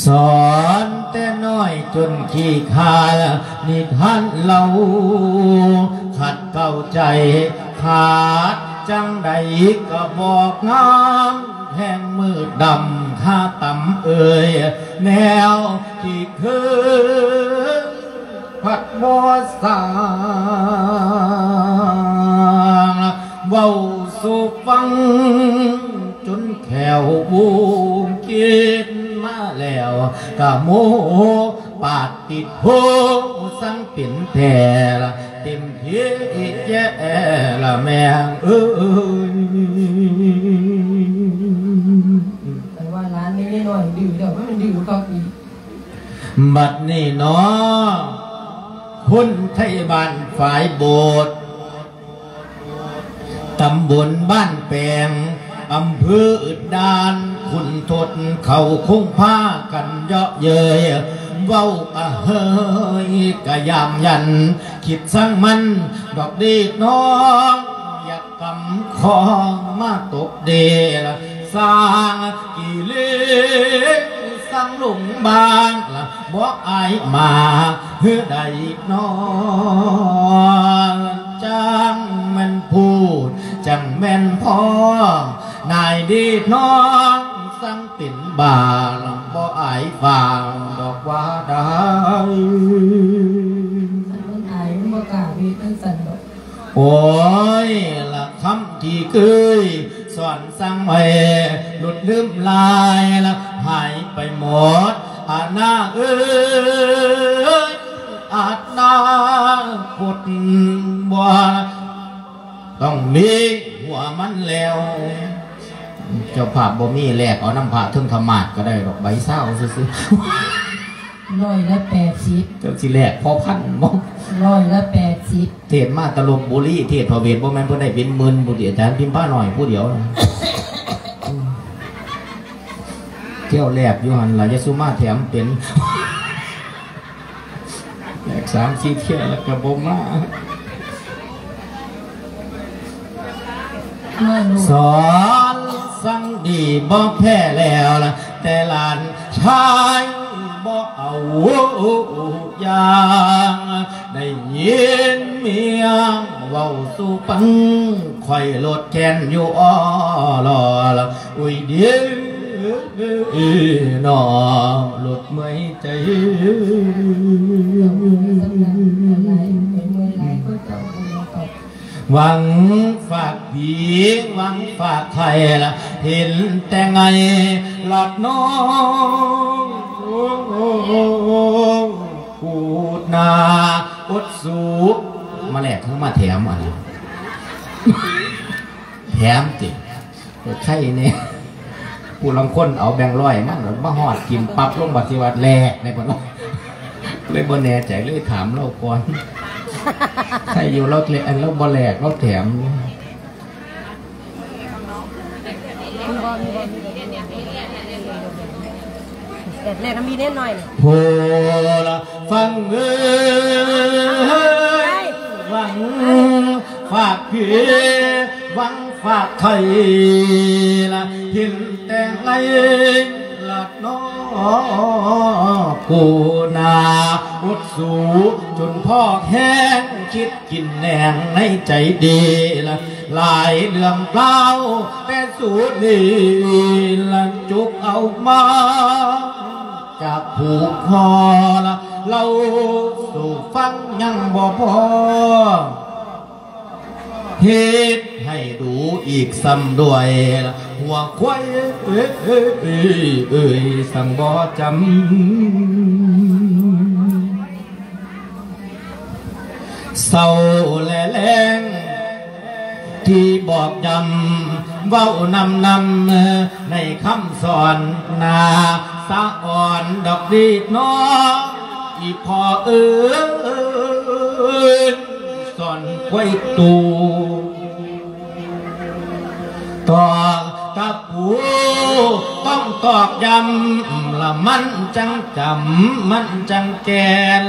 ສອນແຕ່ນ້ອຍຈົນຂີ້ຄ້ານ ນິທານເລົ່າຂັດເກົ້າໃຈ ຂາດຈັ່ງໃດກະບອກງາມ ແຮງມືດດຳຄາຕຳເອີຍ ແນວທີ່ເຄີຍ ພັດບໍ່ສ້າງ ເວົ້າສູ່ຟັງຈົນແຂວວູນ ຄິດມາແລ້ວກະໂມ ປາດຕິດໂທ ສັງເປັນແທ້ລະ ເຕັມທີ່ແຈ້ລະແມ່ເອີຍ ແຕ່ວ່າຫຼານນີ້ນ້ອຍດື້ແລ້ວ ມັນດື້ຄັກອີກ. ບັດນີ້ເນາະ ຄົນໄທບ້ານຝາຍໂບດ ຕຳບົນບ້ານແປງ ອຳເພີອຶດດານ ຂຸນທົດເຂົາຄົງພາກັນເຍາະເຍີ້ຍ ເວົ້າກະເຮີຍກະຢາມຢັນ ຄິດຊັງມັນດອກເດດນ້ອງ ຢາກ ກຳຄອງມາຕົບເດລະ ສ້າງກິເລສສ້າງລົງບາງລະ ບໍ່ອາຍມາເຮືອໃດນອນ ຈັ່ງແມ່ນພູດ ຈັ່ງແມ່ນພໍ່ ນາຍເດດນ້ອງ ສັ່ງເປັນບາງ ບໍ່ອາຍຟາງດອກວ່າໄດ້ ຄັນມັນອາຍມັນບໍ່ກ້າເຮັດຈັ່ງຊັ້ນດອກ. ໂອ້ຍ ລະຄຳທີ່ເຄີຍສອນສັ່ງໄວ້ ຫຼຸດລືມລາຍລະຫາຍໄປໝົດ ອານາເອີຍ ອານາຄົດບໍ່ ຕ້ອງມີຫົວມັນແລ້ວ ເຈົ້າພາບບໍ່ມີ ແລກເອົານຳພະເທິງທຳມາດກະໄດ້ດອກ ໃບຊາວຊື່ໆ. ຮ້ອຍລະແປດສິບ ເຈົ້າຊິແລກພໍພັນບໍ່? ຮ້ອຍລະແປດສິບ ເທດມາແຕ່ລົບບຸລີ ເທດພະເວດ ບໍ່ແມ່ນເພິ່ນໄດ້ເປັນໝື່ນພຸ້ນຕິ ອາຈານພິມພານ້ອຍຜູ້ດຽວ ທ່ຽວແລກຢູ່ຫັ້ນລະ ຢ່າສູ່ມາແຖມເປັນ ແລກສາມສີ່ເທື່ອລະກະບໍ່ມາ. ສອນສັ່ງດີບໍ່ແພ້ແລ້ວລະ ແຕ່ຫຼານຊາຍບໍ່ເອົາຢ່າງ ໄດ້ຍິນເມຍເວົ້າສູ່ຟັງ ຂ້ອຍໂລດແຄ້ນຢູ່ອໍລໍລະ ອຸຍເດ ນອ ລົດເມື່ອຍໃຈ ຫວັງຝາກຜີ ຫວັງຝາກໄຂ່ລະ ເຫັນແຕ່ໄງລະນ້ອງ ກູດໜ້າອົດສູ ມາແລກຄືມາແຖມອັນນີ້ ແຖມຕິ ເອີ ໄຂ່ແດ່ ຜູ້ລາງຄົນເອົາແບງຮ້ອຍມາ ມາຮອດກິນປັບລົງ ບັດຊິວ່າແລກໃນເພິ່ນ ເລີຍບໍ່ແນ່ໃຈ ເລີຍຖາມລາວກ່ອນ ໄຂ່ຢູ່ລາວແລກ ລາວບໍ່ແລກ ລາວແຖມ ແລກນຳມີແນ່ໜ້ອຍ ໂພລະ ຟັງເອີຍ ຫວັງຝາກເພ ຫວັງຝາກໄຂ່ລະ ເຫັນແຕ່ໄລລະນໍ ກູໜ້າອົດສູ ຈົນພໍແຮງຄິດກິນແນງໃນໃຈເດລະ ຫຼາຍເລື່ອງລາວແຕ່ສູນີ້ລະ ຈຸກເອົາມາຈາກຜູ້ພໍ່ລະ ເລົ່າສູ່ຟັງຍັງບໍ່ພໍ ເຮັດໃຫ້ດູອີກຊ້ຳດ້ວຍລະ ຫົວຄວາຍເອີຍ ເອີຍ ເອີຍ ເອີຍ ສັງບໍ່ຈຳ ເຊົ້າແລະແລງ ທີ່ບອກຢ້ຳເວົ້ານຳນຳ ໃນຄຳສອນໜ້າສະອອນດອກດີເນາະ ອີ່ພໍ່ເອີຍ ສອນຄວາຍຕູ ຕອກຕະປູ ຕ້ອງຕອກຢ້ຳ ລະມັນຈັ່ງຈຳ ມັນຈັ່ງແກ່ນ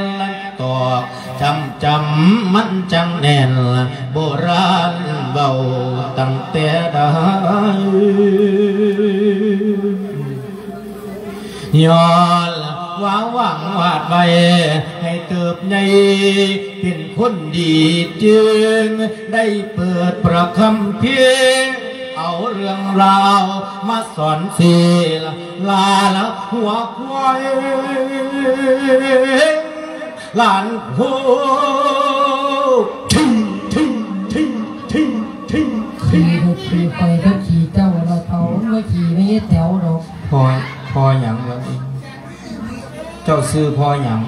ຕອກ ຈຳຈຳມັນຈັ່ງແໜ້ນ ໂບລານເວົ້າຕັ້ງແຕ່ໃດ ຍ້ອນວ່າຫວັງວາດໄວ້ ໃຫ້ເຕີບໃຫຍ່ເປັນຄົນດີ ຈຶ່ງໄດ້ເປີດພະຄຳພີ ເອົາເລື່ອງລາວມາສອນສີລາ ລາລະຫົວຄວາຍ ຫຼານໂພ ທິງ ທິງ ທິງ ທິງ ທິງ ທິງ ຂີ່ລົດຂີ່ໄຟກັບຂີ່ເຈົ້າລະເທົາ ມາຂີ່ແມ່ຍາຍແຕ໋ວດອກ. ພໍ່ ພໍ່ຫຍັງວະນີ້? ເຈົ້າຊື່ພໍ່ຫຍັງ?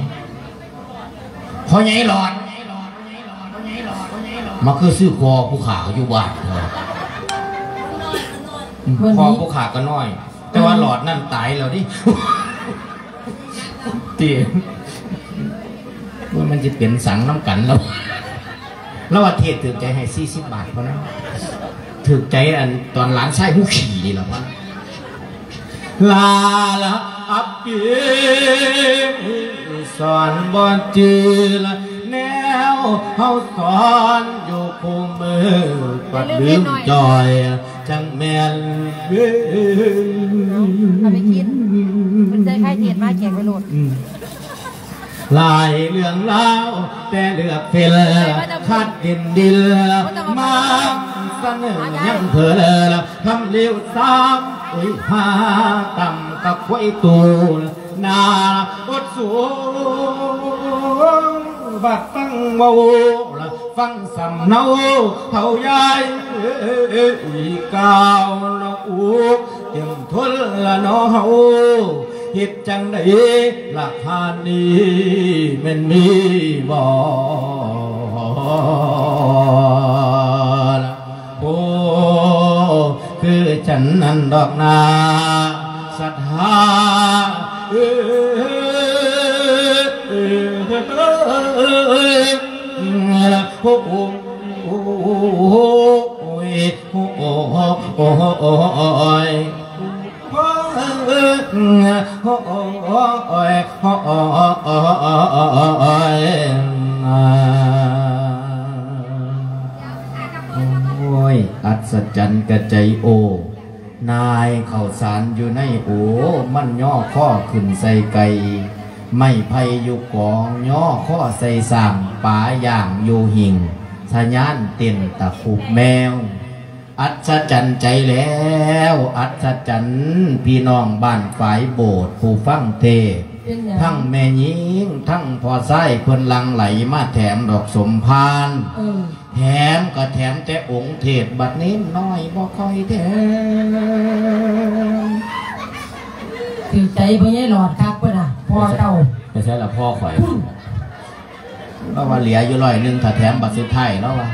ພໍ່ໃຫຍ່ຫຼອດ. ມາຄືຊື່ພໍ່ຜູ້ຂ້າຢູ່ບ້ານ. ພໍ່ຜູ້ຂ້າກໍນ້ອຍ. ແຕ່ວ່າຫຼອດນັ້ນຕາຍແລ້ວເດ້ ຕິ ໂອ້ຍ ມັນຊິເປັນສັງນຳກັນແລ້ວ ລາວວ່າເທດຖືກໃຈໃຫ້ສີ່ສິບບາດເທົ່ານັ້ນ ຖືກໃຈອັນຕອນຫຼານຊາຍຫູຂີ່ນີ້ລະວ່າ ລາລະອັບປີ ສອນບໍ່ຈື່ລະແນວເຮົາສອນຢູ່ຄູ່ມື້ ປັດລືມຈ່ອຍ ຈັ່ງແມ່ນເວີນ ເອົາໄປກິນ ເພິ່ນໃສ່ໄຂ່ທຽນມາແກງໄວ້ໂລດ ອືມ ຫຼາຍເລື່ອງລາວ ແຕ່ເລືອກເຟັນ ຄັດເດັ່ນດິນ ມາສະເໜີຍັງເພີລ ຄຳລຽວສາມ ໂອ້ຍ ຫາຕຳກັບຄວາຍຕູ ໜ້າອົດສູງ ບັດຟັງເວົ້າ ຟັງສຳເນົາເຖົ້າຍາຍ ກ້າວນະອຸກ ເຕັມທົນລະເນາະເຮົາ ເຮັດຈັ່ງໃດລະຄານີ້ ແມ່ນມີບໍ່ລະ ໂອ້ ຄືຈັ່ງນັ້ນດອກນາ ສັດທາ ໂອ້ ໂອ້ ໂອ້ຍ ໂອ້ຍ ໂອ້ຍ ໂອ້ຍ ໂອ້ຍ ອັດສະຈັນກະໃຈໂອ ນາຍເຂົ້າສານຢູ່ໃນໂອ ມັນຍໍຄໍຂຶ້ນໃສ່ໄກ່ ໄມ້ໄຜ່ຢູ່ກອງ ຍໍຄໍໃສ່ຊ້າງ ປາຍ່າງຢູ່ຫິ້ງ ສະຍານເຕັ້ນຕະຄຸບແມວ. ອັດສະຈັນໃຈແລ້ວ ອັດສະຈັນ ພີ່ນ້ອງບ້ານຝາຍໂບດ ຜູ້ຟັງເທດ ເປັນຫຍັງ? ທັງແມ່ຍິງ ທັງພໍ່ຊາຍ ເພິ່ນຫຼັ່ງໄຫຼມາແຖມດອກສົມພານ ເອີ ແຖມກໍແຖມແຕ່ອົງເທດ ບັດເນນນ້ອຍບໍ່ຄ່ອຍແຖມ. ຖືກໃຈພໍ່ໃຫຍ່ຫຼອດຄັກເພິ່ນນະ ພໍ່ເຈົ້າ. ໄປໃສລະພໍ່ຂ້ອຍ? ພຸ້ນ ລາວວ່າເຫຼືອຢູ່ຮ້ອຍໜຶ່ງ ຖ້າແຖມບັດສຸດທ້າຍ ລາວວ່າ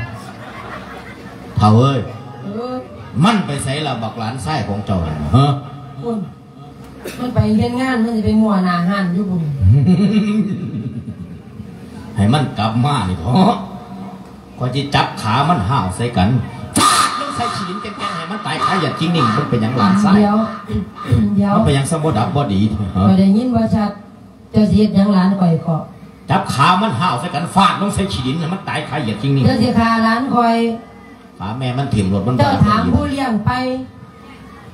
ເຖົ້າເອີຍ ເອີ ມັນໄປໃສລະ ບັກຫຼານຊາຍຂອງເຈົ້າຫັ້ນ? ເຮີ ພຸ້ນ ມັນໄປເຮັດງານ ມັນຊິໄປມົວໜ້າຮ້ານຢູ່ພຸ້ນ. ໃຫ້ມັນກັບມານີ້ເຖາະ ຂ້ອຍຊິຈັບຂາມັນຫ້າວໃສ່ກັນ ຟາດລົງໃສ່ຂີ້ດິນແກ່ງໆ ໃຫ້ມັນຕາຍຄາຢາດຈິງນີ້. ມັນເປັນຫຍັງຫຼານຊາຍ? ດຽວ ດຽວ ມັນເປັນຫຍັງຊະບໍ່ດັບບໍ່ດີ? ເອີ ຂ້ອຍໄດ້ຍິນບໍ່ຊັດ ເຈົ້າຊິເຮັດຫຍັງຫຼານຂ້ອຍເກາະ? ຈັບຂາມັນຫ້າວໃສ່ກັນ ຟາດລົງໃສ່ຂີ້ດິນ ໃຫ້ມັນຕາຍຄາຢາດຈິງນີ້. ເຈົ້າຊິຂ້າຫຼານຂ້ອຍ? ຂ້າແມ່ມັນຖິ້ມໂລດ ມັນ ເຈົ້າຖາມຜູ້ລ້ຽງໄປ?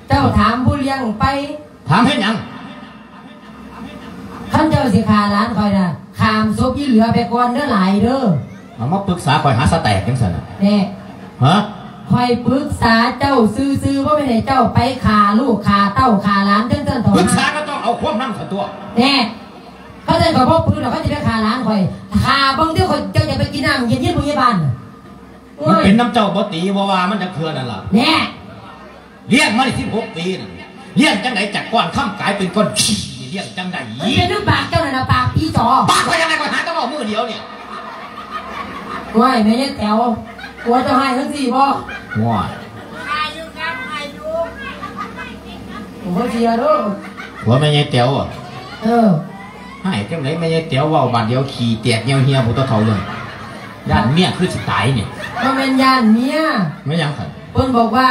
ເຈົ້າຖາມຜູ້ລ້ຽງໄປ? ຖາມເຮັດຫຍັງ? ຄັນເຈົ້າຊິຂ້າຫຼານຂ້ອຍນະ ຂ້າມສົບອີເຫຼືອໄປກ່ອນເດີ ຫຼາຍເດີ. ເອົາມາປຶກສາຂ້ອຍຫາສະແຕກຈັ່ງຊັ້ນນະ. ແນ່ ຮະ? ຂ້ອຍປຶກສາເຈົ້າຊື່ໆ ບໍ່ແມ່ນໃຫ້ເຈົ້າໄປຂ້າລູກຂ້າເຕົ້າຂ້າຫຼານຈັ່ງຊັ້ນເຖາະ. ປຶກສາກໍຕ້ອງເອົາຄວາມນຳຊັ້ນຕົວະ. ແນ່ ເຂົາເຈົ້າກໍບໍ່ປຶກດອກ ເຂົາຊິໄປຂ້າຫຼານຂ້ອຍ. ຖ້າເບິ່ງເດີ ຂ້ອຍ ເຈົ້າຈະໄປກິນນ້ຳເຢັນຢູ່ໂຮງພະຍາບານ. ມັນເປັນນຳເຈົ້າບໍ່ຕີບໍ່ວ່າມັນຈັກເທື່ອນັ້ນລະ. ແນ່ ລ້ຽງມາໄດ້ສິບຫົກປີນັ້ນ ລ້ຽງຈັ່ງໃດຈາກກ້ອນຄຳກາຍເປັນກ້ອນຂີ້ ລ້ຽງຈັ່ງໃດ? ມັນເປັນນຳປາກເຈົ້ານັ້ນລະ ປາກຜີຈໍ. ປາກຂ້ອຍຈັ່ງໃດ ຂ້ອຍຫາແຕ່ເວົ້າມື້ດຽວນີ້. ໂອ້ຍ ແມ່ຍາຍແຕ໋ວ ຜົວເຈົ້າຮ້າຍຈັ່ງຊີ້ບໍ່? ໂອ້ຍ ຂ້າຢູ່ກັບ ຂ້າຢູ່ ໂອ້ຍ ເສຍເດີ້ ຜົວແມ່ໃຫຍ່ແຕວ ເອີ ໃຫ້ຈັ່ງໃດ ແມ່ໃຫຍ່ແຕວເວົ້າບາດດຽວຂີ້ແຕກຍ່ຽວເຫ່ຍ ຜູ້ເຖົ້າເລື່ອງ ຢ້ານເມຍຄືຊິຕາຍນີ້ ບໍ່ແມ່ນຢ້ານເມຍ ແມ່ນຫຍັງຊັ້ນ ເພິ່ນບອກວ່າ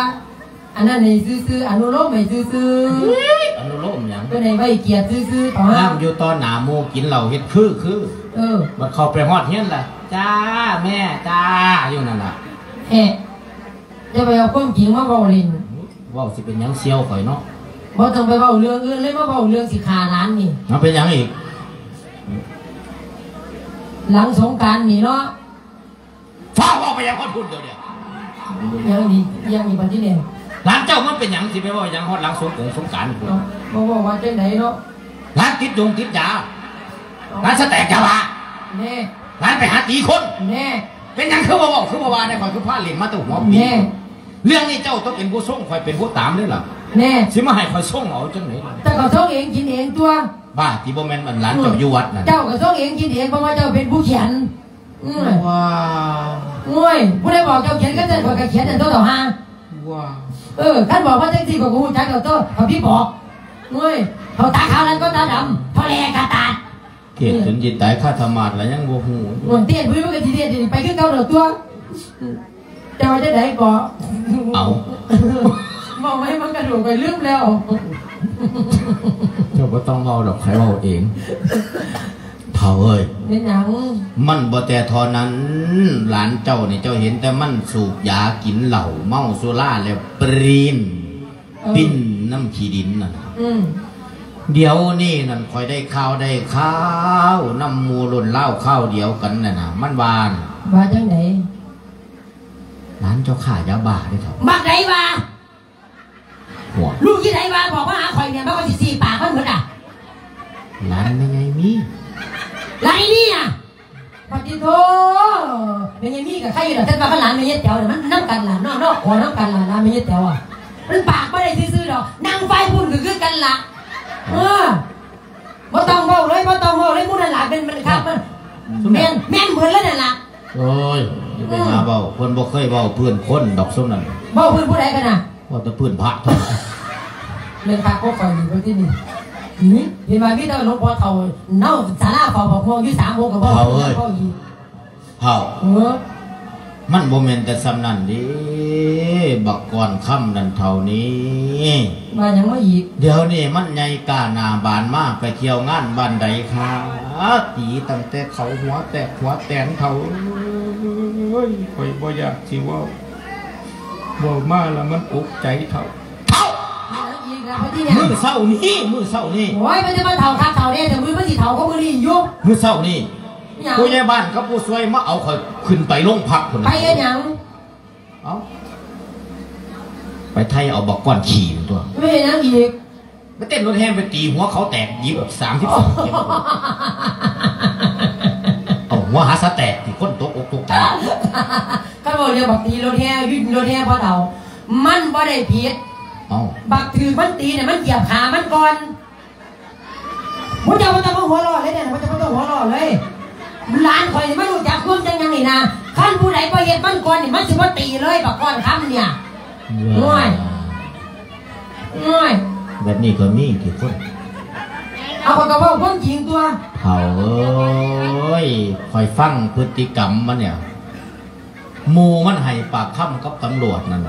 ອັນນັ້ນໃຫ້ຊື່ໆ ອະນຸໂລມໃຫ້ຊື່ໆ ເຮີ້ຍ ອະນຸໂລມຫຍັງ ເພິ່ນໃຫ້ໄວ້ກຽດຊື່ໆ ຕອນນັ້ນຢູ່ຕໍ່ໜ້າໝູ່ກິນເຫຼົ້າເຮັດຄືໆ ເອີ ບັດເຂົ້າໄປຮອດເຮືອນລະ ຈ້າແມ່ ຈ້າ ຢູ່ນັ້ນລະ ແຮະ ຢ່າໄປເອົາຄວາມຈິງມາເວົ້າຫຼິ້ນ ເວົ້າຊິເປັນຫຍັງສ່ຽວຂ້ອຍເນາະ ບໍ່ຕ້ອງໄປເວົ້າເລື່ອງອື່ນເລີຍ ມາເວົ້າເລື່ອງຊິຂ້າຫຼານນີ້ ເອົາເປັນຫຍັງອີກ ຫຼັງສົງການນີ້ເນາະ ຟ້າວເວົ້າໄປຫຍັງຮອດພຸ້ນດຽວນີ້ ຫຍັງອີກ ຫຍັງອີກບັດນີ້ແຫຼະ ຫຼານເຈົ້າມັນເປັນຫຍັງຊິໄປເວົ້າຫຍັງຮອດຫຼັງສົງກົງສົງການພຸ້ນ ເອົ້າ ບໍ່ເວົ້າວ່າຈັ່ງໃດເນາະ ຫຼານຕິດຢົງຕິດຢາ ເອົ້າ ຫຼານສະແຕກຢາບ້າ ແນ່ ຫຼານໄປຫາຕີຄົນ ແນ່ ເປັນຫຍັງຄືບໍ່ເວົ້າ ຄືບໍ່ວ່າແດ່ ຂ້ອຍຄືພາຫຼິ້ນມາແຕ່ຫົວປີ ແນ່ ເລື່ອງນີ້ເຈົ້າຕ້ອງເປັນຜູ້ຊົງ ຂ້ອຍເປັນຜູ້ຕາມເດ້ລະ ແນ່ ຊິມາໃຫ້ຂ້ອຍຊົງເອົາຈັ່ງໃດ ເຈົ້າກໍຊົງເອງກິນເອງຕົວະ ບ້າຕິ ບໍ່ແມ່ນອັນຫຼານເຈົ້າຢູ່ວັດນັ້ນ ເຈົ້າກໍຊົງເອງກິນເອງ ເພາະວ່າເຈົ້າເປັນຜູ້ຂຽນ ອືມ ວ້າ ໂອ້ຍ ຜູ້ໃດບອກເຈົ້າຂຽນ ຄັນຊັ້ນຂ້ອຍກໍຂຽນນັ້ນຕົວະ ເຖົ້າຫ່າ ວ້າ ເອີ ຄັນບອກມາຈັ່ງຊີ້ ຂ້ອຍກໍຮູ້ຈັກແລ້ວຕົວະ ຂ້ອຍພິບອກ ໂອ້ຍ ເຂົາຕາຂາວນັ້ນກໍຕາດຳ ເຖົ້າແຫຼກະຕາດ ເທດຈົນຊິຕາຍຄາທະໝາດລະຍັງບໍ່ຮູ້ ໂອ້ຍ ເທດຜູ້ໃດມັນກໍຊິເທດໄປຄືເກົ່າແລ້ວຕົວະ ເຈົ້າວ່າຈັ່ງໃດເກາະ ເອົ້າ ເວົ້າໄວ້ມັນກະດູກໄປລືມແລ້ວ ເຈົ້າບໍ່ຕ້ອງເວົ້າດອກ ຂ້ອຍເວົ້າເອງ ເຖົ້າເອີຍ ແມ່ນຫຍັງ? ມັນບໍ່ແຕ່ເທົ່ານັ້ນ ຫຼານເຈົ້ານີ້ ເຈົ້າເຫັນແຕ່ມັນສູບຢາກິນເຫຼົ້າ ເມົາສຸລາແລ້ວປຣີນ ເອີ ປິ່ນນຳຂີ້ດິນນັ້ນ ອືມ ດຽວນີ້ນັ້ນ ຂ້ອຍໄດ້ຂ່າວ ໄດ້ຂ່າວນຳໝູ່ລຸ້ນລາວຄາວດຽວກັນນັ້ນນະ ມັນວ່າ ວ່າຈັ່ງໃດ? ຫຼານເຈົ້າຄ້າຢາບ້າເດ້ເຖົ້າ ບັກໃດວ່າ? ຫົວ ລູກອີ່ໃດວ່າ ບອກມາຫາຂ້ອຍແດ່ ມັນກໍຊິສີປາກມັນໝົດອະ ຫຼານແມ່ໃຫຍ່ມີ ຫຼານອີ່ນີ້ອະ ປະຕິໂທ ແມ່ໃຫຍ່ມີກໍໃຄຢູ່ດອກ ແຕ່ວ່າຄັນຫຼານແມ່ໃຫຍ່ແຕວນີ້ ມັນນຳກັນລະເນາະ ເນາະ ຂໍນຳກັນລະ ຫຼານແມ່ໃຫຍ່ແຕວອະ ມັນປາກບໍ່ໄດ້ຊື່ໆດອກ ນາງຝ່າຍພຸ້ນກໍຄືກັນລະ ເອີ ບໍ່ຕ້ອງເວົ້າເລີຍ ບໍ່ຕ້ອງເວົ້າເລີຍ ໝູ່ນັ້ນລະແມ່ນ ແມ່ນຄັກ ແມ່ນ ແມ່ນເບິດເລີຍນັ້ນລະ ໂອ້ຍ ຢ່າໄປຫາເວົ້າ ເພິ່ນບໍ່ເຄີຍເວົ້າພື້ນຄົນດອກ ຊຸມນັ້ນ ເວົ້າພື້ນຜູ້ໃດກັນນະ? ເວົ້າແຕ່ພື້ນພະ ແມ່ນພະກໍຂ້ອຍຢູ່ເບິດທີ່ນີ້ ຫື ເຫັນວ່າມີແຕ່ຫຼວງພໍ່ເຖົ້າ ເນົາສາລາເຝົ້າບັກມ່ວງຢູ່ສາມອົງ ກໍເວົ້າ ເຖົ້າເອີຍ ເວົ້າອີກ ເຖົ້າ ເອີ ມັນບໍ່ແມ່ນແຕ່ສ່ຳນັ້ນເດ້ ບັກກ້ອນຄຳນັ້ນເຖົ້ານີ້ ວ່າຫຍັງມາອີກ? ດຽວນີ້ມັນໃຫຍ່ກ້າໜ້າບານມາ ໄປທ່ຽວງານບ້ານໃດຄະ ຕີຕັ້ງແຕ່ເຂົາຫົວແຕກຫົວແຕນ ເຖົ້າເອີຍ ຂ້ອຍບໍ່ຢາກຊິເວົ້າ ເວົ້າມາລະມັນອົກໃຈ ເຖົ້າ ເຖົ້າ ອີກແລ້ວ ມື້ເຊົ້ານີ້ ມື້ເຊົ້ານີ້ ໂອ້ຍ ມັນຈະມາເຖົ້າຄັກເຖົ້າແນ່ ແຕ່ມື້ມັນຊິເຖົ້າກວ່າມື້ນີ້ຢູ່ ມື້ເຊົ້ານີ້ ຫຍັງ? ຜູ້ໃຫຍ່ບ້ານກັບຜູ້ຊ່ວຍມາເອົາຂ້ອຍຂຶ້ນໄປໂລງພັກພຸ້ນນະ ໄປເຮັດຫຍັງ? ເອົ້າ ໄປໄຖ່ເອົາບັກກ້ອນຂີ້ນັ້ນຕົວະ ໄປເຮັດຫຍັງອີກ? ໄປເຕັ້ນລົດແຫ່ໄປຕີຫົວເຂົາແຕກ ຍິບສາມສິບສອງເຂັມ ເອົາຫົວຫາສະແຕກ ທີ່ຄົນຕົກອົກຕົກໃຈ ຄັນເວົ້າເລື່ອງບັກຕີລົດແຫ່ ຢູ່ລົດແຫ່ພໍ່ເຖົ້າ ມັນບໍ່ໄດ້ຜິດ ເອົ້າ ບັກຖືກມັນຕີນະ ມັນຢຽບຂາມັນກ່ອນ ພວກເຈົ້າບໍ່ຕ້ອງມາຫົວເລາະເລີຍເດ້ ພວກເຈົ້າບໍ່ຕ້ອງຫົວເລາະເລີຍ ຫຼານຂ້ອຍນີ້ມັນຮູ້ຈັກຄວາມຈັກຫຍັງນີ້ນະ ຄັນຜູ້ໃດບໍ່ເຮັດມັນກ່ອນນີ້ ມັນຊິບໍ່ຕີເລີຍ ບັກກ້ອນຄຳນີ້ ໂອ້ຍ ໂອ້ຍ ແບບນີ້ກໍມີຕິຄົນ ເອົາ ຂ້ອຍກໍເວົ້າຄວາມຈິງຕົວະ ເຖົ້າເອີຍ ຂ້ອຍຟັງພຶດຕິກຳມັນນີ້ ໝູ່ມັນໃຫ້ປາກຄຳກັບຕຳຫຼວດນັ້ນ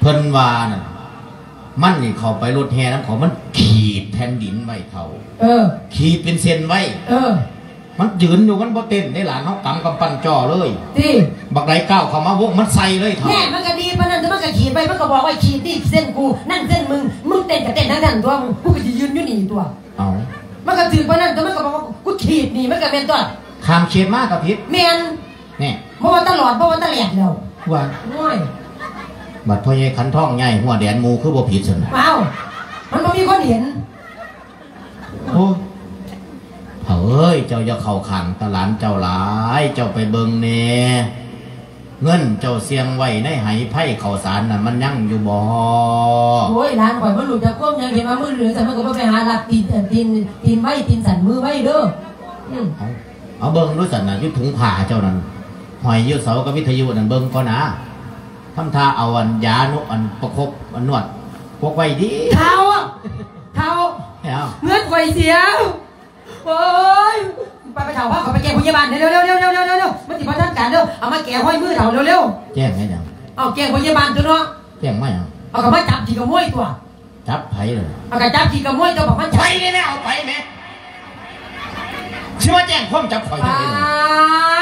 ເພິ່ນວ່ານັ້ນ ມັນນີ້ເຂົ້າໄປລົດແຫ່ນຳເຂົາ ມັນຂີດແຜ່ນດິນໄວ້ເຖົ້າ ເອີ ຂີດເປັນເສັ້ນໄວ້ ເອີ ມັນຢືນຢູ່ ມັນບໍ່ເຕັ້ນເດ້ຫຼານ ເຮົາກຳກຳປັ່ນຈໍ້ເລີຍ ຕິ ບັກໃດກ້າວເຂົ້າມາວົງ ມັນໃສ່ເລີຍເຖົ້າ ແນ່ ມັນກໍດີປານນັ້ນ ແຕ່ມັນກໍຂີດໄວ້ ມັນກໍບອກວ່າ ຂີດນີ້ເສັ້ນກູ ນັ້ນເສັ້ນມຶງ ມຶງເຕັ້ນກໍເຕັ້ນທາງນັ້ນຕົວະ ກູກໍຊິຢືນຢູ່ນີ້ຕົວະ ເອົ້າ ມັນກໍຖືກປານນັ້ນ ແຕ່ມັນກໍບອກວ່າ ກູຂີດນີ້ ມັນກໍແມ່ນຕົວະ ຂ້າມເຂດມາກໍຜິດ ແມ່ນ ແນ່ ບໍ່ວ່າຕະຫຼອດ ບໍ່ວ່າຕະແຫຼດແລ້ວ ວ່າ ໂອ້ຍ ບັດພໍ່ໃຫຍ່ຂັນທອງຍ້າຍຫົວແດນໝູ່ຄືບໍ່ຜິດຊັ້ນນະ ອ້າວ ມັນບໍ່ມີຄົນເຫັນ ໂອ້ ເຖົ້າເອີຍ ເຈົ້າຢ່າເຂົ້າຂ້າງຕາຫຼານເຈົ້າຫຼາຍ ເຈົ້າໄປເບິ່ງແດ່ ເງິນເຈົ້າສ່ຽງໄວ້ໃນໄຫໄພເຂົ້າສານນັ້ນ ມັນຍັງຢູ່ບໍ່? ໂອ້ຍ ຫຼານຂ້ອຍມັນຮູ້ຈັກຄວາມຫຍັງ ເຫັນວ່າມືເຫຼືອຊັ້ນ ມັນກໍບໍ່ໄປຫາລັກຕີນ ຕີນ ຕີນໄວ ຕີນສັ້ນມືໄວເດີ ອືມ ເອົາ ເອົາເບິ່ງດູຊັ້ນນະ ຢູ່ຖົງຜ້າເຈົ້ານັ້ນ ຫ້ອຍຢູ່ເສົາກັບວິທະຍຸນັ້ນ ເບິ່ງກ່ອນນາ. ທຳທ່າເອົາອັນຢານົກ ອັນປະຄົບ ອັນນວດ ປົກໄວ້ດີ. ເຖົ້າ ເຖົ້າ ແລ້ວ ເງິນຂ້ອຍເສຍ. ໂອ້ຍ ໄປ ໄປເຖົ້າ ພາຂ້ອຍໄປແຈ້ງພະຍາບານເດີ ເລັວໆ ມັນຊິບໍ່ທັນການເດີ. ເອົາມາແກ້ຮອຍມືເຖົ້າເລັວໆ. ແຈ້ງເຮັດຫຍັງ? ເອົາແຈ້ງພະຍາບານຕົວະເນາະ. ແຈ້ງມາຫຍັງ? ເອົາກໍມາຈັບຂີ້ຂະໂມຍຕົວະ. ຈັບໃຜລະ? ເອົາກໍຈັບຂີ້ຂະໂມຍຕົວະ ບັກມັນ. ໄປແດ່ແມ່ ເອົາໄປແມ່. ຊິມາແຈ້ງຄວາມຈັບຂ້ອຍຈັ່ງໃດ? ປ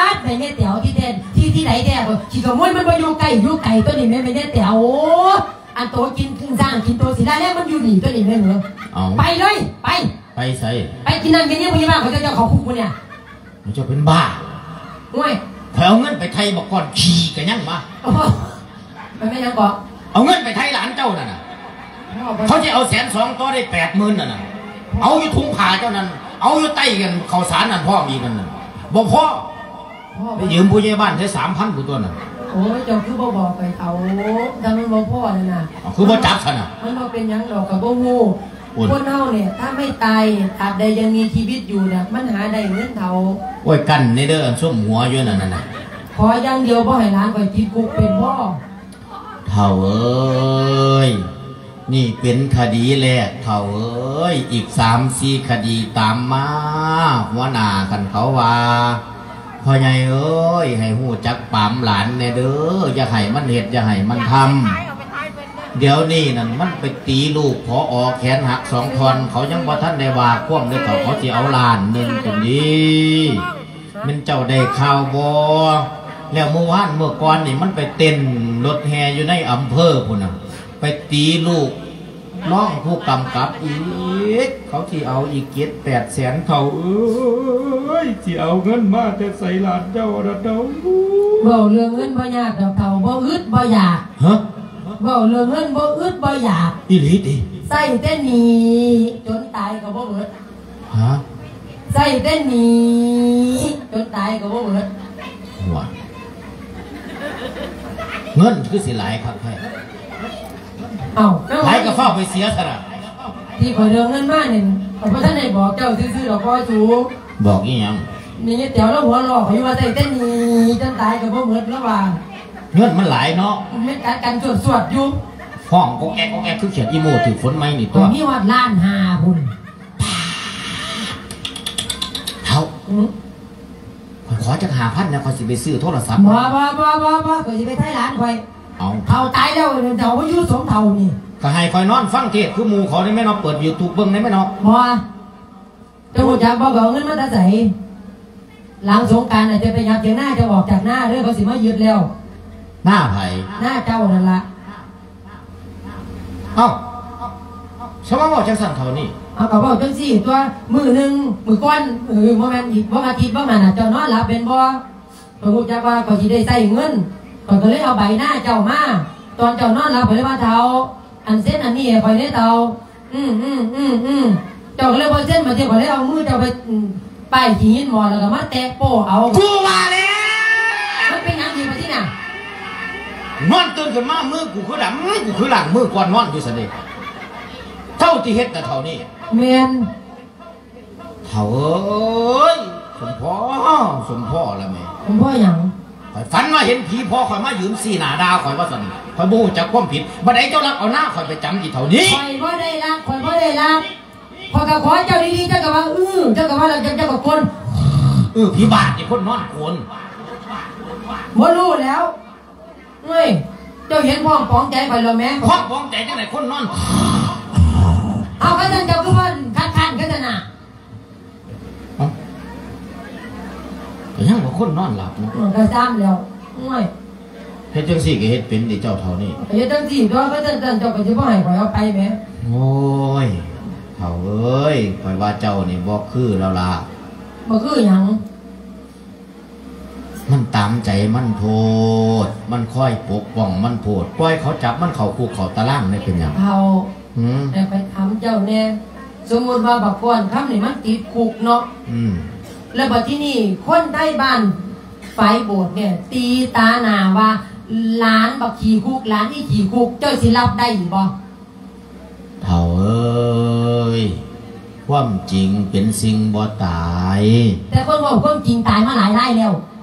າດ ແມ່ນຍາຍແຕວທີ່ແທ້ ທີ່ ທີ່ໃດແທ້? ຂີ້ຂະໂມຍມັນບໍ່ຢູ່ໃກ້ ຢູ່ໄກຕົວະນີ້ແມ່ ແມ່ນຍາຍແຕວ. ໂອ້ ອັນໂຕກິນ ກິນສ້າງ ກິນໂຕສີລາແລງ ມັນຢູ່ນີ້ຕົວະນີ້ແມ່ນເອີ. ເອົາ ໄປເລີຍ ໄປ. ໄປໃສ? ໄປກິນນ້ຳກິນເນຍ ພະຍາບານ ເຂົາເຈົ້າເຂົ້າຄຸກພຸ້ນນະ. ເຈົ້າເປັນບ້າ. ໂອ້ຍ ຂ້ອຍເອົາເງິນໄປໄຖ່ບັກກ້ອນຂີ້ກະຍັງມາ. ໂອ້ ມັນແມ່ນຫຍັງເກາະ? ເອົາເງິນໄປໄຖ່ຫຼານເຈົ້ານັ້ນນະ. ເຂົາຊິເອົາແສນສອງ ຕໍ່ໄດ້ແປດໝື່ນນັ້ນນະ. ເອົາຢູ່ຖົງຜ້າເຈົ້ານັ້ນ ເອົາຢູ່ໃຕ້ອັນເຂົ້າສານນັ້ນພ້ອມອີກນັ້ນນະ. ບໍ່ພໍ ໄປຢືມຜູ້ໃຫຍ່ບ້ານໃຊ້ສາມພັນພຸ້ນຕົວະນັ້ນ. ໂອ້ຍ ເຈົ້າຄືບໍ່ບອກຂ້ອຍເຖົ້າ ຖ້າມັນບໍ່ພໍນັ້ນນະ. ເອົາ ຄືບໍ່ຈັບຊັ້ນນະ? ມັນບໍ່ເປັນຫຍັງດອກ ກໍບໍ່ຮູ້. ຄົນເຮົານີ້ ຖ້າໄມ່ຕາຍ ຕາບໃດຍັງມີຊີວິດຢູ່ນະ ມັນຫາໄດ້ເງິນເຖົ້າ. ໂອ້ຍ ກັນແດ່ເດີ ອັນຊຸມຫົວຢູ່ນັ້ນນະ. ຂໍຢ່າງດຽວ ບໍ່ໃຫ້ຫຼານຂ້ອຍຕິດຄຸກເປັນພໍ. ເຖົ້າເອີຍ ນີ້ເປັນຄະດີແລກ ເຖົ້າເອີຍ. ອີກສາມສີ່ຄະດີຕາມມາ ຫົວໜ້າ ຄັນເຂົາວ່າ ພໍ່ໃຫຍ່ເອີຍ ໃຫ້ຮູ້ຈັກປາມຫຼານແດ່ເດີ ຢ່າໃຫ້ມັນເຮັດ ຢ່າໃຫ້ມັນທຳ. ດຽວນີ້ນັ້ນມັນໄປຕີລູກ ຜອ ແຂນຫັກສອງທ່ອນ ເຂົາຍັງບໍ່ທັນໄດ້ວ່າຄວາມເລີຍ ເຂົາ ເຂົາຊິເອົາລ້ານໜຶ່ງພຸ້ນເດ. ແມ່ນເຈົ້າໄດ້ຂ່າວບໍ່? ແລ້ວມື້ວານມື້ກ່ອນນີ້ ມັນໄປເຕັ້ນລົດແຫ່ຢູ່ໃນອຳເພີພຸ້ນນະ ໄປຕີລູກ ລອງຜູ້ກຳກັບອີກ ເຂົາຊິເອົາອີກເຈັດແປດແສນ ເຖົ້າເອີຍ ຊິເອົາເງິນມາແຕ່ໃສຫຼານເຈົ້ານະເຖົ້າ? ເວົ້າເລື່ອງເງິນບໍ່ຍາກດອກເຖົ້າ ບໍ່ອຶດບໍ່ຢາກ. ຮະ? ເວົ້າເລື່ອງເງິນບໍ່ອຶດບໍ່ຢາກ. ອີ່ຫຼີຕິ? ໃຊ້ແຕ່ໜີ້ ຈົນຕາຍກໍບໍ່ເໝິດ. ຮະ? ໃຊ້ແຕ່ໜີ້ ຈົນຕາຍກໍບໍ່ເໝິດ. ຫົວ ເງິນຄືຊິຫຼາຍຄັກແທ້. ເອົ້າ ຫຼາຍກໍຟ້າວໄປເສຍຊະນະ. ທີ່ຂ້ອຍເລື່ອງເງິນມານີ້ ຂ້ອຍບໍ່ທັນໄດ້ບອກເຈົ້າຊື່ໆດອກພໍ່ສູ. ບອກອີ່ຫຍັງ? ນີ້ຍາຍແຕວລາວຫົວເລາະຂ້ອຍຢູ່ວ່າ ໃຊ້ແຕ່ໜີ້ຈົນຕາຍກໍບໍ່ເໝິດລາວວ່າ. ເງິນມັນຫຼາຍເນາະ. ແມ່ນກັດກັນສວດໆຢູ່ ຮ້ອງກອກແກກກອກແກກຄືຂຽດອີໂມຖືກຝົນໃໝ່ນີ້ຕົວະ. ມີຮອດລ້ານຫ້າພຸ້ນ. ເຖົ້າ ອືມ ຂ້ອຍຂໍຈັກຫ້າພັນແດ່ ຂ້ອຍຊິໄປຊື້ໂທລະສັບ. ບໍ່ ບໍ່ ບໍ່ ບໍ່ ຂ້ອຍຊິໄປໄຖ່ຫຼານຂ້ອຍ. ເອົາ ເຖົ້າຕາຍແລ້ວ ເຖົ້າມາຢູ່ສົມເຖົ້ານີ້ ກໍໃຫ້ຂ້ອຍນອນຟັງເທດຄືໝູ່ເຂົານີ້ແມ່ນເນາະ ເປີດຢູທູບເບິ່ງໄດ້ແມ່ນເນາະ. ບໍ່ ເຈົ້າຮູ້ຈັກບໍ່ ເຂົາເອົາເງິນມາແຕ່ໃສ? ຫຼັງສົງການນະ ຈະໄປຫຍັບຖຽງນາ ເຈົ້າອອກຈາກນາເດີ ເຂົາຊິມາຍຶດແລ້ວ. ນາໃຜ? ນາເຈົ້ານັ້ນລະ. ເອົ້າ ສະມາເວົ້າຈັ່ງຊັ້ນເທົ່ານີ້? ເອົາ ກໍເວົ້າຈັ່ງຊີ້ຕົວະ ມື້ໜຶ່ງ ມື້ກ່ອນ ເອີ ບໍ່ແມ່ນອີກ ບໍ່ອາທິດບໍ່ຫັ້ນນະ ເຈົ້ານອນຫຼັບແມ່ນບໍ່? ຂ້ອຍຮູ້ຈັກວ່າຂ້ອຍຊິໄດ້ໃຊ້ເງິນ ຂ້ອຍກໍເລີຍເອົາໃບນາເຈົ້າມາ. ຕອນເຈົ້ານອນຫຼັບ ຂ້ອຍເລີຍວ່າ ເຖົ້າ ອັນເຊັນອັນນີ້ໃຫ້ຂ້ອຍແດ່ເຖົ້າ. ອືມໆໆໆ ເຈົ້າກໍເລີຍບໍ່ເຊັນ. ບາດນີ້ຂ້ອຍເລີຍເອົາມືເຈົ້າໄປ ອືມ ປ້າຍຂີ້ຫີນໝໍ້ ແລ້ວກໍມາແຕະໂປ້ເອົາ. ກູວ່າແລ້ວ ມັນເປັນຫຍັງອີກບາດນີ້ນະ? ນອນຕື່ນຂຶ້ນມາ ມືກູຄືດຳ ກູຄືລ້າງມືກ່ອນນອນຢູ່ຊັ້ນເດ. ເຖົ້າທີ່ເຮັດນະເຖົ້ານີ້. ແມ່ນ. ເຖົ້າເອີຍ ສົມພໍ ສົມພໍລະແມ່. ສົມພໍຫຍັງ? ຂ້ອຍຝັນວ່າເຫັນຜີພໍ່ຂ້ອຍມາຢືນຊີ້ໜ້າດ່າຂ້ອຍວ່າຊັ້ນ. ຂ້ອຍບໍ່ຮູ້ຈັກຄວາມຜິດ. ບັດໃດເຈົ້າລັກເອົານາຂ້ອຍໄປຈຳອີເຖົ້ານີ້? ຂ້ອຍບໍ່ໄດ້ລັກ ຂ້ອຍບໍ່ໄດ້ລັກ. ຂ້ອຍກໍຂໍເຈົ້າດີໆ ເຈົ້າກໍວ່າ ອື ເຈົ້າກໍວ່າ ແລ້ວເຈົ້າກໍກົນ. ເອີ ຜີບ້າຕິ ຄົນນອນກົນ. ບໍ່ຮູ້ແລ້ວ. ເອີຍ ເຈົ້າເຫັນພ້ອມປອງໃຈຂ້ອຍແລ້ວແໝ່. ພ້ອມປອງໃຈຈັ່ງໃດ ຄົນນອນ. ເອົາ ຄັນຊັ້ນເຈົ້າຄືວ່າຄັດຄ້ານກັນຊັ້ນນະ? ເອົ້າ ກໍຍັງວ່າຄົນນອນຫຼັບເນາະ. ເອີ ກໍຊ້ຳແລ້ວ. ໂອ້ຍ ເຮັດຈັ່ງຊີ້ກໍເຮັດເປັນຕິເຈົ້າເຖົ້ານີ້? ກໍເຮັດຈັ່ງຊີ້ຕົວະ ຄັນຊັ້ນເຈົ້າກໍຊິບໍ່ໃຫ້ຂ້ອຍເອົາໄປແໝ່. ໂອ້ຍ ເຖົ້າເອີຍ ຂ້ອຍວ່າເຈົ້ານີ້ບໍ່ຄືແລ້ວລະ. ບໍ່ຄືຫຍັງ? ມັນຕາມໃຈມັນໂພດ ມັນຄອຍປົກປ້ອງມັນໂພດ ປ່ອຍເຂົາຈັບມັນເຂົ້າຄຸກເຂົ້າຕາລາງໄດ້ເປັນຫຍັງ? ເຖົ້າ ຫືມ ແຕ່ຂ້ອຍຖາມເຈົ້າແດ່ ສົມມຸດວ່າບັກກ້ອນຄຳນີ້ມັນຕິດຄຸກເນາະ ອືມ ແລ້ວບັດທີນີ້ຄົນໄທບ້ານຝາຍໂບດນີ້ຕີຕາໜ້າວ່າ ຫຼານບັກຂີ້ຄຸກ ຫຼານອີຂີ້ຄຸກ ເຈົ້າຊິຮັບໄດ້ບໍ່? ເຖົ້າເອີຍ ຄວາມຈິງເປັນສິ່ງບໍ່ຕາຍ. ແຕ່ຄົນເວົ້າຄວາມຈິງຕາຍມາຫຼາຍລາຍແລ້ວ.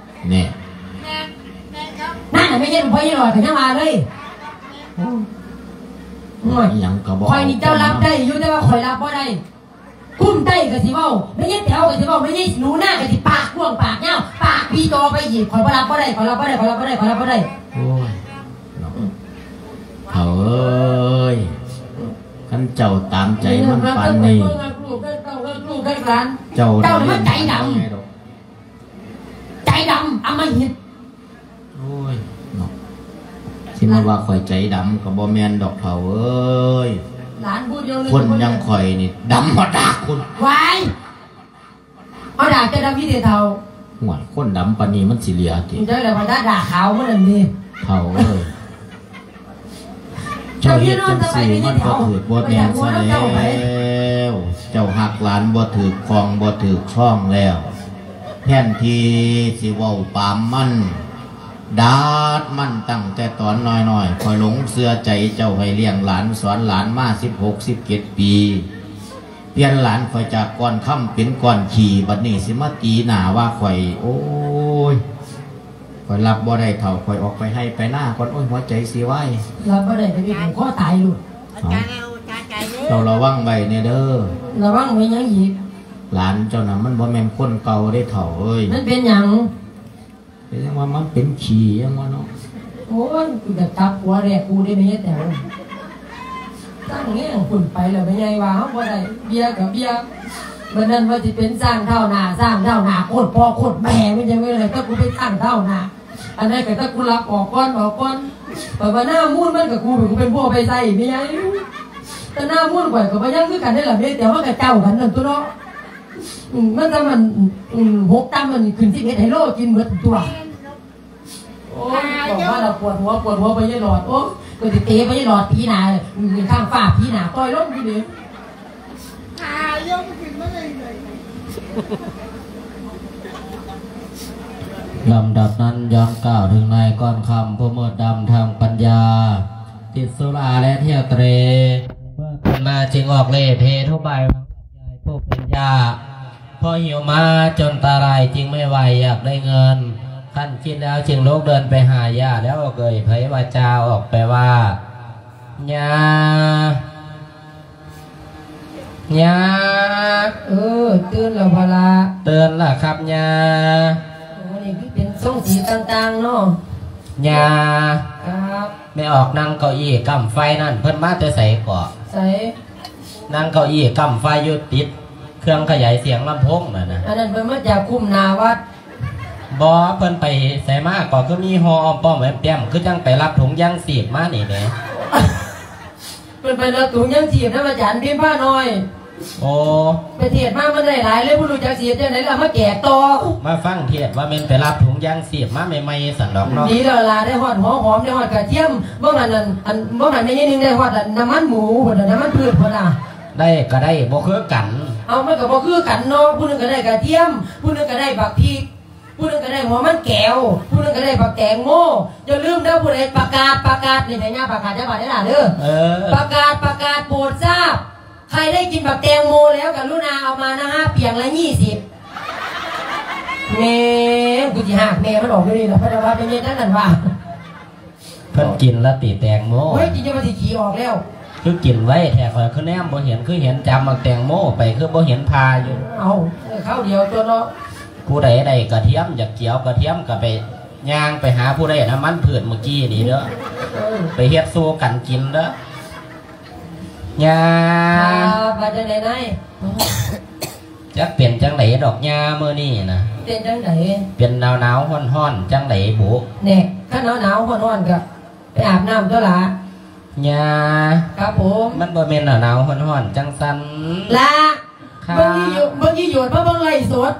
ແນ່. ນັ້ນ ແມ່ເຮັດບໍ່ໃຫ້ຫຼອດກໍຍັງວ່າເລີຍ. ໂອ້ຍ ອີຫຍັງກໍບໍ່ ຂ້ອຍນີ້ເຈົ້າຮັບໄດ້ຢູ່ ແຕ່ວ່າຂ້ອຍຮັບບໍ່ໄດ້. ກຸ້ມໄຕກໍຊິເວົ້າ ແມ່ຍາຍແຕ๋ວກໍຊິເວົ້າ ແມ່ຍາຍໜູນາກໍຊິປາກກວ້າງປາກຍາວ ປາກປີຕໍ່ໄປອີກ. ຂ້ອຍບໍ່ຮັບບໍ່ໄດ້ ຂ້ອຍຮັບບໍ່ໄດ້ ຂ້ອຍຮັບບໍ່ໄດ້ ຂ້ອຍຮັບບໍ່ໄດ້. ໂອ້ຍ ເນາະ ເຖົ້າເອີຍ ຄັນເຈົ້າຕາມໃຈມັນປານນີ້ ເຈົ້າ ເຈົ້ານີ້ມັນໃຈດຳ ໃຈດຳອຳມະຫິດ. ໂອ້ຍ ເນາະ ຊິມາວ່າຂ້ອຍໃຈດຳກໍບໍ່ແມ່ນດອກເຖົ້າເອີຍ. ຫຼານຜູ້ດຽວ ຄົນຢ່າງຂ້ອຍນີ້ດຳຮອດດາກພຸ້ນ. ຫວາຍ ເອົາດາກເຈົ້າດຳຢູ່ຕິເຖົ້າ? ໂອ້ຍ ຄົນດຳປານນີ້ມັນຊິເຫຼືອຕິ? ເຈົ້າແຫຼະວ່າດາກຂາວມັນນັ້ນເດ້ ເຖົ້າເອີຍ. ເຈົ້າເຮັດຈັ່ງຊີ້ມັນບໍ່ຖືກບໍ່ແມ່ນຊະແລ້ວ. ເຈົ້າຮັກຫຼານບໍ່ຖືກຂ້ອງບໍ່ຖືກຊ່ອງແລ້ວ. ແທນທີ່ຊິເວົ້າປາມມັນ ດາດມັນຕັ້ງແຕ່ຕອນນ້ອຍໆ. ຂ້ອຍຫຼົງເຊື່ອໃຈເຈົ້າໃຫ້ລ້ຽງຫຼານສອນຫຼານມາສິບຫົກ ສິບເຈັດປີ. ປ່ຽນຫຼານຂ້ອຍຈາກກ້ອນຄຳເປັນກ້ອນຂີ້ ບັດນີ້ຊິມາຕີໜ້າວ່າຂ້ອຍ. ໂອ້ຍ ຂ້ອຍຮັບບໍ່ໄດ້ເຖົ້າ ຂ້ອຍອອກໄປໄຮ່ໄປນາກ່ອນ. ໂອ້ຍ ຫົວໃຈຊິວາຍ ຮັບບໍ່ໄດ້ກໍມີຜູ້ຂໍຕາຍໂລດ. ເອົາ ເຈົ້າລະວັງໄວ້ແດ່ເດີ. ລະວັງໄວ້ຫຍັງອີກ? ຫຼານເຈົ້ານະມັນບໍ່ແມ່ນຄົນເກົ່າເດ້ເຖົ້າເອີຍ. ມັນເປັນຫຍັງ? ແຕ່ຍັງວ່າມັນເປັນຂີ້ຍັງວ່າເນາະ. ໂອ້ຍ ກູຢາກຈັບຫົວແລກກູເດ້ແມ່ຍາຍແຕ໋ວ. ຕັ້ງແຮງພຸ້ນໄປແລ້ວແມ່ໃຫຍ່ວ່າເຮົາບໍ່ໄດ້ ເບຍກໍເບຍ. ບັດນັ້ນວ່າຊິເປັນຊ້າງທ້າວໜ້າ ຊ້າງທ້າວໜ້າ ໂຄດພໍ່ໂຄດແມ່ ມັນຍັງວ່າແລ້ວ ແຕ່ກູເປັນຊ້າງທ້າວໜ້າ. ອັນນັ້ນກໍແຕ່ກູລັກອອກກ່ອນ ອອກກ່ອນ. ຂ້ອຍວ່າໜ້າມູນມັນກໍກູເປັນ ກູເປັນຜູ້ເອົາໄປໃຊ້ແມ່ໃຫຍ່. ແຕ່ໜ້າມູນຂ້ອຍກໍບໍ່ຍັງຄືກັນເດ້ລະແມ່ ແຕ່ວ່າກໍເຈົ້າກັນນັ້ນຕົວະເນາະ. ອືມ ມັນກໍມັນ ອືມ ຫົກຕຳມັນຂຶ້ນສິບເອັດໄຮໂລກິນເບິດຕົວະ. ໂອ້ຍ ບອກມາແລ້ວປວດຫົວ ປວດຫົວໄປຍາຍຫຼອດ. ໂອ້ຍ ກໍຊິເຕະໄປຍາຍຫຼອດຕີໜ້າ ອືມ ຂ້າງຟ້າຕີໜ້າ ຕ່ອຍລົງຢູ່ນີ້. ລຳດັບນັ້ນ ຍ້ອນກ່າວເຖິງນາຍກ້ອນຄຳ ຜູ້ມືດດຳທາງປັນຍາ ຕິດສຸລາແລະທ່ຽວເຕຣ. ເມື່ອຂຶ້ນມາຈຶ່ງອອກເລ່ເພທຸບາຍ ຜູ້ເປັນຍ່າ ພໍຫິວມາຈົນຕາລາຍຈຶ່ງໄມ່ໄຫວ ຢາກໄດ້ເງິນ ຄັນຄິດແລ້ວຈຶ່ງລຸກເດີນໄປຫາຍ່າ ແລ້ວເອີ່ຍໄພວາຈາອອກໄປວ່າ ຍ່າ ຍ່າ ເອີ ຕື່ນແລ້ວບໍ່ລະ? ຕື່ນລະຄັບຍ່າ. ໂອ້ ນີ້ຄືເປັນຊົງສີຕ່າງໆເນາະ ຍ່າ. ຄັບ. ແມ່ອອກນັ່ງເກົ້າອີ້ກ້ຳໄຟນັ້ນ ເພິ່ນມາແຕ່ໃສເກາະ? ໃສ? ນັ່ງເກົ້າອີ້ກ້ຳໄຟຢູ່ຕິດເຄື່ອງຂະຫຍາຍສຽງລຳໂພງນັ້ນນະ. ອັນນັ້ນເພິ່ນມາຈາກຄຸ້ມໜ້າວັດ. ບໍ່ ເພິ່ນໄປໃສມາເກາະ ຄືມີຫໍ່ອ້ອມປ້ອມແອ້ມແຕ້ມ ຄືຈັ່ງໄປຮັບຖົງຢາງຊີບມານີ້ແໝ່. ເພິ່ນໄປເລີກຖົງຢາງຊີບນຳອາຈານພິມພານ້ອຍ. ໂອ້ ໄປເທດມາມັນໄດ້ຫຼາຍເລີຍ ບໍ່ຮູ້ຈັກຊິເຮັດຈັ່ງໃດລະ ມາແກກຕໍ່. ມາຟັງເທດວ່າແມ່ນໄປຮັບຖົງຢາງຊີບມາໃໝ່ໆ ຊັ້ນດອກເນາະ. ດີແລ້ວລະ ໄດ້ຮອດຫົວຫອມ ໄດ້ຮອດກະທຽມ. ບໍ່ຫັ້ນນັ້ນ ອັນ ບໍ່ຫັ້ນແມ່ຍາຍໜຶ່ງໄດ້ຮອດອັນນ້ຳມັນໝູພຸ້ນນະ ນ້ຳມັນພືດພຸ້ນນະ. ໄດ້ກໍໄດ້ ບໍ່ຄືກັນ. ເອົ້າ ມັນກໍບໍ່ຄືກັນເນາະ ຜູ້ໜຶ່ງກໍໄດ້ກະທຽມ ຜູ້ໜຶ່ງກໍໄດ້ບັກພິກ ຜູ້ໜຶ່ງກໍໄດ້ຫົວມັນແກວ ຜູ້ໜຶ່ງກໍໄດ້ບັກແຕງໂມ. ຢ່າລືມເດີ ຜູ້ໃດປະກາດ ປະກາດ ນີ້ໃຫ້ຍ່າປະກາດຈັກບາດເດີຫຼ້າເດີ. ເອີ ປະກາດ ປະກາດ ໂປດຊາບ ໃຄໄດ້ກິນບັກແຕງໂມແລ້ວ ກະລຸນາເອົາມານະຮະ ປຽງລະຍີ່ສິບ. ແມ່ ກູຊິຫາກແມ່ມັນອອກຢູ່ນີ້ລະ ເພິ່ນວ່າເປັນຫຍັງຈັ່ງນັ້ນວະ. ເພິ່ນກິນລະຕິແຕງໂມ? ໂອ້ຍ ກິນຈົນວ່າຊິຂີ້ອອກແລ້ວ. ຄືກິນໄວແທ້ ຂ້ອຍຄືແນມບໍ່ເຫັນ ຄືເຫັນຈຳບັກແຕງໂມໄປ ຄືບໍ່ເຫັນຜ່າຢູ່. ເອົ້າ ເອີ ຄາວດຽວຕົວະເນາະ. ຜູ້ໃດໄດ້ກະທຽມ ຢາກກຽວກະທຽມກະໄປ ຍ່າງໄປຫາຜູ້ໃດນ້ຳມັນພືດມື້ກີ້ນີ້ເດີ. ເອີ ໄປເຮັດສູ່ກັນກິນເດີ ຍ່າ. ວ່າຈັ່ງໃດນາຍ? ຈັກເປັນຈັ່ງໃດດອກຍ່າມື້ນີ້ນະ. ເປັນຈັ່ງໃດ? ເປັນໜາວໆຮ້ອນໆ ຈັ່ງໃດບຸ? ແນ່ ຄັນໜາວໆຮ້ອນໆ ກະໄປອາບນ້ຳຕົວະຫຼ້າ ຍ່າ. ຄັບຜົມ. ມັນບໍ່ແມ່ນໜາວໆຮ້ອນໆ ຈັ່ງຊັ້ນ ຫຼ້າ. ຄັບ. ເບິ່ງອີ່ໂຫຍດ ເບິ່ງອີ່ໂຫຍດ ມາເບິ່ງໄລຟ໌ສົດ.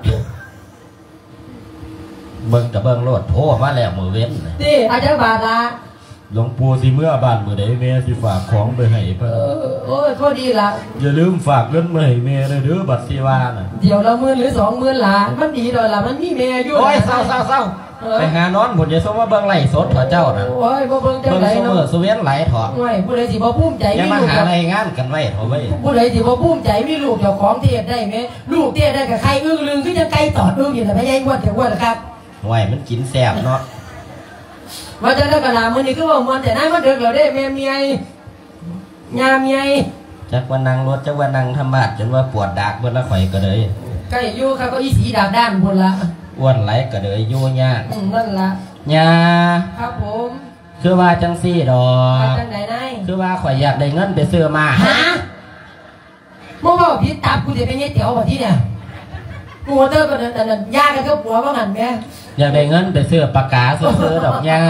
ເບິ່ງກະເບິ່ງໂລດ ໂທມາແລ້ວມື້ເວັນ. ຕິ ເອົາຈັກບາດລະ? ຫຼວງປູ່ຊິເມືອບ້ານມື້ໃດ ແມ່ຊິຝາກຂອງໄປໃຫ້ເພິ່ນ. ເອີ ໂອ້ຍ ພໍດີລະ. ຢ່າລືມຝາກເງິນມາໃຫ້ແມ່ແດ່ເດີ ບັດຊິວ່ານະ. ດຽວລະໝື່ນຫຼືສອງໝື່ນລະ ມັນດີດອກລະ ມັນມີແມ່ຢູ່. ໂອ້ຍ ເຊົາໆໆ ເອີ ໄປຫານອນພຸ້ນ ຢ່າຊົມມາເບິ່ງໄລຟ໌ສົດເຖາະເຈົ້ານະ. ໂອ້ຍ ບໍ່ເບິ່ງຈັ່ງໃດເນາະ ເບິ່ງຊຸມື້ຊຸເວັນຫຼາຍເຖາະ. ໂອ້ຍ ຜູ້ໃດຊິບໍ່ພູມໃຈ ຢ່າມາຫາລາຍງານກັນໄວ້ເຖາະເວີຍ. ຜູ້ໃດຊິບໍ່ພູມໃຈ ມີລູກເຈົ້າຂອງເທດໄດ້ແມ້ ລູກເທດໄດ້ກະໄຂ່ອຶ່ງລຶ່ງ ຄືຈັ່ງໄກ່ຕອດອຶ່ງນີ້ລະ ພະຍາຍອ້ວນ ຈະອ້ວນລະຄັບ. ໂອ້ຍ ມັນກິນແຊບເນາະ. ວ່າຈັ່ງໃດກໍລາ ມື້ນີ້ຄືເວົ້າມ່ວນແທ້ນາຍ ມາເດິກແລ້ວເດ້ ແມ່ເມື່ອຍ ຍ່າເມື່ອຍ. ຈັກວ່ານັ່ງລົດ ຈັກວ່ານັ່ງທຳມາດ ຈົນວ່າປວດດາກເບິດລະ ຂ້ອຍກໍເລີຍ. ໃກ້ຢູ່ຄັບ ເກົ້າອີ່ສີດາກດ້ານພຸ້ນລະ. ອ້ວນຫຼາຍກໍເລີຍຢູ່ຍາກ. ອືມ ນັ້ນລະ. ຍ່າ. ຄັບຜົມ. ຄືວ່າຈັ່ງຊີ້ດອກ. ວ່າຈັ່ງໃດນາຍ? ຄືວ່າຂ້ອຍຢາກໄດ້ເງິນໄປຊື້ມ້າ. ຮະ? ມຶງເວົ້າຜິດຕັບກູຕິ ແມ່ນຍາຍແຕວບໍ່ທີນີ້? ກູເຕີກໍນັ້ນ ອັນນັ້ນ ຢ່າກັນກັບຜົວວ່າຫັ້ນແໝ່. ຢາກໄດ້ເງິນໄປຊື້ປາກກາຊື່ໆດອກຍ່າ.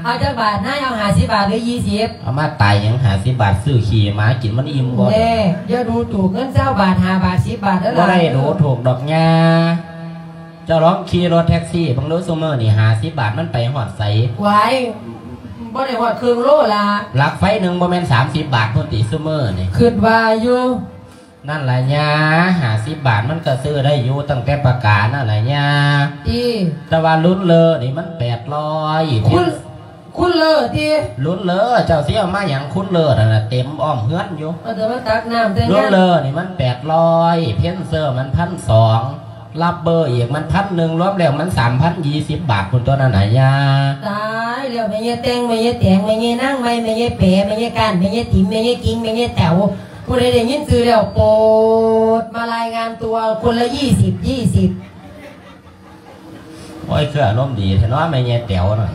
ເອົາຈັກບາດນາຍ? ເອົາຫ້າສິບບາດຫຼື ຊາວ? ເອົາມາຕາຍຫຍັງ ຫ້າສິບບາດ ຊື້ຂີ້ໝາກິນມັນອີ່ມບໍ່? ແນ່ ຢ່າດູຖືກເງິນຊາວບາດ ຫ້າບາດ ສິບບາດເດີຫຼານ. ບໍ່ໄດ້ດູຖືກດອກຍ່າ. ເຈົ້າລອງຂີ່ລົດແທັກຊີເບິ່ງດູ ຊຸມື້ນີ້ ຫ້າສິບບາດມັນໄປຮອດໃສ? ຫວາຍ ບໍ່ໄດ້ຮອດເຄິ່ງໂລລະ. ຫຼັກໄຟໜຶ່ງບໍ່ແມ່ນສາມສິບບາດພຸ້ນຕິ ຊຸມື້ນີ້? ຄິດວ່າຢູ່. ນັ້ນລະຍ່າ ຫ້າສິບບາດມັນກໍຊື້ໄດ້ຢູ່ ຕັ້ງແຕ່ປາກການັ້ນລະຍ່າ. ຕິ? ແຕ່ວ່າລຸນເລີນີ້ມັນແປດຮ້ອຍ. ຄຸນ ຄຸນເລີຕິ? ລຸນເລີ ເຈົ້າຊິເອົາມາຫຍັງ ຄຸນເລີນັ້ນນະ ເຕັມອ້ອມເຮືອນຢູ່. ເອົາແຕ່ມາຕັກນ້ຳແຕ່ ລຸນເລີນີ້ມັນແປດຮ້ອຍ ເພັນເຊີມັນພັນສອງ ລັບເບີອີກມັນພັນໜຶ່ງ ລວມແລ້ວມັນສາມພັນ ຊາວບາດພຸ້ນຕົວະນັ້ນນະຍ່າ. ຕາຍແລ້ວ ແມ່ຍາຍແຕງ ແມ່ຍາຍແຕງ ແມ່ຍາຍນາງໃໝ່ ແມ່ຍາຍແປ ແມ່ຍາຍກ້ານ ແມ່ຍາຍຕິມ ແມ່ຍາຍກິ່ງ ແມ່ຍາຍແຕວ ຜູ້ໃດໄດ້ຍິນຊື່ແລ້ວໂປດມາລາຍງານຕົວ ຄົນລະຊາວ ຊາວ. ໂອ້ຍ ຄືອາລົມດີແທ້ເນາະ ແມ່ຍາຍແຕວນັ້ນ.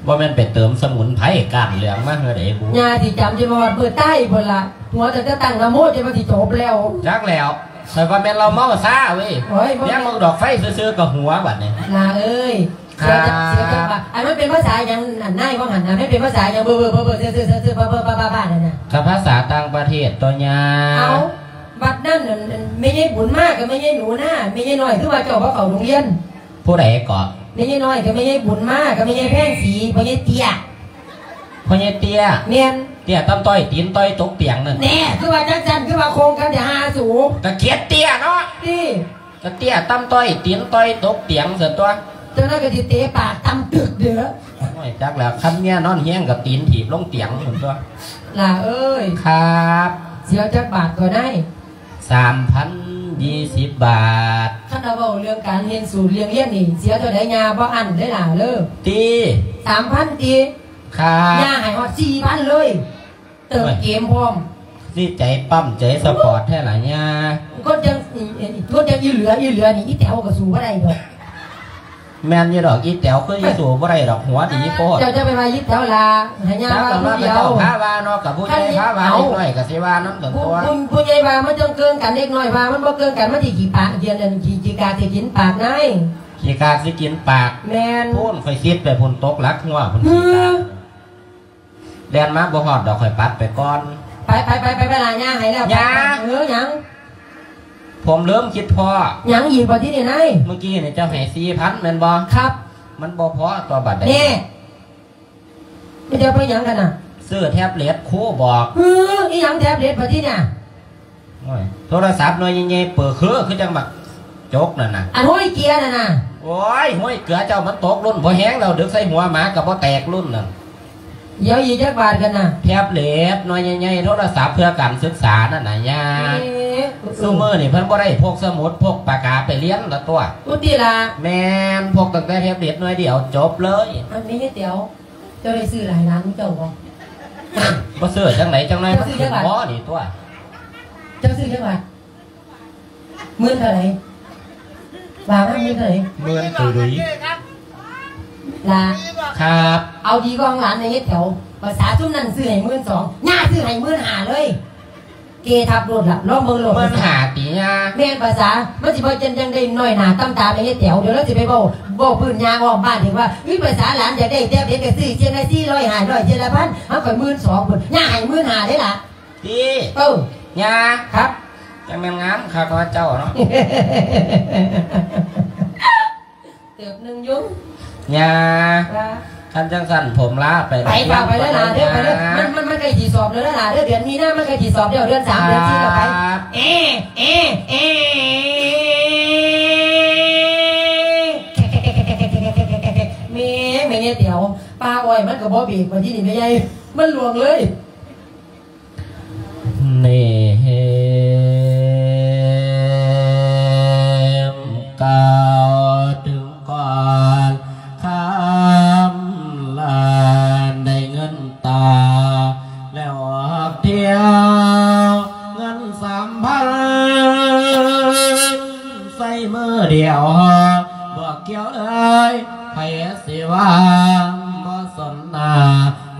ບໍ່ແມ່ນໄປເຕີມສະໝຸນໄພກ້ານເຫຼືອງມາເຮືອໃດບຸ? ຍ່າຊິຈຳຈົນມາຮອດມື້ຕາຍພຸ້ນລະ. ຫົວຕັ້ງແຕ່ຕັ້ງນະໂມຈົນວ່າຊິຈົບແລ້ວ. ຈັກແລ້ວ ຂ້ອຍວ່າແມ່ນລາວເມົາຊາເວີຍ. ໂອ້ຍ ບໍ່ແມ່ນ ແນມເບິ່ງດອກໄຟຊື່ໆກໍຫົວບັດນີ້. ຫຼ້າເອີຍ ເສຍຈັກ ເສຍຈັກບາດ. ອັນມັນເປັນພາສາຫຍັງ ອັນນາຍວ່າຫັ້ນນະ ມັນເປັນພາສາຫຍັງ ເບີໆໆໆ ເຊີໆໆ ບ້າໆໆນັ້ນນະ? ກໍພາສາຕ່າງປະເທດຕົວະຍ່າ. ເອົາ ບັດນັ້ນ ອັນ ອັນ ແມ່ໃຫຍ່ບຸນມາກັບແມ່ໃຫຍ່ໜູນາ ແມ່ໃຫຍ່ນ້ອຍຄືວ່າເຈົ້າບໍ່ເຂົ້າໂຮງຮຽນ? ຜູ້ໃດເກາະ? ແມ່ໃຫຍ່ນ້ອຍກັບແມ່ໃຫຍ່ບຸນມາກັບແມ່ໃຫຍ່ແພງສີ ພໍ່ໃຫຍ່ເຕ້ຍ. ພໍ່ໃຫຍ່ເຕ້ຍ? ແມ່ນ. ເຕ້ຍຕ່ຳຕ້ອຍ ຕີນຕ່ອຍຕົກຕຽງນັ້ນ. ແນ່ ຄືວ່າຈັ່ງຊັ້ນ ຄືວ່າໂຄງກັນແທ້ຫາສູ. ກະເຂດເຕ້ຍເນາະ. ຕິ? ກະເຕ້ຍຕ່ຳຕ້ອຍ ຕີນຕ່ອຍຕົກຕຽງຊັ້ນຕົວະ. ເຈົ້ານັ້ນກະຊິເຕະປາກຕຳຕຶກເດີ້. ໂອ້ຍ ຈັກແລ້ວ ຄັນເມຍນອນຮຽງກະຕີນຖີບລົງຕຽງພຸ້ນຕົວະ. ຫຼ້າເອີຍ. ຄັບ. ເສຍຈັກບາດກໍໄດ້? ສາມພັນຊາວບາດ. ຄັນວ່າເວົ້າເລື່ອງການຮຽນສູນຮຽນຮຽນນີ້ ເສຍເທົ່າໃດຍ່າບໍ່ອັ້ນເດີ້ຫຼ້າເດີ້. ຕິ? ສາມພັນຕິ? ຄັບ. ຍ່າໃຫ້ຮອດສີ່ພັນເລີຍ ເຕີມເກມພ້ອມ. ໂອ້ຍ ຊິໃຈປ້ຳໃຈສະປອດແທ້ລະຍ່າ. ຄົນຈັ່ງ ຄົນຈັ່ງອີ່ເຫຼືອ ອີ່ເຫຼືອນີ້ ອີແຕວກໍສູ້ບໍ່ໄດ້ດອກ. ແມ່ນຢູ່ດອກ ອີແຕວຄືຊິສູ້ບໍ່ໄດ້ດອກ ຫົວດີໂພດ. ເຈົ້າຈະໄປວ່າອີແຕວລະ ໃຫ້ຍ່າວ່າຜູ້ດຽວ. ຈັກລະວ່າເຂົາເຈົ້າພາວ່າເນາະ ກັບຜູ້ໃຫຍ່ພາວ່າ ເດັກນ້ອຍກໍຊິວ່ານຳກັນຕົວະ. ຜູ້ ຜູ້ ຜູ້ໃຫຍ່ວ່າມັນຈັ່ງເກີງກັນ ເດັກນ້ອຍວ່າມັນບໍ່ເກີງກັນ ມັນຊິຂີ້ປາກ ຂີ້ ຂີ້ກາກຊິກິນປາກນາຍ. ຂີ້ກາກຊິກິນປາກ. ແມ່ນ. ພຸ້ນ ຂ້ອຍຄິດໄປພຸ້ນ ຕົກຫຼັກຫົວພຸ້ນ. ຂີ້ກາກ ແລ່ນມາບໍ່ຮອດດອກ ຂ້ອຍປັດໄປກ່ອນ. ໄປ ໄປ ໄປ ໄປ ໄປລະ ຍ່າໃຫ້ແລ້ວ. ຍ່າ. ເອີ ຫຍັງ? ຜົມເລີ່ມຄິດພໍ້. ຫຍັງອີກບັດທີນີ້ນາຍ? ມື້ກີ້ນີ້ເຈົ້າໃຫ້ສີ່ພັນແມ່ນບໍ່? ຄັບ. ມັນບໍ່ພໍຕົວະບັດໃດ. ແນ່ ມັນຈະເອົາໄປຫຍັງກັນນະ? ຊື້ແທັບເລັດ ຄູບອກ. ເອີ ອີຫຍັງແທັບເລັດບັດທີນີ້? ໂອ້ຍ ໂທລະສັບໜ່ວຍໃຫຍ່ໆ ເປີເຄື ຄືຈັ່ງບັກຈົກນັ້ນນະ. ອັນຫ້ອຍເກືອນັ້ນນະ. ໂອ້ຍ ຫ້ອຍເກືອເຈົ້າມັນຕົກລຸ້ນພໍແຮງແລ້ວ ດຶກໃສ່ຫົວໝາກໍບໍ່ແຕກລຸ້ນນັ້ນ. ດຽວອີກຈັກບາດກັນນະ? ແທັບເລັດໜ່ວຍໃຫຍ່ໆ ໂທລະສັບເພື່ອການສຶກສານັ້ນນະຍ່າ. ເອີ ຊຸມື້ນີ້ເພິ່ນບໍ່ໄດ້ພົກສະໝຸດ ພົກປາກກາໄປຮຽນລະຕົວະ. ອຸຕິລະ. ແມ່ນ ພົກຕັ້ງແຕ່ແທັບເລັດໜ່ວຍດຽວ ຈົບເລີຍ. ອັນນີ້ເຮັດດຽວ ເຈົ້າໄດ້ຊື້ຫຼາຍຫຼານເຈົ້າບໍ່? ບໍ່ຊື້ຈັ່ງໃດ ຈັ່ງໃດມັນຂຶ້ນພໍນີ້ຕົວະ. ເຈົ້າຊື້ຈັກບາດ? ໝື່ນເທົ່າໃດ? ວ່າມາໝື່ນເທົ່າໃດ? ໝື່ນໂຕໃດ? ລະ ຄັບ. ເອົາດີກວ່າຂອງຫຼານໃນເຮັດແຖວ. ພາສາຊຸມນັ້ນຊື້ໃຫ້ໝື່ນສອງ ຍ່າຊື້ໃຫ້ໝື່ນຫ້າເລີຍ. ເກທັບໂລດລະ ລອງເບິ່ງໂລດ. ໝື່ນຫ້າຕິຍ່າ? ແມ່ນ ພາສາ ມັນຊິບໍ່ຈັ່ງ ຈັ່ງໄດ້ນ້ອຍໜ້າຕ່ຳຕາໃນເຮັດແຖວ. ດຽວລາວຊິໄປເວົ້າ ເວົ້າພື້ນຍ່າອ້ອມບ້ານອີກວ່າ ອຸ້ຍ ພາສາຫຼານຢາກໄດ້ແທັບເລັດກໍຊື້ ເທື່ອລະສີ່ຮ້ອຍ ຫ້າຮ້ອຍ ເທື່ອລະພັນ ເຮົາກໍໝື່ນສອງພຸ້ນ ຍ່າໃຫ້ໝື່ນຫ້າເດ້ລະ. ຕິ? ເອີ ຍ່າ. ຄັບ. ຈັ່ງແມ່ນງາມຄັກເນາະເຈົ້າເນາະ. ເຕີບໜຶ່ງຢູ່ ຍ່າ. ວ່າ? ຄັນຈັ່ງຊັ້ນຜົມລາໄປ ໄປ ໄປ ໄປເດີຫຼ້າເດີ ໄປເດີ. ມັນ ມັນ ມັນໃກ້ຊິສອບແລ້ວເດີຫຼ້າເດີ ເດືອນມີນາມັນໃກ້ຊິສອບແລ້ວ ເດືອນສາມ ເດືອນສີ່ກໍໄປ. ຄັບ. ເອ ເອ ເອ ແມ່ ແມ່ໃຫຍ່ແຕ๋ວ ປ່າອ້ອຍມັນກໍບໍ່ເບຣກ ບັດທີນີ້ແມ່ໃຫຍ່ ມັນລ່ວງເລີຍ. ນີ້ ກ່າວເຖິງກ່ອນຄຳລາ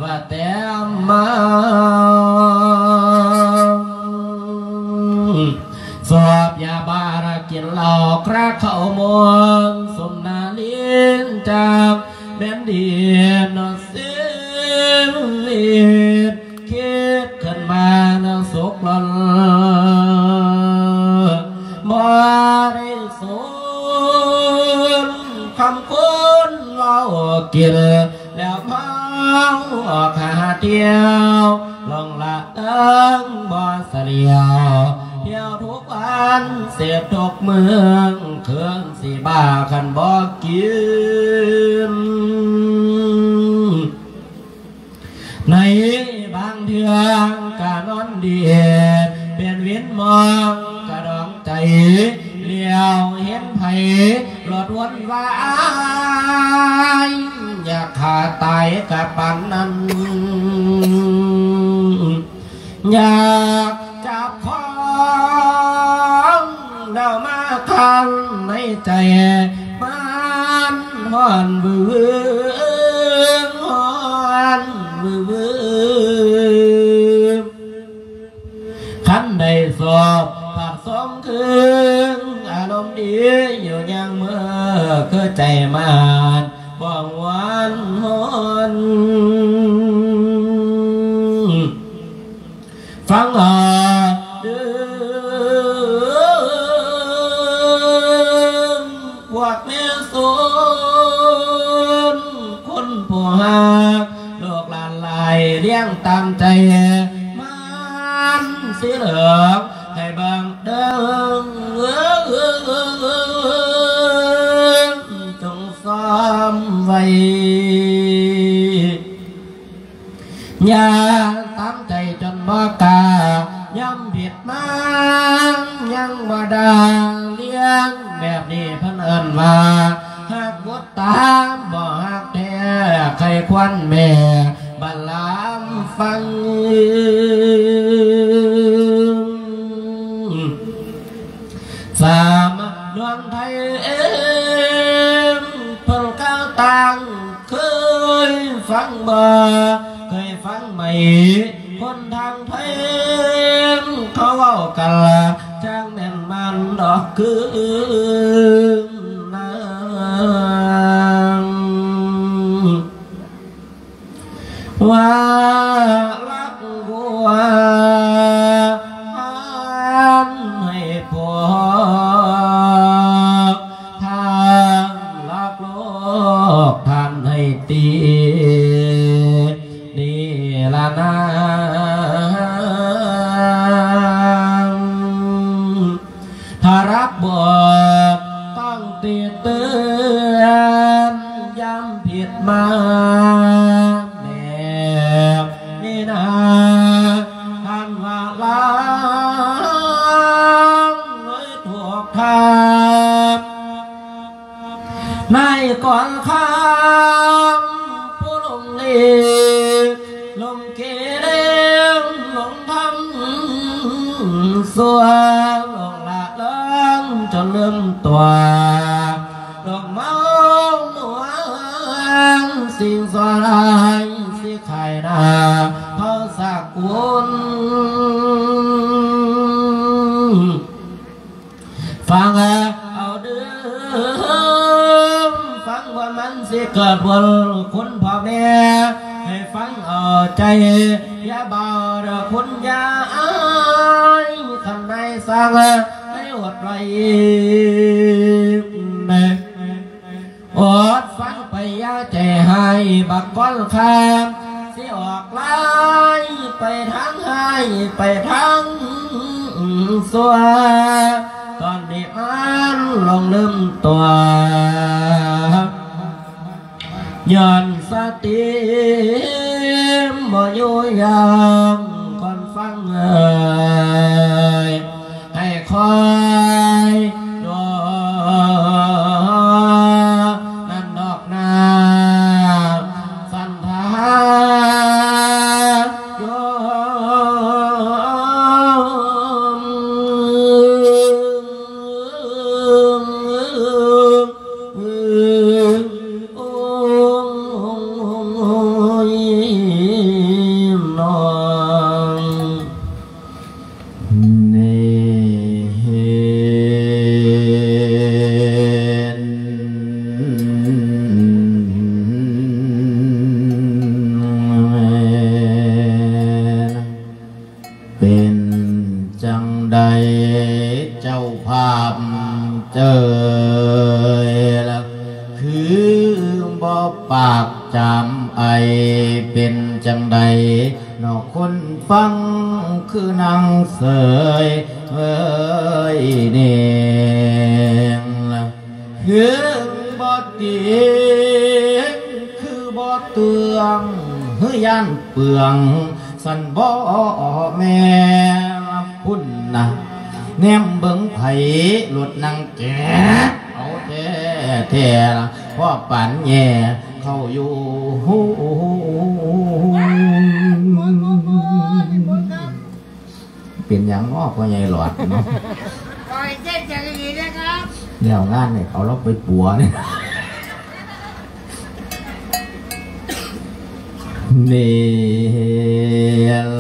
ວ່າແຕ່ມາ ສອບຢາບ້າລະກິນເຫຼົ້າ ຄຣາເຂົ້າມ່ວນ ສົມໜ້າຫຼິ້ນຈາກແມ່ນດິນເນາະ ຊີວິດ ຄິດຂຶ້ນມາແລ້ວສຸກລ້ນ ບໍ່ໄດ້ສົນຄຳຄົນເວົ້າກິນ ແລ້ວເມົາອອກຫາທ່ຽວ ລ່ອງລະເລີງບໍ່ສະຫຼຽວ ທ່ຽວທຸກວັນເສບທຸກມື້ ຄືນຊິບ້າຄັນບໍ່ກິນ ໃນບາງເທື່ອກະນອນດີ ເປັນວິນມອງກະດອງໃຈ ຫຼຽວເຫັນໃຜ ໂລດວົນວາຍ ຢາກຂ້າຕາຍກະປານນັ້ນ ຢາກຈັບຂອງແນວມາຄັນໃນໃຈ ມັນຮ້ອນວື ຮ້ອນວື ຄັນໄດ້ສອບປາກສອງຄືນ ອາລົມດີຢູ່ຍາມມື້ ຄືໃຈມານບໍ່ຫວນຮ້ອນ ຟັງເອົາເດີ ພວກແມ່ສົນຄົນຜູ້ຮັກ ລູກຫຼານຫຼາຍລ້ຽງຕາມໃຈ ມັນຊິເຫຼືອໃຫ້ເບິ່ງເດີ ຈົ່ງຊອມໄວ້ ຢ່າຕາມໃຈຈົນບໍ່ກ້າ ຍາມຜິດມາຍັງບໍ່ດ່າ ລ້ຽງແບບນີ້ເພິ່ນເອີ້ນວ່າ ຮັກບຸດຕາ ບໍ່ຮັກແທ້ ໃຄຄວັນແມ່ ບັນລາມຟັງ ສາມະນວນໄທເອງ ເພິ່ນກ່າວຕ່າງ ເຄີຍຟັງບໍ່ ເຄີຍຟັງໄໝ ຄົນທາງໄທເຂົາເວົ້າກັນ ຈັ່ງແມ່ນມັນດອກຄືນາງ ວ່າລັກຫົວທ່ານໃຫ້ພວກ ທ່ານລັກໂລກທ່ານໃຫ້ຕີ ນີ້ລະນາງ ຖ້າລັກບອກຕ້ອງຕິເຕືອນ ຍາມຜິດມາແບບນີ້ນາ ທ່ານວ່າລາງເລີຍຖືກທາງ ນາຍກອນຄຳຜູ້ລົງເລກ ລົງເກເລ ລົງທຳຊົ່ວ ລົງລະເລີງຈົນລືມຕົວ ລົງເມົານວນ ສິ່ງຊົ່ວຮ້າຍຊິຂາຍໜ້າເຜົ່າສາກຸນ ຟັງເອົາເດີ ຟັງວ່າມັນຊິເກີດຜົນ ຄຸນພໍ່ແມ່ ໃຫ້ຟັງເອົາໃຈ ຢ່າເບົາເດີຄຸນຢ່າອາຍ ຄັນນາຍສັ່ງໃຫ້ອົດໄວ້ ອົດຟັງໄປຢ່າໃຈຮ້າຍ ບັກກອນຄາມ ຊິອອກລາຍໄປທາງຮ້າຍ ໄປທາງຊົ່ວ ຕອນນີ້ມັນລົງລືມຕົວ ຍ້ອນສະຕິບໍ່ຢູ່ຢ່າງ ຄວນຟັງເອີຍ ໃຫ້ຄອຍໂດນັ້ນດອກນາ ສັນທາໂຍມ. ນ້ອງ ນີ້ເຫັນ ເປັນຈັ່ງໃດເຈົ້າພາບເຈີຍລະ ຄືບໍ່ປາກຈາມໄອ ເປັນຈັ່ງໃດເນາະຄົນຟັງ ຄືນັ່ງເສີຍເອີຍເນງລະ ເຄື່ອງບໍ່ຕີງ ຄືບໍ່ເຕືອງ ຄືຢ້ານເປືອງ ຊັ້ນບໍ່ແມ່ນພຸ້ນນະ ແນມເບິ່ງໃຜລົດນັ່ງແກະ ເອົາແທ້ແທ້ລະ ພໍປານແຍ່ເຂົ້າຢູ່ ເປັນຫຍັງເນາະ ພໍ່ໃຫຍ່ຫຼອດເນາະ ปล่อยเส้นอย่างนี้นะครับ ແລ້ວງານນີ້ເອົາລາວໄປປົວນີ້ ເນ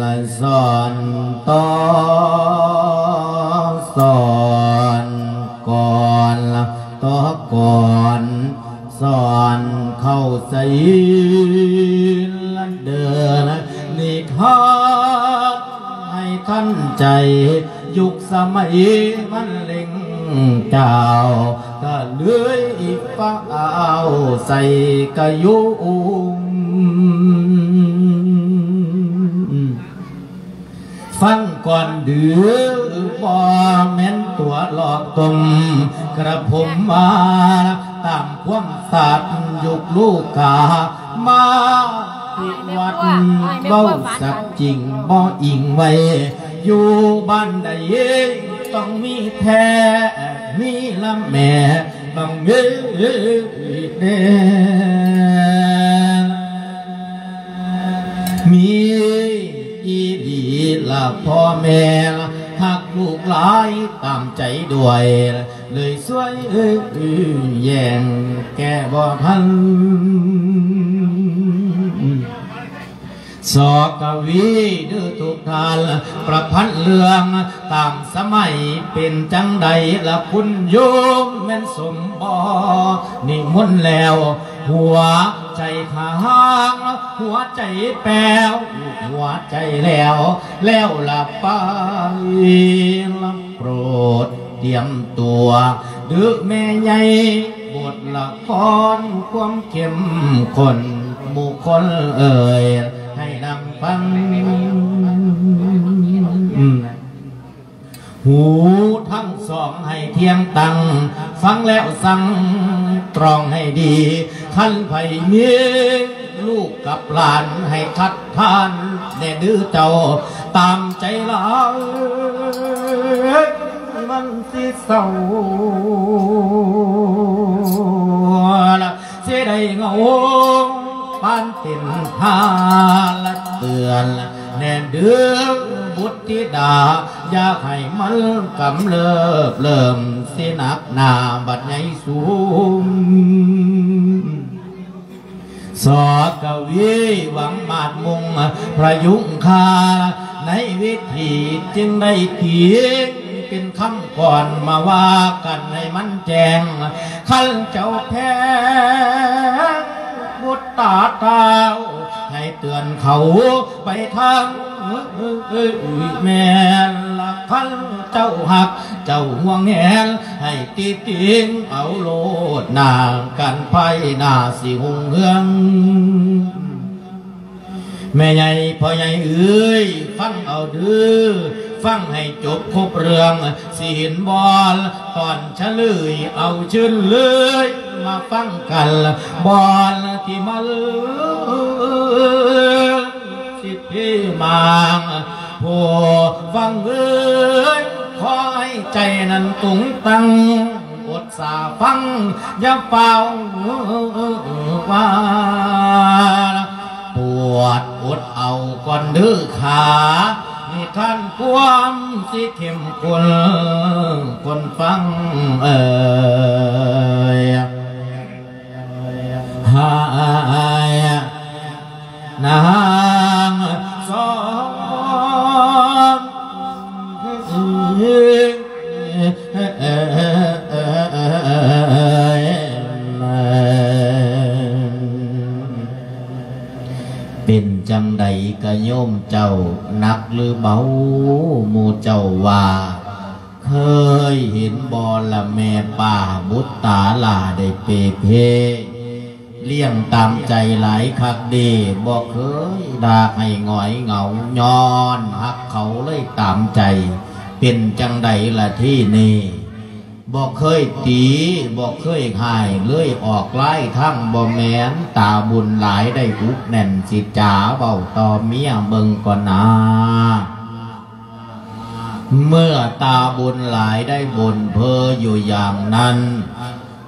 ລະສອນຕໍ່ສອນ ກ່ອນຕໍ່ກ່ອນ ສອນເຂົ້າໃຈ ເດີນນິທານໃຫ້ທັນໃຈ ຍຸກສະໄໝມັນເລັ່ງຈາວ ກະເລີຍຟ້າວໃສ່ກະຍຸງ ຟັງກ່ອນເດີ ບໍ່ແມ່ນຕົວຫຼອກຕົມ ກະຜົມວ່າຕາມຄວາມສັດ ຍຸກລູກກາມາຕິວັດ ເວົ້າສັດຈິງບໍ່ອີງໄວ້ ຢູ່ບ້ານໃດຕ້ອງມີແທ້ ມີລະແມ່ ຕ້ອງມີແນ່ ມີອີ່ຫຼີລະພໍ່ແມ່ ຮັກລູກຫຼາຍຕາມໃຈດ້ວຍ ເລີຍຊ່ວຍແຍ່ງແກ້ບໍ່ທັນ ສອກະວີເດີທຸກທ່ານ ປະພັນເລື່ອງຕາມສະໄໝ ເປັນຈັ່ງໃດລະຄຸນໂຍມ ແມ່ນສົມບໍ່ນິມົນແລ້ວ ຫົວໃຈທາງ ຫົວໃຈແປ້ວ ຫົວໃຈແລ້ວ ແລ້ວລະໄປລະ ໂປດຕຽມຕົວ ເດີແມ່ໃຫຍ່ ບົດລະຄອນຄວາມເຂັ້ມຂຸ້ນ ໝູ່ຄົນເອີຍ ໃຫ້ນັ່ງຟັງ ຫູທັງສອງໃຫ້ທ່ຽງຕັ້ງ ຟັງແລ້ວສັ່ງຕຣອງໃຫ້ດີ ຄັນໃຜມີລູກກັບຫຼານ ໃຫ້ຄັດຄ້ານແດ່ເດີເຈົ້າ ຕາມໃຈຫຼາຍ ມັນຊິເສົ້າ ຊິໄດ້ເຫງົາ ປານເປັນພາລະເຕືອນ ແນ່ເດີບຸດທິດາ ຢ່າໃຫ້ມັນກຳເລີບເລີ່ມ ຊິໜັກໜາບັດໃຫຍ່ສູງ ສອກະວີຫວັງມາດມຸງ ພະຍຸງຄາ ໃນເວທີຈຶ່ງໄດ້ຕີງ ເປັນຄຳກ່ອນມາວ່າກັນໃຫ້ມັນແຈ້ງ ຄັນເຈົ້າແພງບຸດຕາທ້າວ ໃຫ້ເຕືອນເຂົາໄປທາງ ແມ່ນລະ ຄັນເຈົ້າຮັກ ເຈົ້າຫ່ວງແຫນ ໃຫ້ຕິຕິງເອົາໂລດນາ ການໄພໜ້າຊິຮຸ່ງເຮືອງ ແມ່ໃຫຍ່ພໍ່ໃຫຍ່ເອີຍ ຟັງເອົາເດີ ຟັງໃຫ້ຈົບຄົບເລື່ອງ ຊິເຫັນບໍ່ ຕອນສະເຫຼີຍ ເອົາເຊີນເລີຍ ມາຟັງກັນ ບ່ອນທີ່ມາເລີຍ ສິດເພມາງ ຜູ້ຟັງເອີຍ ຂໍໃຫ້ໃຈນັ້ນຕົງຕັ້ງ ອົດສາຟັງ ຢ່າຟ້າວວ່າ ປວດອົດເອົາກ່ອນເດີຂາ ນິທານຄວາມຊິເຂັ້ມຂຸ້ນ ຄົນຟັງເອີຍ ຫາຍນາ ສອງ ເປັນຈັ່ງໃດກະໂຍມເຈົ້າ ໜັກຫຼືເບົາ? ໝູ່ເຈົ້າວ່າ ເຄີຍເຫັນບໍ່ລະແມ່ປ້າບຸດຕາຫຼ້າໄດ້ເປ່ເພ ລ້ຽງຕາມໃຈຫຼາຍຄັກເດ ບໍ່ເຄີຍດາກໃຫ້ຫງອຍເຫງົາ ຍ້ອນຮັກເຂົາເລີຍຕາມໃຈ. ເປັນຈັ່ງໃດລະທີນີ້? ບໍ່ເຄີຍຕີ ບໍ່ເຄີຍຮ້າຍ ເລີຍອອກລາຍທາງບໍ່ແມ່ນ ຕາບຸນຫຼາຍໄດ້ອຸກແໜ້ນ ຊິຈາເວົ້າຕໍ່ເມຍເບິ່ງກ່ອນນາ. ເມື່ອຕາບຸນຫຼາຍໄດ້ບົ່ນເພ້ອຢູ່ຢ່າງນັ້ນ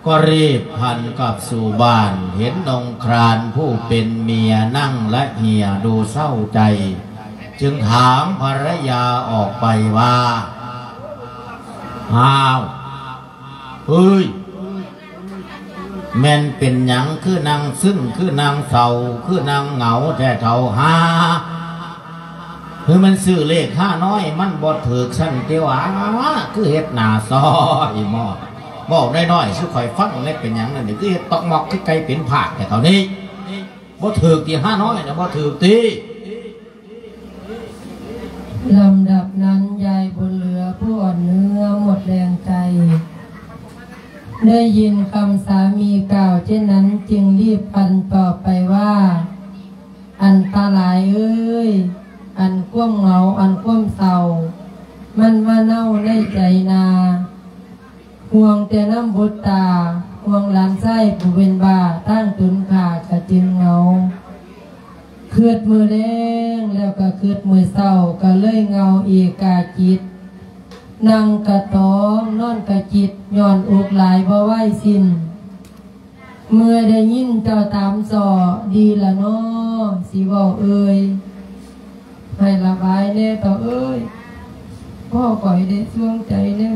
ກໍຣີບພັນກັບສູ່ບ້ານ ເຫັນອົງຄານຜູ້ເປັນເມຍນັ່ງລະເຫຍດູເສົ້າໃຈ ຈຶ່ງຖາມພັນລະຍາອອກໄປວ່າ ອ້າວ ເອີຍ ແມ່ນເປັນຫຍັງຄືນັ່ງຊຶມ ຄືນັ່ງເສົ້າ ຄືນັ່ງເຫງົາແທ້ເຖົ້າຫາ? ຄືມັນຊື້ເລກຫານ້ອຍມັນບໍ່ຖືກຊັ້ນຕິຫວາ? ຄືເຮັດໜ້າຊອຍໝໍ້ ເວົ້ານ້ອຍໆສູ່ຂ້ອຍຟັງແດ່ ເປັນຫຍັງນັ້ນ ຄືເຮັດຕອກມອກຄືໄກ່ເປັນພາກແທ້ເຖົ້ານີ້? ບໍ່ຖືກຕິ ຫານ້ອຍນະ ບໍ່ຖືກຕິ? ລຳດັບນັ້ນ ຍາຍບຸນເຫຼືອຜູ້ອ່ອນເນື້ອໝົດແຮງໃຈ ໄດ້ຍິນຄຳສາມີກ່າວເຊັ່ນນັ້ນ ຈຶ່ງຣີບພັນຕອບໄປວ່າ ອັນຕະລາຍເອີຍ ອັນຄວາມເຫງົາ ອັນຄວາມເສົ້າ ມັນມາເນົ່າໃນໃຈນາ ຫ່ວງແຕ່ນຳບຸດຕາ ຫ່ວງຫຼານຊາຍຜູ້ເປັນບ້າ ທາງຕົນຂ້າກະຈຶ່ງເຫງົາ. ຄິດມື້ແລງແລ້ວກະຄິດມື້ເຊົ້າ ກະເລີຍເຫງົາເອກາຈິດ ນັ່ງກະຕອງ ນອນກະຈິດ ຍ້ອນອົກຫຼາຍບໍ່ວາຍສິ້ນ. ເມື່ອໄດ້ຍິນເຈົ້າຕາມຊໍ້ ດີລະນໍ ຊິເວົ້າເອີຍ ໃຫ້ລະບາຍແດ່ເຖົ້າເອີຍ ພໍ່ຂ້ອຍໄດ້ສວງໃຈແດ່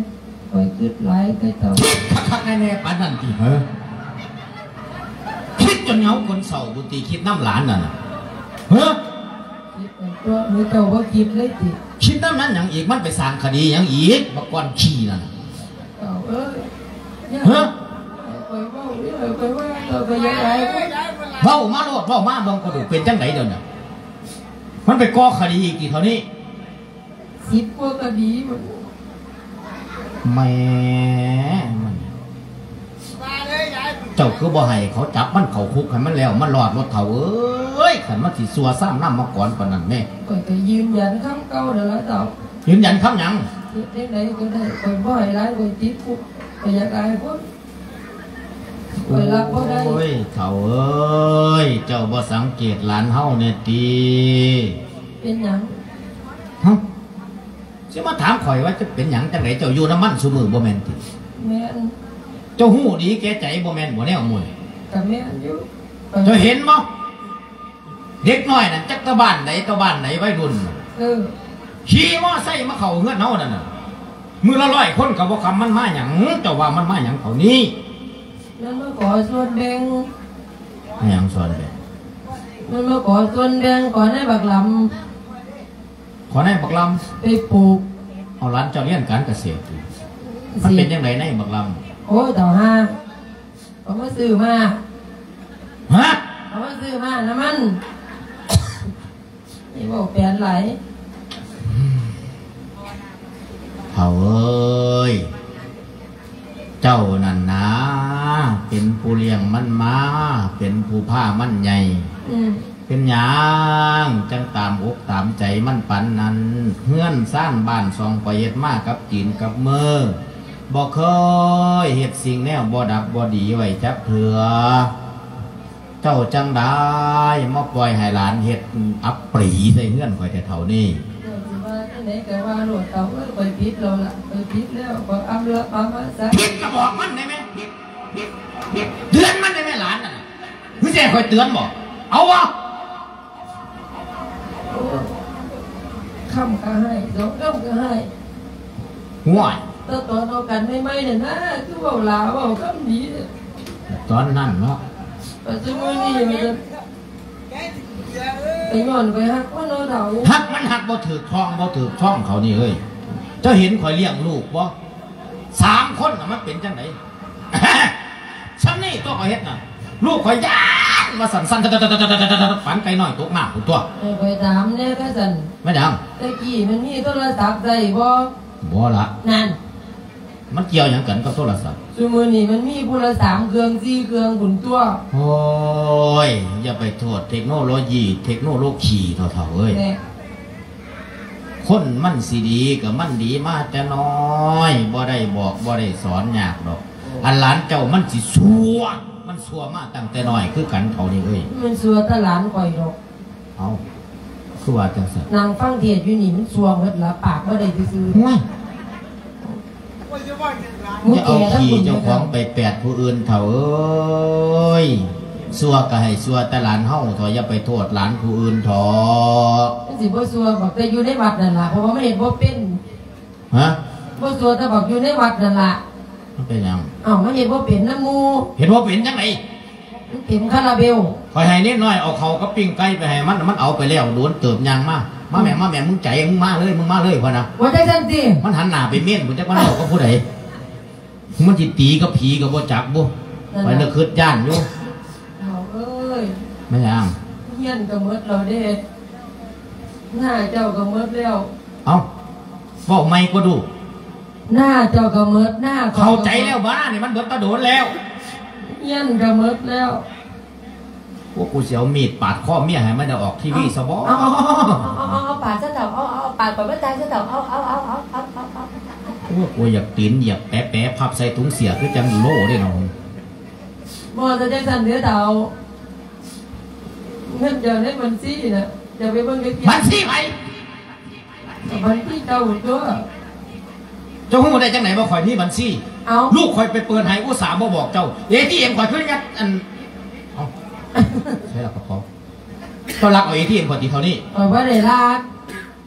ຂ້ອຍຄິດຫຼາຍແຕ່ເຈົ້າ. ຄັກໆແນ່ໆປານນັ້ນຕິເຫີ? ຄິດຈົນເຫງົາຄົນເສົ້າພຸ້ນຕິ ຄິດນຳຫຼານນັ້ນນະເຫີ? ຄິດຕົວະ ເຈົ້າບໍ່ຄິດເລີຍຕິ? ຄິດນຳນັ້ນຫຍັງອີກ? ມັນໄປສ້າງຄະດີຫຍັງອີກ ບັກກ້ອນຂີ້ນັ້ນ? ເຈົ້າເອີຍ ເຮີ ຂ້ອຍເວົ້າເດີ ຂ້ອຍວ່າເຈົ້າກໍຢ່າອາຍຄົນ. ເວົ້າມາໂລດ ເວົ້າມາເບິ່ງກໍດູ ເປັນຈັ່ງໃດດຽວນີ້? ມັນໄປກໍ່ຄະດີອີກຕິເທົ່ານີ້? ສິບກວ່າຄະດີພຸ້ນ. ແໝ ມັນ ເຈົ້າຄືບໍ່ໃຫ້ເຂົາຈັບມັນເຂົ້າຄຸກໃຫ້ມັນແລ້ວ ມັນລອດໂລດເຖົ້າເອີຍ. ຄັນມັນຊິຊົ່ວຊາມນາມມາກອນປານນັ້ນແມ້. ຂ້ອຍກໍຢືນຢັນຄຳເກົ່ານັ້ນລະເຈົ້າ. ຢືນຢັນຄຳຫຍັງ? ເຮັດຈັ່ງໃດກໍໄດ້ ຂ້ອຍບໍ່ໃຫ້ຫຼານຂ້ອຍຕິດຄຸກ ຂ້ອຍຢາກອາຍຄົນ ຂ້ອຍຮັບບໍ່ໄດ້. ໂອ້ຍ ເຖົ້າເອີຍ ເຈົ້າບໍ່ສັງເກດຫຼານເຮົາແດ່ຕິ? ເປັນຫຍັງ? ຮະ? ຊິມາຖາມຂ້ອຍວ່າຈະເປັນຫຍັງຈັ່ງໃດ? ເຈົ້າຢູ່ນຳມັນຊຸມື້ບໍ່ແມ່ນຕິ? ແມ່ນ. ເຈົ້າຮູ້ດີແກ່ໃຈບໍ່ແມ່ນບໍ່ແນວໝູ່? ກໍແມ່ນຢູ່. ເຈົ້າເຫັນບໍ່? ເດັກນ້ອຍນັ້ນຈັກຕະບ້ານໃດ ຕະບ້ານໃດ ໄວລຸ້ນ ເອີ ຂີ່ມໍໄຊມາເຂົ້າເຮືອນເຮົານັ້ນນະ ມື້ລະຮ້ອຍຄົນກໍບໍ່ຄຳ. ມັນມາຫຍັງ? ເຈົ້າວ່າມັນມາຫຍັງເທົ່ານີ້? ມັນມາຂໍສ່ວນແບ່ງ. ຫຍັງສ່ວນແບ່ງ? ມັນມາຂໍສ່ວນແບ່ງ ຂໍນາຍບັກລຳ. ຂໍນາຍບັກລຳໄປປູກ. ເອົາ ຫຼານເຈົ້າຮຽນການກະເສດຕິ? ມັນເປັນຈັ່ງໃດນາຍບັກລຳ? ໂອ້ຍ ເຖົ້າຫ່າ ເຂົາມາຊື້ມ້າ. ຮະ? ເຂົາມາຊື້ມ້ານຳມັນ. ຢ່າເວົ້າແປນຫຼາຍ. ເຖົ້າເອີຍ ເຈົ້ານັ້ນນາ ເປັນຜູ້ລ້ຽງມັນມາ ເປັນຜູ້ພາມັນໃຫຍ່. ອືມ. ເປັນຫຍັງຈັ່ງຕາມອົກຕາມໃຈມັນປານນັ້ນ? ເຮືອນຊານບ້ານຊ່ອງຂ້ອຍເຮັດມາກັບຕີນກັບມື ບໍ່ເຄີຍເຮັດສິ່ງແນວບໍ່ດັບບໍ່ດີໄວ້ຈັກເທື່ອ. ເຈົ້າຈັ່ງໃດມາປ່ອຍໃຫ້ຫຼານເຮັດອັບປຣີໃສ່ເຮືອນຂ້ອຍແທ້ເຖົ້ານີ້? ເຈົ້າຊິວ່າຈັ່ງໃດກໍວ່າໂລດເຖົ້າເອີຍ ຂ້ອຍຜິດແລ້ວລະ ຂ້ອຍຜິດແລ້ວ ຂ້ອຍອຳລະອຳມາສາ. ຜິດກໍບອກມັນໄດ້ແມະ ເຕືອນມັນໄດ້ແມະ ຫຼານນັ້ນນະ. ຄືຊິໃຫ້ຂ້ອຍເຕືອນບໍ່? ເອົາວະ? ໂອ້ຍ ຄຳກໍໃຫ້ ສອງຄຳກໍໃຫ້. ຫ້ວຍ ແຕ່ຕອນເຮົາກັນໃໝ່ໆນັ້ນນະ ຄືເວົ້າຫຼ້າເວົ້າຄຳດີ. ຕອນນັ້ນເນາະ ປັດຈຸບັນນີ້ວ່າຊັ້ນ. ຍ້ອນຂ້ອຍຮັກມັນເນາະເຖົ້າ. ຮັກມັນຮັກບໍ່ຖືກທ້ອງ ບໍ່ຖືກທ້ອງເຂົານີ້ເອີຍ. ເຈົ້າເຫັນຂ້ອຍລ້ຽງລູກບໍ່? ສາມຄົນນະ ມັນເປັນຈັ່ງໃດ? ຊ່ຳນີ້ຕົວະ ຂ້ອຍເຮັດນະ. ລູກຂ້ອຍຢ້ານວ່າຊັ້ນ ສັ່ນ ປານໄກ່ນ້ອຍຕົກນ້ຳພຸ້ນຕົວະ. ເອີ ຂ້ອຍຖາມແດ່ ກະຊັ້ນ ແມ່ນຫຍັງ? ແຕ່ກີ້ມັນມີໂທລະສັບໃຊ້ບໍ່? ບໍ່ລະ. ນັ້ນ ມັນກ່ຽວຫຍັງກັນກັບໂທລະສັບ? ຊຸມື້ນີ້ມັນມີຜູ້ລະສາມເຄື່ອງ ສີ່ເຄື່ອງພຸ້ນຕົວະ. ໂອ້ຍ ຢ່າໄປໂທດເທັກໂນໂລຢີ ເທັກໂນໂລຄີເຖົ້າເອີຍ. ແມ່ນ. ຄົນມັນຊິດີກະມັນດີມາແຕ່ນ້ອຍ ບໍ່ໄດ້ບອກບໍ່ໄດ້ສອນຍາກດອກ. ໂອ້ ອັນຫຼານເຈົ້າມັນຊິຊົ່ວ ມັນຊົ່ວມາຕັ້ງແຕ່ນ້ອຍຄືກັນເຖົ້ານີ້ເອີຍ. ມັນຊົ່ວແຕ່ຫຼານຂ້ອຍດອກ. ເອົ້າ ຄືວ່າຈັ່ງຊັ້ນ? ນັ່ງຟັງເທດຢູ່ນີ້ມັນຊົ່ວໝົດລະ ປາກບໍ່ໄດ້ຊື່ໆ. ໂອ້ຍ ຢ່າເອົາຂີ້ເຈົ້າຂອງໄປແປດຜູ້ອື່ນເຖົ້າເອີຍ. ຊົ່ວກະໃຫ້ຊົ່ວແຕ່ຫຼານເຮົາເຖາະ ຢ່າໄປໂທດຫຼານຜູ້ອື່ນເຖາະ. ມັນຊິບໍ່ຊົ່ວບັກແຕ່ຢູ່ໃນວັດນັ້ນລະ ເພາະວ່າມັນເຮັດບໍ່ເປັນ. ຮະ? ບໍ່ຊົ່ວແຕ່ບັກຢູ່ໃນວັດນັ້ນລະ. ມັນເປັນຫຍັງ? ເອົ້າ ມັນເຮັດບໍ່ເປັນນຳໝູ່. ເຮັດບໍ່ເປັນຈັ່ງໃດ? ມັນເຕັມຄາລາເບວ. ຂ້ອຍໃຫ້ເນນນ້ອຍເອົາເຂົ້າກັບປີ້ງໄກ່ໄປໃຫ້ມັນ ມັນເອົາໄປແລ້ວ ໂດນເຕີບຍ່າງມາ. ມາແມ່ ອືມ ມາແມ່ ມຶງໃຈ ມຶງມາເລີຍ ມຶງມາເລີຍ ພະນະ. ວ່າຈັ່ງຊັ້ນຕິ? ມັນຫັນໜ້າໄປເມນພຸ້ນ ຈັກມັນເວົ້າກັບຜູ້ໃດ. ມັນຊິຕີກັບຜີກະບໍ່ຈັກບຸ. ນັ້ນລະ ຂ້ອຍລະຄຶດຢ້ານຢູ່. ເຖົ້າເອີຍ ແມ່ນຫຍັງ? ຮຽນກະໝົດແລ້ວເດ້ ນາເຈົ້າກະໝົດແລ້ວ. ເອົ້າ ເວົ້າໃໝ່ກວ່າດູ. ນາເຈົ້າກະໝົດ ນາຂ້ອຍກະໝົດ. ເຂົ້າໃຈແລ້ວບາດນີ້ ມັນເບິດຕາໂດນແລ້ວ. ຮຽນກະໝົດແລ້ວ. ໂອ້ ກູຊິເອົາມີດປາດຄໍເມຍໃຫ້ມັນໄດ້ອອກທີວີຊະບໍ. ເອົາ ເອົາ ເອົາ ເອົາ ເອົາ ເອົາ ປາດຊະເຖົ້າ ເອົາ ເອົາ ເອົາ ປາດກ່ອນມັນຕາຍຊະເຖົ້າ ເອົາ ເອົາ ເອົາ ເອົາ ໂອ້ ກູຢາກຕີນຢາກແປະໆ ພັບໃສ່ຖົງເສື້ອຄືຈັ່ງໂລ້ເດ້ເນາະ. ບໍ່ ແຕ່ຈັ່ງຊັ້ນເດີເຖົ້າ ເງິນເຈົ້າໃນບັນຊີນະ ເຈົ້າໄປເບິ່ງໃນ ບັນຊີໃຜ? ບັນຊີເຈົ້າຕົວະ. ເຈົ້າຮູ້ໄດ້ຈັ່ງໃດວ່າຂ້ອຍມີບັນຊີ? ເອົ້າ ລູກຂ້ອຍໄປເປີດໃຫ້ ອຸດສ່າບໍ່ບອກເຈົ້າ. ເອທີເອັມ ຂ້ອຍຄືຍັດ ອັນ ເອົ້າ ໃສ່ລະກະເປົາ. ເຈົ້າລັກເອົາເອທີເອັມຂ້ອຍຕິເທົ່ານີ້? ຂ້ອຍບໍ່ໄດ້ລັກ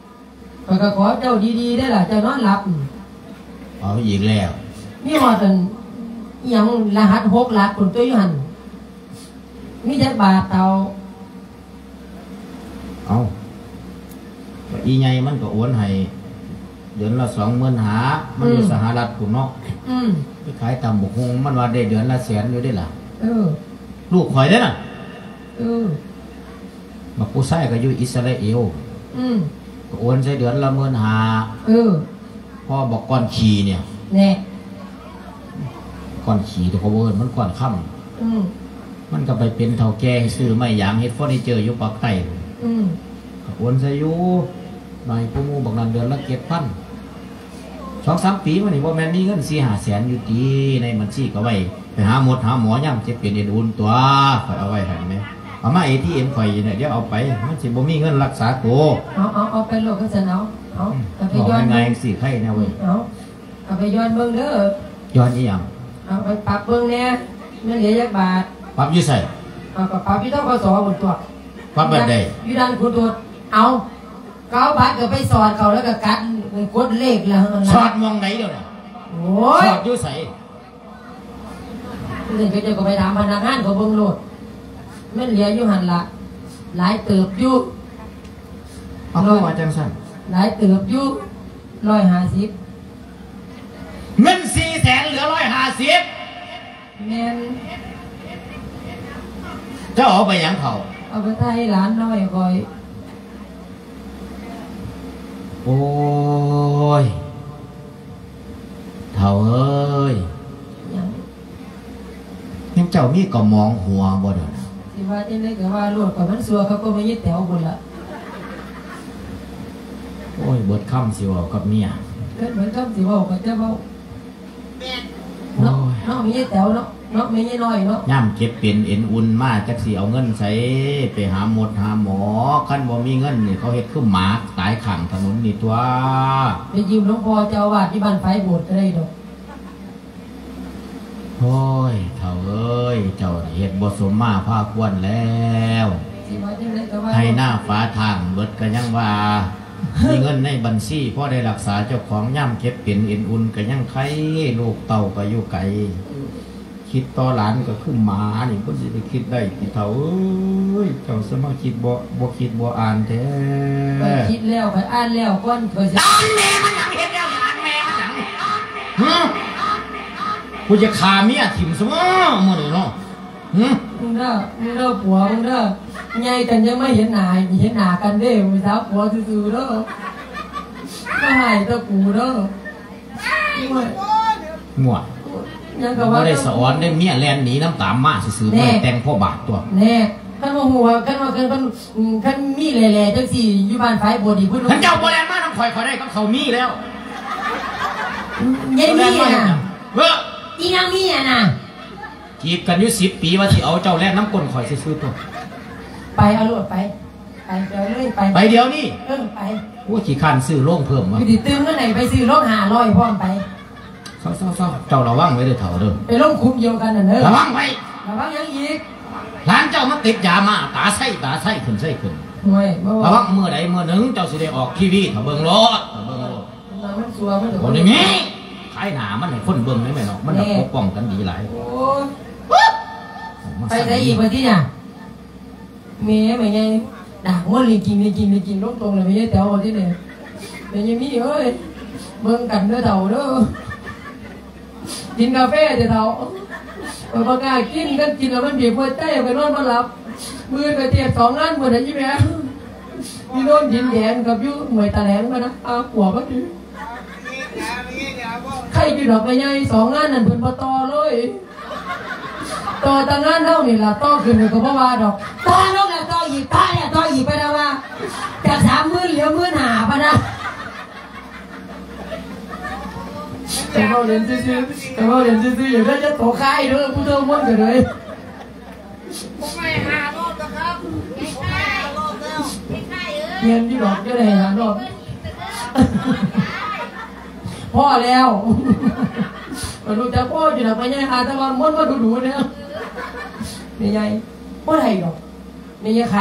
ຂ້ອຍກະຂໍເຈົ້າດີໆເດ້ລະ ເຈົ້ານອນຫຼັບ. ເອົາອີກແລ້ວ ມີຮອດອັນ ອີ່ຫຍັງ ລະຫັດຫົກຫຼັກພຸ້ນຕົວະ ຢູ່ຫັ້ນ. ມີຈັກບາດເຖົ້າ? ເອົ້າ ກະອີ່ໃຫຍ່ມັນກະໂອນໃຫ້ເດືອນລະສອງໝື່ນຫ້າ ມັນຢູ່ ອືມ ສະຫະລັດພຸ້ນເນາະ. ອືມ ໄປຂາຍຕຳບັກຫຸ່ງ ມັນວ່າໄດ້ເດືອນລະແສນຢູ່ເດ້ລະ. ເອີ ລູກຂ້ອຍເດ້ນະ. ເອີ ບັກຜູ້ຊາຍກະຢູ່ອິດສະຣາເອວ. ອືມ ກະໂອນໃສ່ເດືອນລະໝື່ນຫ້າ. ເອີ ພໍບັກກ້ອນຂີ້ນີ້ ແນ່ ກ້ອນຂີ້ ໂຕເຂົາເອີ້ນມັນກ້ອນຄຳ. ອືມ ມັນກະໄປເປັນເຖົ້າແກ່ ຊື້ໄມ້ຢາງເຮັດເຟີນີເຈີຢູ່ປາກໃຕ້. ອືມ ກະໂອນໃສ່ຢູ່ ໃຫ້ຜູ້ໝູ່ບັກນັ້ນເດືອນລະເຈັດພັນ. ສອງສາມປີມານີ້ ບໍ່ແມ່ນມີເງິນສີ່ຫ້າແສນຢູ່ຕິ ໃນບັນຊີກະໄວ້ ໄປຫາໝົດຫາໝໍ ຍາມເຈັບເປັນເອັນອຸ່ນຕົວະ. ຂ້ອຍເອົາໄວ້ໃຫ້ແມ່ ເອົາມາເອທີເອັມຂ້ອຍນີ້ ດຽວເອົາໄປ ມັນຊິບໍ່ມີເງິນລັກສາໂຕ. ເອົາ ເອົາ ເອົາໄປໂລດ ຄັນຊັ້ນເອົາ ເອົາ ອືມ ເອົາໄປ ເວົ້າງ່າຍໆ ຈັ່ງຊີ້ໄຄແນວເວີຍ. ເອົາ ເອົາໄປຢ່ອນເບິ່ງເດີ. ຢ່ອນອີ່ຫຍັງ? ເອົາໄປປັບເບິ່ງແດ່ ມັນເຫຼືອຈັກບາດ? ປັບຢູ່ໃສ? ເອົາ ກະປັບຢູ່ ທກສ ພຸ້ນຕົວະ. ປັບແບບໃດ? ຢູ່ດ່ານຂຸດໂດດ. ເອົາ ກະເອົາບັດກະໄປສອດເຂົາ ລະກະກັດກົດເລກລະຫັ້ນລະ. ສອດໝ່ອງໃດດຽວນີ້? ໂອ້ຍ ສອດຢູ່ໃສ? ເຈົ້າກະໄປຖາມພະນັກງານເຂົາເບິ່ງໂລດ. ມັນເຫຼືອຢູ່ຫັ້ນລະ ຫຼາຍເຕີບຢູ່. ເອົາ ຄືວ່າຈັ່ງຊັ້ນ? ຫຼາຍເຕີບຢູ່ ຮ້ອຍຫ້າສິບ. ເງິນສີ່ແສນເຫຼືອຮ້ອຍຫ້າສິບ? ແມ່ນ. ເຈົ້າເອົາໄປຫຍັງເຂົາ? ເອົາໄປໄຖ່ຫຼານນ້ອຍຂ້ອຍ. ໂອ້ຍ ເຖົ້າເອີຍ ຫຍັງ? ຍັງເຈົ້າມີກະໝອງຫົວບໍ່ເດີ? ຊິວ່າຈັ່ງໃດກະວ່າໂລດ ກະມັນຊົ່ວຄັກກວ່າແມ່ຍາຍແຕວພຸ້ນລະ. ໂອ້ຍ ເບິດຄຳຊິເວົ້າກັບເມຍ ເບິດ ເບິດຄຳຊິເວົ້າກະຈະເວົ້າ. ແມ່ນ ໂອ້ຍ ເນາະ ເນາະ ແມ່ຍາຍແຕວເນາະ ເນາະ ແມ່ຍາຍນ້ອຍເນາະ. ຍາມເຈັບເປັນເອັນອຸ່ນມາ ຈັກຊິເອົາເງິນໃສໄປຫາໝົດຫາໝໍ? ຄັນບໍ່ມີເງິນນີ້ ເຂົາເຮັດຄືໝາຕາຍຂ້າງຖະໜົນນີ້ຕົວະ. ໄປຢືມຫຼວງພໍ່ເຈົ້າອາວາດຢູ່ບ້ານຝາຍໂບດກະໄດ້ດອກ. ໂອ້ຍ ເຖົ້າເອີຍ ເຈົ້ານີ້ເຮັດບໍ່ສົມມາພາຄວນແລ້ວ. ຊິວ່າຈັ່ງໃດກະວ່າ ໄຮ່ນາຝາທາງເບິດກະຍັງວ່າ ມີເງິນໃນບັນຊີພໍໄດ້ລັກສາເຈົ້າຂອງ ຍາມເຈັບເປັນເອັນອຸ່ນກະຍັງໄຄ ລູກເຕົ້າກະຢູ່ໄກ. ອືມ ຄິດຕໍ່ຫຼານກໍຄືໝານີ້ ເພິ່ນຊິໄດ້ຄິດໄດ້ຕິເຖົ້າເອີຍ. ເຈົ້າສະມາຄິດບໍ່ ບໍ່ຄິດບໍ່ອ່ານແທ້. ຂ້ອຍຄິດແລ້ວ ຂ້ອຍອ່ານແລ້ວກ່ອນ ຂ້ອຍຊິ ອ່ານແມ່ມັນຫຍັງ ເຮັດແລ້ວອ່ານແມ່ມັນຫຍັງນີ້ ຫື? ກູຈະຂ້າເມຍຖິ້ມຊະບໍມື້ນີ້ເນາະ ຫື? ມຶງເດີ ມຶງເດີ ຜົວມຶງເດີ ໃຫຍ່ກັນຍັງມາເຫັນໜ້າ ເຫັນໜ້າກັນເດ້ ຜູ້ສາວຜົວຊື່ໆເດີ ມາຮ້າຍແຕ່ກູເດີ. ໂອ້ຍ ງວດ ຍັງກໍວ່າ ບໍ່ໄດ້ສະອອນເດ້ ເມຍແລ່ນໜີນຳຕາມມາຊື່ໆ ແນ່ ບໍ່ໄດ້ແຕ່ງພໍບາດຕົວະ. ແນ່ ຄັນວ່າຮູ້ວ່າ ຄັນວ່າ ຄັນ ຄັນ ຄັນມີແຫຼ້ໆ ຈັ່ງຊີ້ ຢູ່ບ້ານຝາຍໂບດນີ້ ເພິ່ນ ຄັນເຈົ້າບໍ່ແລ່ນມານຳຂ້ອຍ ຂ້ອຍໄດ້ກັບເຂົາມີແລ້ວ. ຍາຍມີນະ ເອີ ອີນາງມີນະ ຈີບກັນຢູ່ສິບປີ ວ່າຊິເອົາເຈົ້າແລ່ນນຳກົ້ນຂ້ອຍຊື່ໆຕົວະ. ໄປ ເອົາໂລດ ໄປ ໄປ ໄປເລີຍ ໄປ ໄປດຽວນີ້. ເອີ ໄປ. ໂອ້ຍ ຂີ້ຄ້ານຊື້ໂລງເພີ່ມວະ ຊິຕື່ມເງິນໃຫ້ໄປຊື້ໂລງຫ້າຮ້ອຍພ້ອມໄປ. ເຊົາໆໆ ເຈົ້າລະວັງໄວ້ເດີເຖົ້າເດີ ໄປລົງຂຸມດຽວກັນນັ້ນເດີ ລະວັງໄວ້. ລະວັງຫຍັງອີກ? ຫຼານເຈົ້າມັນຕິດຢາມາ ຕາໃສຕາໃສ ຂຶ້ນໃສຂຶ້ນ. ໂອ້ຍ ລະວັງ ມື້ໃດມື້ໜຶ່ງເຈົ້າຊິໄດ້ອອກທີວີ ຖ້າເບິ່ງໂລດ ຖ້າເບິ່ງໂລດ. ມັນຊົ່ວ ມັນ ບໍ່ໄດ້ມີ ຂາຍໜ້າມັນໃຫ້ຄົນເບິ່ງໄດ້ແມ່ເນາະ ມັນ ແນ່ ກໍປົກປ້ອງກັນດີຫຼາຍ. ໂອ້ຍ ໄປໃສອີກບັດນີ້ນະ? ແມ່ ແມ່ໃຫຍ່ ດາກມັນລິງກິງ ລິງກິງ ລິງກິງ ລົງຕົງແລ້ວ ແມ່ໃຫຍ່ແຕ໋ວ ບັດນີ້ ແມ່ໃຫຍ່ມີເອີຍ ເບິ່ງກັນເດີເຖົ້າເດີ ກິນກາແຟເດີເຖົ້າ. ຂ້ອຍບໍ່ກ້າກິນ ຄັນກິນແລ້ວມັນບີບຫົວໃຈ ຂ້ອຍນອນບໍ່ຫຼັບ. ມື້ອື່ນຂ້ອຍເທດສອງງານພຸ້ນນະ ອີ່ແມ່ ຢູ່ໂນນດິນແດງກັບຢູ່ຫ້ວຍຕາແຫຼງພຸ້ນນະ ອາ ກວບມາຕິ. ໄຄຢູ່ດອກແມ່ໃຫຍ່ ສອງງານນັ້ນເພິ່ນບໍ່ຕໍ່ເລີຍ. ຕໍ່ແຕ່ງານເຮົານີ້ລະ ຕໍ່ຂຶ້ນກໍບໍ່ວ່າດອກ ຕໍ່ລົງແລ້ວຕໍ່ອີກ ຕໍ່ແລ້ວຕໍ່ອີກ ປານວ່າຈາກສາມໝື່ນເຫຼືອໝື່ນຫ້າ ປານນະ. ແຕ່ເວົ້າເລ່ນຊື່ໆ ແຕ່ເວົ້າເລ່ນຊື່ໆ ຢ່າໄດ້ຈະຕົກຄ້າຍເດີ ຜູ້ເຖົ້າມ່ວນກໍເລີຍ. ແມ່ນຢູ່ດອກ ຢ່າໄດ້ຫ້າຮອບ ພໍແລ້ວ. ຂ້ອຍຮູ້ຈັກພໍຢູ່ດອກ ແມ່ໃຫຍ່ຫາແຕ່ວ່າມ່ວນມາດູໆເດີ ແມ່ໃຫຍ່. ບໍ່ໄດ້ດອກ ແມ່ໃຫຍ່ໄຄ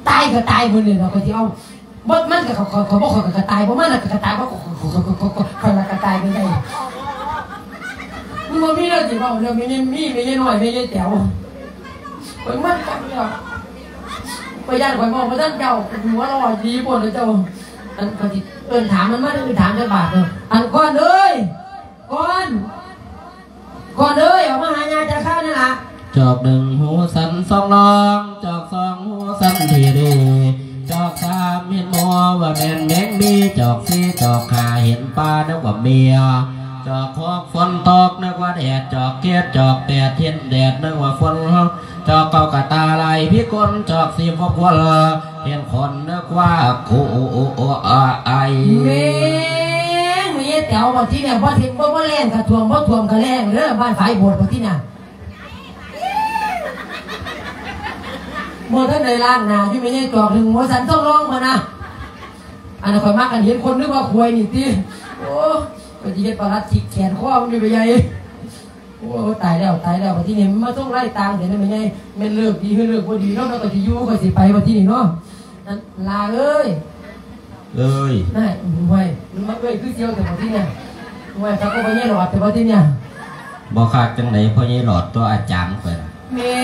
ຕາຍກໍຕາຍໝົດເລີຍເນາະ ຂ້ອຍຊິເອົາ ບໍ່ ມັນກໍ ຂ້ອຍ ຂ້ອຍ ບໍ່ ຂ້ອຍກໍກະຕ່າຍ ບໍ່ ມັນລະກະກະຕ່າຍ ບໍ່ ຂ້ອຍ ຂ້ອຍ ຂ້ອຍ ຂ້ອຍ ຂ້ອຍລະກະຕ່າຍຄືກັນ. ມັນບໍ່ມີແນວຊິເວົ້າເລື່ອງແມ່ໃຫຍ່ມີ ແມ່ໃຫຍ່ນ້ອຍ ແມ່ໃຫຍ່ແຕ๋ວ ຂ້ອຍມັນກັນເລີຍ. ຂ້ອຍຢ້ານຂ້ອຍເວົ້າບໍ່ທັນເຈົ້າ ຫົວເລາະດີໂພດເລີຍເຈົ້າ. ອັນ ຂ້ອຍຊິເອີ້ນຖາມມັນມາ ເອີ້ນຖາມຈັກບາດເດີ. ອັນກ່ອນເອີຍ ກ່ອນ ກ່ອນເອີຍ ອອກມາຫາຍ່າຈັກຄາວແດ່ລະ. ຈອກໜຶ່ງຫູສັ້ນສອງລອງ ຈອກສອງຫູສັ້ນທີ່ດີ ຈອກສາມເຫັນໝໍວ່າແມ່ນແມງມີ ຈອກສີ່ຈອກຫ້າເຫັນປານຶກວ່າເມຍ ຈອກຫົກຝົນຕົກນຶກວ່າແດດ ຈອກເຈັດຈອກແປດເຫັນແດດນຶກວ່າຝົນ ຈອກເກົ້າກະຕາລາຍພິກົນ ຈອກສິບຫົກວົນ ເຫັນຄົນນຶກວ່າໂກອາຍ. ແມ່ງ ແມ່ໃຫຍ່ແຕ๋ວ ບັດທີນີ້ບໍ່ເຫັນ ບໍ່ ບໍ່ແລ້ງກະຖ້ວມ ບໍ່ຖ້ວມກະແລ້ງເດີ ບ້ານຝາຍໂບດບັດທີນີ້. ບໍ່ທັນໄດ້ລ້າງໜ້າຢູ່ ແມ່ໃຫຍ່ຈອກໜຶ່ງຫົວສັ່ນທ້ອງຮ້ອງພຸ້ນນະ. ອັນນັ້ນຂ້ອຍມັກ ອັນເຫັນຄົນນຶກວ່າຄວາຍນີ້ຕິ. ໂອ້ ຂ້ອຍຊິເຮັດປະຫຼັດຈິກແຂນຄໍມັນຢູ່ ແມ່ໃຫຍ່. ໂອ້ ຕາຍແລ້ວ ຕາຍແລ້ວ ບັດທີນີ້ມັນມາສົ່ງລາຍຕ່າງແທ້ນະແມ່ໃຫຍ່. ແມ່ນເລີກດີ ຫຼືເລີກບໍ່ດີເນາະ ມັນກໍຊິຢູ່ ມັນກໍຊິໄປບັດທີນີ້ເນາະ. ນັ້ນ ຫຼ້າເອີຍ ເອີຍ ນາຍ ໂອ້ຍ ມັນມາເອີຍຄືສ່ຽວແທ້ບັດທີນີ້. ໂອ້ຍ ຄັກກໍພໍ່ໃຫຍ່ຫຼອດແທ້ບັດທີນີ້. ບໍ່ຄັກຈັ່ງໃດ ພໍ່ໃຫຍ່ຫຼອດຕົວະ ອາຈານຂ້ອຍນະ. ແມ່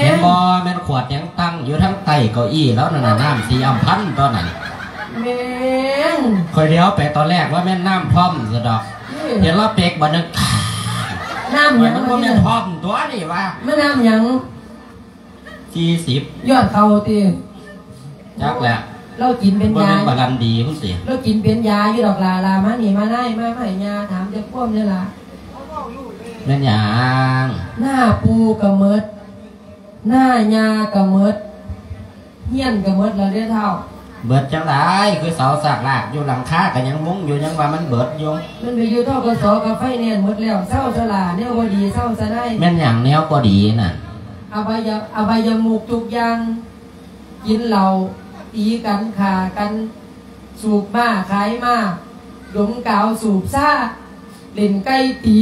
ເຫັນບໍ່ ແມ່ນຂວດຫຍັງຕັ້ງຢູ່ທາງໃຕ້ເກົ້າอี้ລາວນັ້ນນະ ນ້ຳສີອຳພັນຕົວະນັ້ນ. ແມ່ງ ຂ້ອຍຫຼຽວໄປຕອນແລກວ່າແມ່ນນ້ຳທ່ອມຊະດອກ. ເອີ ເຫັນລາວເປັກບາດໜຶ່ງ ນ້ຳຫຍັງ ມັນບໍ່ແມ່ນທ່ອມຕົວະນີ້ຫວາ ມັນນ້ຳຫຍັງ? ສີ່ສິບ ຍອດເຂົ້າຕິ? ຈັກແຫຼະ ລາວກິນເປັນຢາ ບໍ່ແມ່ນບາລັນດີພຸ້ນຕິ? ລາວກິນເປັນຢາຢູ່ດອກຫຼ້າ. ຫຼ້າມານີ້ມານາຍ ມາ ມາໃຫ້ຍ່າຖາມຈັກຄວາມແດ່ຫຼ້າ. ແມ່ນຫຍັງ? ໜ້າປູ່ກໍໝົດ ໜ້າຍ່າກໍໝົດ ເຮືອນກໍໝົດແລ້ວເດ້ເຖົ້າ. ເບິດຈັ່ງໃດ? ຄືເສົາຊາກລາກຢູ່ ຫຼັງຄາກໍຍັງມຸງຢູ່ ຍັງວ່າມັນເບິດຢູ່. ມັນໄປຢູ່ ທກສ ກັບໄຟແນນໝົດແລ້ວ. ເຊົາຊະຫຼ້າ ແນວບໍ່ດີເຊົາຊະນາຍ. ແມ່ນຫຍັງແນວບໍ່ດີນັ້ນ? ອະບາຍະ ອະບາຍະມຸກທຸກຢ່າງ ກິນເຫຼົ້າ ຕີກັນ ຂ້າກັນ ສູບມ້າຂາຍມ້າ ດົມກາວສູບຊາ ເລ່ນໄກ່ຕີ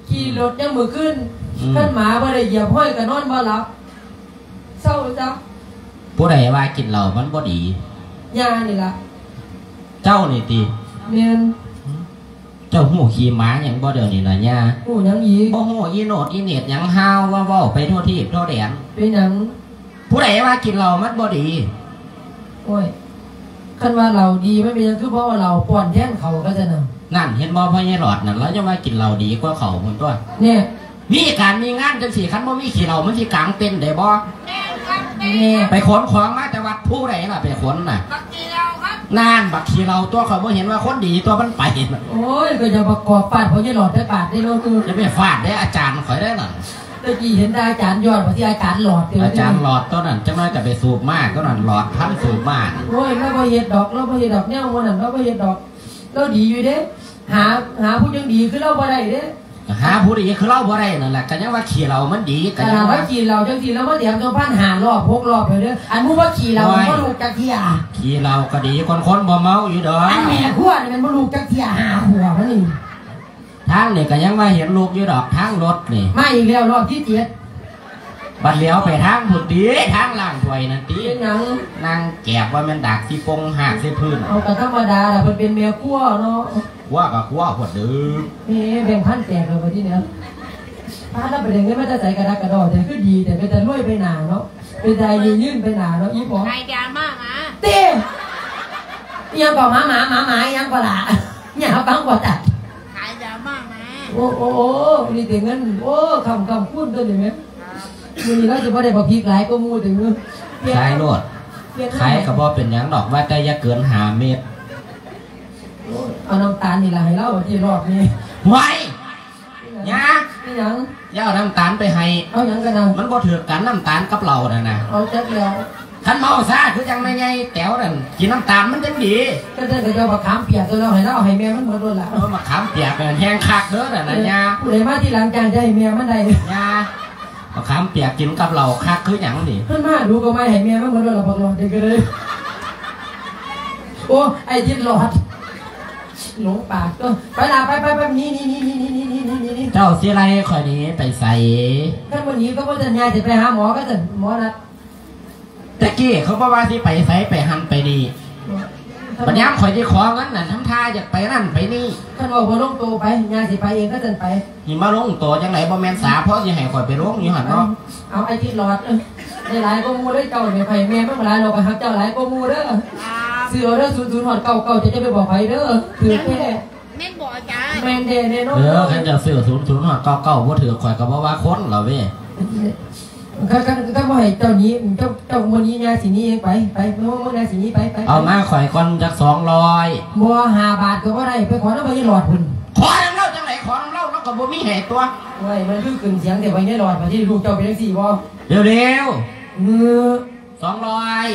ຂີ່ລົດຍາມມື້ຄືນ. ອືມ ຄັນໝາບໍ່ໄດ້ຢຽບຮອຍກໍນອນບໍ່ຫຼັບ. ເຊົາຊະ. ຜູ້ໃດວ່າກິນເຫຼົ້າມັນບໍ່ດີ? ຍ່ານີ້ລະ. ເຈົ້ານີ້ຕິ? ແມ່ນ. ເຈົ້າຮູ້ຂີ້ໝາຫຍັງບໍ່ດຽວນີ້ນະຍ່າ? ຮູ້ຫຍັງອີກ? ບໍ່ຮູ້ອີໂນດອີເນດຫຍັງ ຫ່າວວ່າເວົ້າໄປທົ່ວທີບທົ່ວແດນ. ເປັນຫຍັງ? ຜູ້ໃດວ່າກິນເຫຼົ້າມັນບໍ່ດີ? ໂອ້ຍ ຄັນວ່າເຫຼົ້າດີ ມັນເປັນຫຍັງຄືບໍ່ເອົາເຫຼົ້າປ້ອນແທນເຂົ້າ ເຂົາຊັ້ນນະ? ນັ້ນ ເຫັນບໍ່ ພໍ່ໃຫຍ່ຫຼອດນັ້ນ ລາວຍັງວ່າກິນເຫຼົ້າດີກວ່າເຂົ້າພຸ້ນຕົວະ. ແນ່ ມີການມີງານຈັ່ງຊີ້ ຄັນບໍ່ມີຂີ້ເຫຼົ້າ ມັນຊິກາງເຕັນໄດ້ບໍ່? ແນ່ ໄປຂົນຂອງມາແຕ່ວັດ ຜູ້ໃດລະໄປຂົນນະ? ບັກຂີ້ເຫຼົ້າຄັບ. ນັ້ນ ບັກຂີ້ເຫຼົ້າຕົວະ ຂ້ອຍບໍ່ເຫັນວ່າຄົນດີຕົວະ ມັນໄປ. ໂອ້ຍ ກໍຢ່າປະກອບຟາດພໍ່ໃຫຍ່ຫຼອດແຕ່ບາດເດ້ເນາະ. ຢ່າໄປຟາດເດ້ ອາຈານຂ້ອຍເດ້ນັ້ນ. ແຕ່ກີ້ເຫັນແຕ່ອາຈານຍອດ ວ່າຊິອາຈານຫຼອດຕິ. ອາຈານຫຼອດຕົວນັ້ນ ຈັກໜ້ອຍກໍໄປສູບມາ ຕົວນັ້ນຫຼອດພັນສູບມາ. ໂອ້ຍ ລາວບໍ່ເຮັດດອກ ລາວບໍ່ເຮັດດອກ ແນວໝູ່ນັ້ນລາວບໍ່ເຮັດດອກ. ລາວດີຢູ່ເດ້ ຫາ ຫາຜູ້ຈັ່ງດີຄືລາວບໍ່ໄດ້ເດ້. ຫາຜູ້ດີຄືລາວບໍ່ໄດ້ນັ້ນແຫຼະ ກໍຍັງວ່າຂີ້ເຫຼົ້າມັນດີ. ກໍຍັງວ່າ ວ່າຂີ້ເຫຼົ້າຈັ່ງຊີ້ ລາວມາແຖມຕົວພັນຫ້າລອບຫົກລອບແລ້ວເດີ້. ອັນໝູ່ວ່າຂີ້ເຫຼົ້າ ໂອ້ຍ ມັນບໍ່ລູກຈັກເທື່ອ. ຂີ້ເຫຼົ້າກໍດີກວ່າຄົນບໍ່ເມົາຢູ່ດອກ. ອັນແມ່ຄົວນີ້ມັນບໍ່ລູກຈັກເທື່ອ ຫ້າຂົວບນີ້. ທາງນີ້ກໍຍັງວ່າເຫັນລູກຢູ່ດອກ ທາງລົດນີ້. ມາອີກແລ້ວ ຮອບທີເຈັດ. ບັດຫຼຽວໄປທາງພຸ້ນຕິ ທາງລ້າງຖ້ວຍນັ້ນຕິ. ເປັນຫຍັງ? ນາງແກບວ່າແມ່ນດາກຊິປົງຫາກໃສ່ພື້ນ. ເອົາ ກໍທຳມະດາລະ ເພິ່ນເປັນແມ່ຄົວເນາະ. ຄົວກໍຄົວໂພດເດີ້. ແໝ່ ແບ່ງພັນແຕກແລ້ວບັດທີນີ້. ພາລາໄປໄດ້ເງິນມາແຕ່ໃສກະດາກກະດໍແທ້ ຄືດີແທ້ ເປັນຕາລວຍໄປໜ້າເນາະ. ເປັນຕາອາຍຸຍືນໄປໜ້າເນາະ ອີ່ພໍ່. ຂາຍຢາມາໝາ. ເຕ້ ອີ່ຫຍັງກໍໝາ ໝາ ໝາ ໝາ ອີ່ຫຍັງກໍລະ? ຫຍັງ ເອົາຟັງບໍ່ທັນ. ຂາຍຢາມາໝາ. ໂອ້ ໂອ້ ໂອ້ ນີ້ແຕ່ເງິນ. ໂອ້ ຄ້ຳ ຄ້ຳຄູນຕົວນີ້ແມ່. ມື້ນີ້ລາວຊິບໍ່ໄດ້ບັກພິກຫຼາຍກວ່າໝູ່ຕິ. ຂາຍໂລດ. ຂາຍກໍບໍ່ເປັນຫຍັງດອກ ວ່າແຕ່ຢ່າເກີນຫ້າເມັດ. ໂອ້ຍ ເອົານ້ຳຕານນີ້ລະໃຫ້ລາວ ທີ່ຮອບນີ້. ຫວາຍ ຍາ ອີຫຍັງ? ຢ່າເອົານ້ຳຕານໄປໃຫ້. ເອົາຫຍັງກັນນະ? ມັນບໍ່ຖືກກັນ ນ້ຳຕານກັບເຫຼົ້ານັ້ນນະ. ເອົາຈັກແລ້ວ. ຄັນເມົາຊາຄືຈັ່ງແມ່ໃຫຍ່ແຕວນັ້ນ ກິນນ້ຳຕານມັນຈັ່ງດີ. ກໍຈັ່ງໃດກໍເອົາບັກຂາມປຽກຕົວະ ໃຫ້ລາວ ໃຫ້ແມ່ມັນໝົດໂລດລະ. ເອີ ບັກຂາມປຽກນັ້ນແຮງຄັກເດີ້ນັ້ນນະ ເອີ ຍ່າ. ຜູ້ໃດມາທີຫຼັງຈ້າງຈະໃຫ້ແມ່ມັນໄດ້. ຢ່າ ບັກຂາມປຽກກິນກັບເຫຼົ້າຄັກຄືຫຍັງນີ້. ເພິ່ນມາດູກໍມາໃຫ້ແມ່ມັນໝົດໂລດລະ ບັກຫຼອດນີ້ກໍເລີຍ. ໂອ້ ໄອ້ທິດຫຼອດ ຫຼົງປາກຕົວະ. ໄປລະ ໄປ ໄປ ໄປ ໜີ ໜີ ໜີ. ເຈົ້າຊິໄລ່ຂ້ອຍໜີໄປໃສ? ຄັນບໍ່ໜີກໍບໍ່ສັນຍາ ຊິໄປຫາໝໍ ກໍຊັ້ນໝໍນັດ. ແຕ່ກີ້ເຂົາບໍ່ວ່າຊິໄປໃສ ໄປຫັ້ນໄປນີ້. ບັດຍາມຂ້ອຍຊິຂໍເງິນນັ້ນ ທຳທ່າຢາກໄປນັ້ນໄປນີ້. ຄັນເວົ້າບໍ່ລົງໂຕໄປ ຍ່າຊິໄປເອງ ກໍຊັ້ນໄປ. ນີ້ມາລົງໂຕຈັ່ງໃດ? ບໍ່ແມ່ນສາພໍຊິໃຫ້ຂ້ອຍໄປລົງຢູ່ຫັ້ນເນາະ. ເອົາ ໄອ້ທິດຫຼອດ ເອີ ໄດ້ຫຼາຍກວ່າໝູ່ເດີເຈົ້ານີ້. ຂ້ອຍແມ່ມັນຫຼາຍ ລາວກໍຮັກເຈົ້າຫຼາຍກວ່າໝູ່ເດີ. ຊື້ເອົາເດີ ສູນສູນຮອດເກົ້າເກົ້າ ເຈົ້າຢ່າໄປບອກໃຜເດີ. ຖືກແທ້. ແມ່ນບໍ່ອາຈານ? ແມ່ນແທ້ແນ່ນອນ. ເອີ ຄັນເຈົ້າຊື້ສູນສູນຮອດເກົ້າເກົ້າ ບໍ່ຖືກ ຂ້ອຍກໍບໍ່ວ່າຄົນລະເວີຍ. ຄັນ ຄັນ ຄັນບໍ່ໃຫ້ເຈົ້າໜີ ເຈົ້າ ເຈົ້າບໍ່ໜີ ຍ່າຊິໜີເອງ. ໄປ ໄປ ເມືອ ເມືອ ຍ່າຊິໜີ ໄປ ໄປ. ເອົາມາຂ້ອຍກ່ອນຈັກສອງຮ້ອຍ. ບໍ່ ຫ້າບາດກໍບໍ່ໄດ້. ໄປຂໍນຳພໍ່ໃຫຍ່ຫຼອດພຸ້ນ. ຂໍນຳລາວຈັ່ງໃດ? ຂໍນຳລາວ ລາວກໍບໍ່ມີໃຫ້ຕົວະ. ໂອ້ຍ ມັນຄືຂຶ້ນສຽງແທ້ ພໍ່ໃຫຍ່ຫຼອດ. ບາດນີ້ລູກເຈົ້າເປັນຈັ່ງຊີ້ບໍ່? ເລັວໆ. ເອີ ສອງຮ້ອຍ.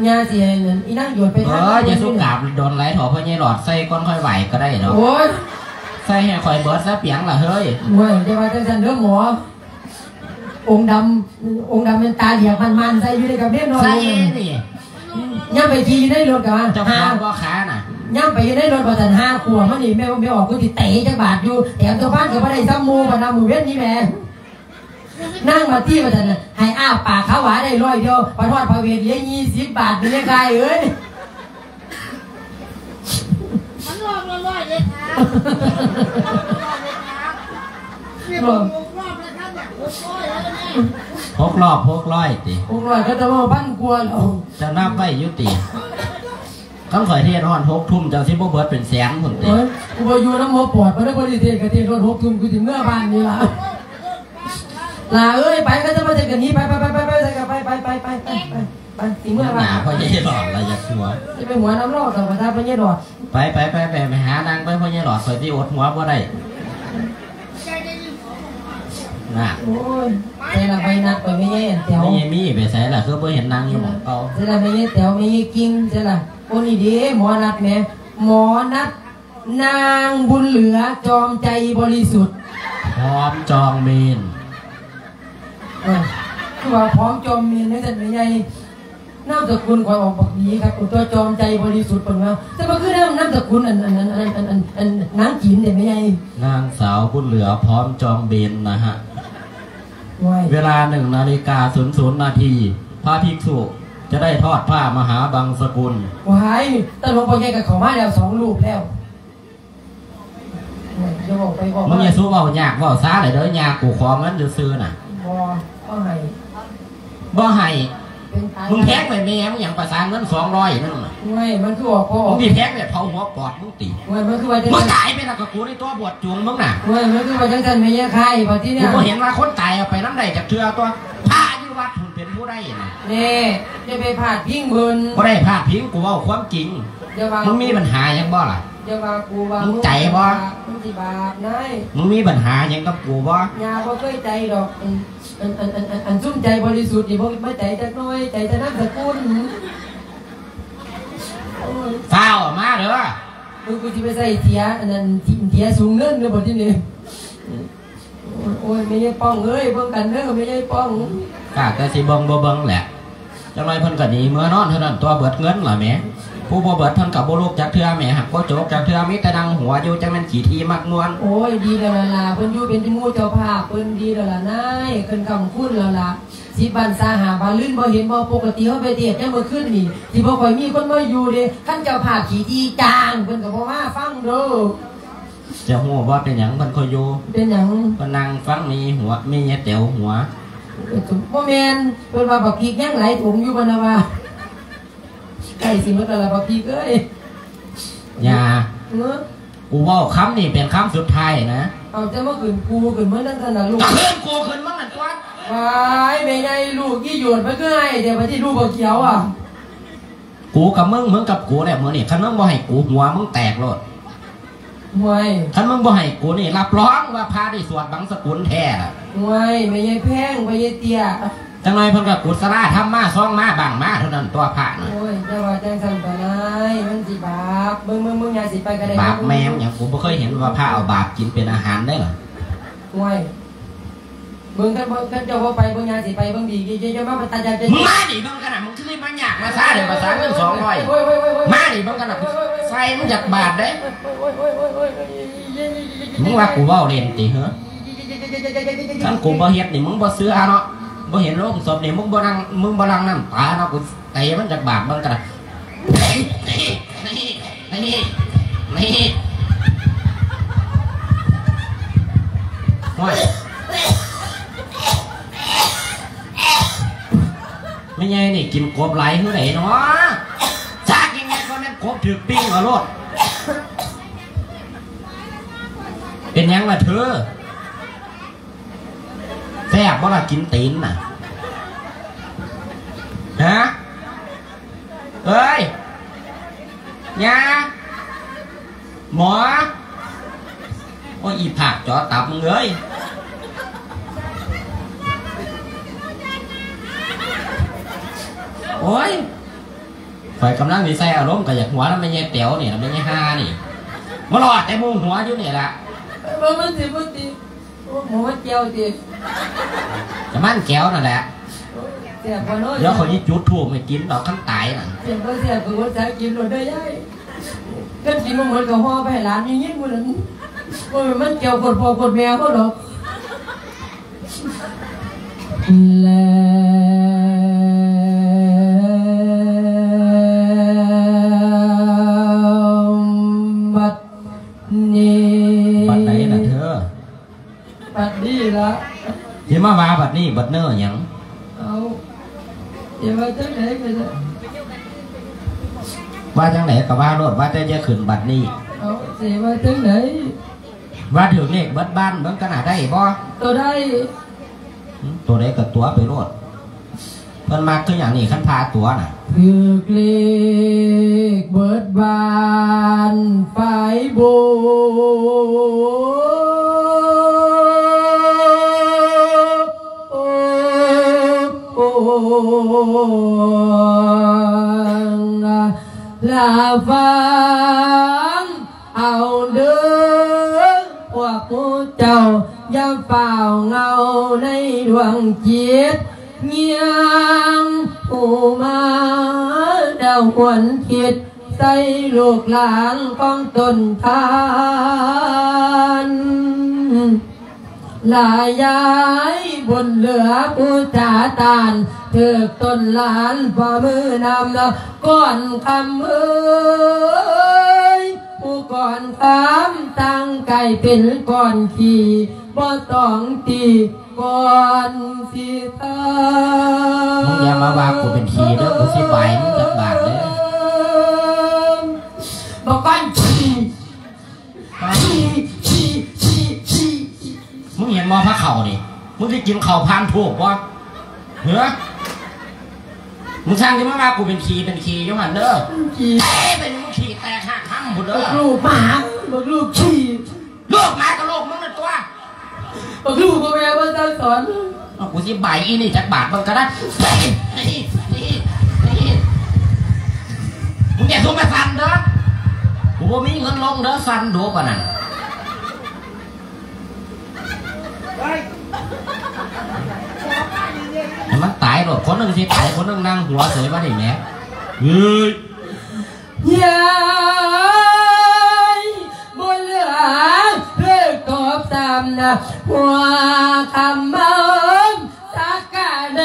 ຍ່າຊິໃຫ້ນັ້ນ ອີນາງຢວດໄປ. ເອີ ຢ່າສຸກາບດົນຫຼາຍເຖາະ ພໍ່ໃຫຍ່ຫຼອດ ໃສ່ກ່ອນຄ່ອຍໄຫວ້ກໍໄດ້ດອກ. ໂອ້ຍ ໃສ່ໃຫ້ຂ້ອຍເບິດຊະປຽງລະເຮີ້ຍ. ໂອ້ຍ ຢ່າວ່າຈັ່ງຊັ້ນເດີໝໍ. ອົງດຳ ອົງດຳແມ່ນຕາຫຼຽກມັນໆ ໃສ່ຢູ່ໃນກະເບນນອນ. ໃສ່ອີ່ນີ້. ຍາມໄປຂີ່ຢູ່ໃນລົດກະວ່າ ເຈົ້າຂອງບໍ່ຂານະ. ຍາມໄປຢູ່ໃນລົດວ່າຊັ້ນ ຫ້າຂວບມານີ້ ແມ່ ແມ່ອອກ ກູຊິເຕະຈັກບາດຢູ່. ແຖມຕົວພັນກໍບໍ່ໄດ້ສ່ຳໝູ່ ບັດນຳມື້ເວັນນີ້ແມ່. ນາງມາຕີວ່າຊັ້ນນະ ໃຫ້ອ້າປາກຂາວຫວາໄດ້ຮ້ອຍດຽວ ປະທອດພະເວດເຫຼືອຍີ່ສິບບາດ ແມ່ນຍັງກາຍເອີຍ. ມັນລອບລະຮ້ອຍເດ້ຄະ ມັນລອບລະຮ້ອຍເດ້ຄະ. ນີ້ ໂອ້ ຫົກລອບແລ້ວຄັບເນຍ ຫົກຮ້ອຍແລ້ວເນຍ. ຫົກລອບຫົກຮ້ອຍຕິ? ຫົກຮ້ອຍ ເຂົາຈະເວົ້າພັນກວ່າແລ້ວ. ເຈົ້ານັບໄວ້ຢູ່ຕິ? ຄັນຂ້ອຍເທດຮອດຫົກທຸ່ມ ເຈົ້າຊິບໍ່ເບິດເປັນແສນພຸ້ນຕິ? ໂອ້ຍ ກູບໍ່ຢູ່ນຳຫົວປອດ ບໍ່ໄດ້ ບໍ່ໄດ້ເທດ ກະເທດຮອດຫົກທຸ່ມ ກູຊິເມືອບ້ານນີ້ລະ. ຫຼ້າເອີຍ ໄປ ເຂົາຈະມາເທດກັນໜີ ໄປ ໄປ ໄປ ໄປ ຊິເມືອບ້ານ. ໜ້າພໍ່ໃຫຍ່ຫຼອດລະຢາກຫົວ. ຈະໄປຫົວນຳລາວ ເຈົ້າກະຖ້າພໍ່ໃຫຍ່ຫຼອດ. ໄປ ໄປ ໄປ ໄປ ໄປຫານັ່ງໄປ ພໍ່ໃຫຍ່ຫຼອດ ຂ້ອຍຊິອົດຫົວບໍ່ໄດ້. ນະ ໂອ້ຍ ໃສລະໃບນັດ ໄປແມ່ໃຫຍ່ແຕ໋ວ ແມ່ໃຫຍ່ມີໄປໃສລະ ຄືບໍ່ເຫັນນັ່ງຢູ່ໝ່ອງເກົ່າ? ໃສລະແມ່ໃຫຍ່ແຕ໋ວ ແມ່ໃຫຍ່ກິ່ງ ໃສລະ? ໂອ້ ນີ້ເດ້ ໝໍນັດແໝ ໝໍນັດ ນາງບຸນເຫຼືອ ຈອມໃຈບໍລິສຸດ ພ້ອມຈອງເມນ. ເອີ ຄືວ່າພ້ອມຈອມເມນ ຈັ່ງຊັ້ນແມ່ໃຫຍ່. ນາມສະກຸນຂ້ອຍອອກບັກດີຄັກ ຕົວະ ຈອມໃຈບໍລິສຸດ ເພິ່ນວ່າ. ແຕ່ວ່າຄືນາມ ນາມສະກຸນອັນ ອັນ ນາງຈີນເດ້ແມ່ໃຫຍ່. ນາງສາວບຸນເຫຼືອ ພ້ອມຈອງເບນນະຮະ. ໂອ້ຍ ເວລາໜຶ່ງນາລິກາສູນສູນນາທີ ພະພິກສຸຈະໄດ້ທອດຜ້າມະຫາບັງສະກຸນ. ວ້າຍ ຕາຫຼວງພໍ່ໃຫຍ່ກໍເຂົ້າມາແລ້ວ ສອງຮູບແລ້ວ. ຢ່າເວົ້າໄປເວົ້າມາ ມຶງຢ່າສູ່ເວົ້າຍາກເວົ້າຊ້າເລີຍເດີ ຍ່າກູຂໍເງິນຊື່ໆນະ. ບໍ່ ບໍ່ໃຫ້ ບໍ່ໃຫ້. ເປັນຕາຍ ມຶງແພງໄປແມ່ ມຶງຫຍັງ ປະສານເງິນສອງຮ້ອຍນັ້ນນະ. ໂອ້ຍ ມັນຄືອອກ ພໍອອກ ມຶງຊິແພງແບບເຜົາຫົວປອດມຶງຕິ? ໂອ້ຍ ມັນຄືວ່າຈັ່ງ ມຶງຕາຍໄປແລ້ວກໍກູໃນຕົວບວດຈູງມຶງນະ. ໂອ້ຍ ມັນຄືວ່າຈັ່ງຊັ້ນ ແມ່ຍາຍຄາຍ ບັດທີນີ້ ກູບໍ່ເຫັນວ່າຄົນຕາຍເອົາໄປນຳໄດ້ຈັກເທື່ອຕົວະ. ພະຢູ່ວັດພຸ້ນເປັນຜູ້ໃດນະ? ແນ່ ຢ່າໄປພາດພິງເພິ່ນ. ບໍ່ໄດ້ພາດພິງ ກູເວົ້າຄວາມຈິງ. ຢ່າວ່າ ມຶງມີບັນຫາຫຍັງບໍ່ລະ? ຢ່າວ່າກູວ່າ ມຶງໃຈບໍ່? ມຶງຊິບາບນາຍ. ມຶງມີບັນຫາຫຍັງກັບກູບໍ່? ຍ່າບໍ່ເຄີຍໃຈດອກ. ອັນ ອັນ ອັນ ອັນ ອັນ ອັນຊຸມໃຈບໍລິສຸດນີ້ ບໍ່ມາໃຈຈັກໜ້ອຍ ໃຈແຕ່ນາມສະກຸນ. ໂອ້ຍ ຟ້າວອອກມາເດີ. ເອີ ກູຊິໄປໃສ່ເສຍ ອັນນັ້ນ ເສຍສູງເງິນເດີ ບັດທີນີ້. ໂອ້ຍ ແມ່ຍາຍປ້ອງເອີຍ ເບິ່ງກັນເດີ ແມ່ຍາຍປ້ອງ. ກະ ກະຊິເບິ່ງບໍ່ເບິ່ງແຫຼະ. ຈັກໜ້ອຍເພິ່ນກໍໜີເມືອນອນເທົ່ານັ້ນຕົວະ ເບິດເງິນລະແໝ. ຜູ້ບໍ່ເບິດເພິ່ນກໍບໍ່ລຸກຈັກເທື່ອແໝ ຫາກບໍ່ໂຈກຈັກເທື່ອ ມີແຕ່ນັ່ງຫົວຢູ່ ຈັກແມ່ນຂີ້ຖີ່ມັກມ່ວນ. ໂອ້ຍ ດີແລ້ວລະຫຼ້າ ເພິ່ນຢູ່ເປັນໝູ່ເຈົ້າພາບ ເພິ່ນດີແລ້ວລະນາຍ ເພິ່ນຄ້ຳຄູນແລ້ວລະ. ສິບວັນຊາຫ້າວັນ ລືນບໍ່ເຫັນບໍ່? ປົກກະຕິເຮົາໄປເທດຍາມມື້ຄືນນີ້ ຊິບໍ່ຄ່ອຍມີຄົນມາຢູ່ເດ້. ຄັນເຈົ້າພາບຂີ້ຖີ່ຈ້າງ ເພິ່ນກໍບໍ່ມາຟັງເດີ. ຈະຮູ້ບໍ່ເປັນຫຍັງເພິ່ນຄ່ອຍຢູ່? ເປັນຫຍັງ? ເພິ່ນນັ່ງຟັງແມ່ຍາຍຫົວ ແມ່ຍາຍແຕວຫົວ. ບໍ່ແມ່ນ ເພິ່ນວ່າບັກພິກຍັງຫຼາຍຖົງຢູ່ ເພິ່ນວ່າ. ໃກ້ຊິໝົດແລ້ວລະບັກພິກເອີຍ. ຢ່າ ເອີ ກູເວົ້າຄຳນີ້ເປັນຄຳສຸດທ້າຍນະ. ເອົາ ຈະມາຂຶ້ນກູຂຶ້ນເມືອງນັ້ນຊັ້ນນະລູກ. ກໍຂຶ້ນກູຂຶ້ນເມືອງນັ້ນຕົວະ. ວ້າຍ ແມ່ໃຫຍ່ ລູກອີ່ໂຫຍດ ມັນຄືໃຫ້ແທ້ ບັດນີ້ລູກບໍ່ຂຽວອະ. ກູກັບມຶງ ມຶງກັບກູແຫຼະມື້ນີ້ ຄັນມຶງບໍ່ໃຫ້ກູ ຫົວມຶງແຕກໂລດ. ໂອ້ຍ ຄັນມຶງບໍ່ໃຫ້ກູນີ້ ຮັບຮອງວ່າພະໄດ້ສວດບັງສະກຸນແທ້ລະ. ໂອ້ຍ ແມ່ໃຫຍ່ແພງ ພໍ່ໃຫຍ່ເຕ້ຍ. ຈັກໜ້ອຍເພິ່ນກໍກຸສະລາທຳມາ ຊອງມາ ບັງມາເທົ່ານັ້ນຕົວະພະນະ. ໂອ້ຍ ຢ່າວ່າຈັ່ງຊັ້ນຕົວະນາຍ ມັນຊິບາບ. ເບິ່ງ ເບິ່ງ ເບິ່ງ ຍ່າຊິໄປກໍໄດ້. ບາບແມ່ມຫຍັງ ກູບໍ່ເຄີຍເຫັນວ່າພະເອົາບາບກິນເປັນອາຫານເດ້ລະ. ໂອ້ຍ ເບິ່ງ ຄັນບໍ່ ຄັນເຈົ້າບໍ່ໄປ ເບິ່ງ ຍ່າຊິໄປເບິ່ງດີ ຢ່າ ຢ່າ ຢ່າມາປະຕາຍາກ ຢ່າ ມຶງມານີ້ເບິ່ງກັນນະ ມຶງຄືມາຍາກມາຊາເດ້ ປະສານເງິນສອງຮ້ອຍ. ໂອ້ຍ ໂອ້ຍ ໂອ້ຍ ໂອ້ຍ ມານີ້ເບິ່ງກັນນະ ໂອ້ຍ ໂອ້ຍ ໂອ້ຍ ໃສ່ມຶງຢາກບາດເດ້. ມຶງວ່າກູເວົ້າເລ່ນຕິເຮີ? ຄັນກູບໍ່ເຮັດນີ້ ມຶງບໍ່ເຊື່ອເນາະ. ບໍ່ເຫັນໂລງສົບນີ້ ມຶງບໍ່ນັ່ງ ມຶງບໍ່ຫຼັ່ງນ້ຳຕາເນາະ. ກູເຕະມັນຈັກບາດເບິ່ງກັນນະ. ນີ້ ນີ້ ນີ້ ໂອ້ຍ ແມ່ໃຫຍ່ນີ້ກິນກົບຫຼາຍຄືໃດເນາະ? ຊາກຍັງໄງກໍແມ່ນກົບຖືກປີ້ງເອົາໂລດ. ເປັນຫຍັງລະເທີ? ແຊບບໍ່ລະ ກິນຕີນນະ? ຮະ? ເອີຍ ຍ່າ ໝໍ. ໂອ້ຍ ອີພາກຈໍຕັບມຶງເອີຍ. ໂອ້ຍ ຂ້ອຍກຳລັງຊິໃສ່ອາລົມ ກໍຢາກຫົວນຳແມ່ໃຫຍ່ແຕວນີ້ລະ ແມ່ໃຫຍ່ຫ່ານີ້. ມາຫຼອດແຕ່ມຸງຫົວຢູ່ນີ້ລະ. ເອີ ມັນຊິບໍ່ຕິ ໂອ້ ໝໍແກ້ວຕິ? ກະມັນແກ້ວນັ້ນແຫຼະ. ໂອ້ຍ ແຊບບໍ່ເນາະ? ດຽວຂ້ອຍຊິຈຸດທູບໃຫ້ກິນດອກ ຄັນຕາຍນະ. ແຊບບໍ່ແຊບກໍອົດສາກິນໂລດເດີຍາຍ. ຄັນກິນບໍ່ໝົດກໍຫໍ່ໄປໃຫ້ຫຼານຢູ່ເຮືອນພຸ້ນລະ. ໂອ້ຍ ມັນແກ້ວໂຄດພໍ່ໂຄດແມ່ເຮົາດອກ. ແລ້ວບັດນີ້ ບັດໃດລະເທີ? ບັດນີ້ລະ. ຊິມາວ່າບັດນີ້ບັດເນີຫຍັງ? ເອົາ ຊິວ່າຈັ່ງໃດກໍໄດ້. ວ່າຈັ່ງໃດກໍວ່າໂລດ ວ່າແຕ່ຢ່າຂຶ້ນບັດນີ້. ເອົາ ຊິວ່າຈັ່ງໃດ? ວ່າຖືກເລກເບິດບ້ານເບິ່ງກັນນະ ໄດ້ບໍ່? ຕົວໃດ? ໂຕໃດກໍຕົວະໄປໂລດ. ເພິ່ນມັກຄືຫຍັງນີ້ ຄັນພາຕົວະນະ? ຖືກເລກເບິດບ້ານຝາຍໂບ ລະຟັງ ເອົາເດີ ພວກໝູ່ເຈົ້າ ຢ່າຟ້າວເຫງົາໃນດວງຈິດ ຍາມຜູ້ມາດາຫວນຄິດໃສ່ລູກຫຼານຂອງຕົນທ່ານ. ລາຍາຍບຸນເຫຼືອຜູ້ຈາຕານ ຖືກຕົ້ນຫຼານຝ່າມືນຳ ກ່ອນຄຳເອີຍ ຜູ້ກ່ອນຄຳຕັ້ງ ກາຍເປັນກ້ອນຂີ້ ບໍ່ຕ້ອງຕີກ່ອນຊິເທີ້າ. ມຶງຢ່າມາວ່າກູເປັນຂີ້ເດີ ກູຊິບາຍມຶງຈັກບາດເດີ. ບັກກ້ອນຂີ້ ຂີ້ ຂີ້ ຂີ້ ຂີ້. ມຶງເຫັນບໍ່ພະເຂົ້ານີ້? ມຶງຊິກິນເຂົ້າຜ່ານທູບບໍ່? ເຮີ ມຶງຊ່າງຊິມາວ່າກູເປັນຂີ້ເປັນຂີ້ຢູ່ຫັ້ນເດີ. ຂີ້ ເອີ ເປັນມຶງຂີ້ແຕກຮາກຮຳພຸ້ນເດີ. ບັກລູກໝາ ບັກລູກຂີ້. ລູກໝາກໍລູກມຶງນັ້ນຕົວະ. ບັກລູກບໍ່ແມ່ນບໍ່ສັ່ງສອນ. ເອົາ ກູຊິບາຍອີ່ນີ້ຈັກບາດເບິ່ງກໍໄດ້. ມຶງຢ່າຊຸມມາສັ່ນເດີ. ກູບໍ່ມີເງິນລົງເດີ ສັ່ນໂດປານນັ້ນ. ໃຫ້ມັນຕາຍໂລດ ຄົນໜຶ່ງຊິຕາຍ ຄົນໜຶ່ງນັ່ງຫົວເສີຍມານີ້ແໝ. ເອີຍ ຍາຍ ບໍ່ເຫຼືອເລີກຕອບຊ້ຳນະ ຫົວຄຳເວົ້າສັກກະແນ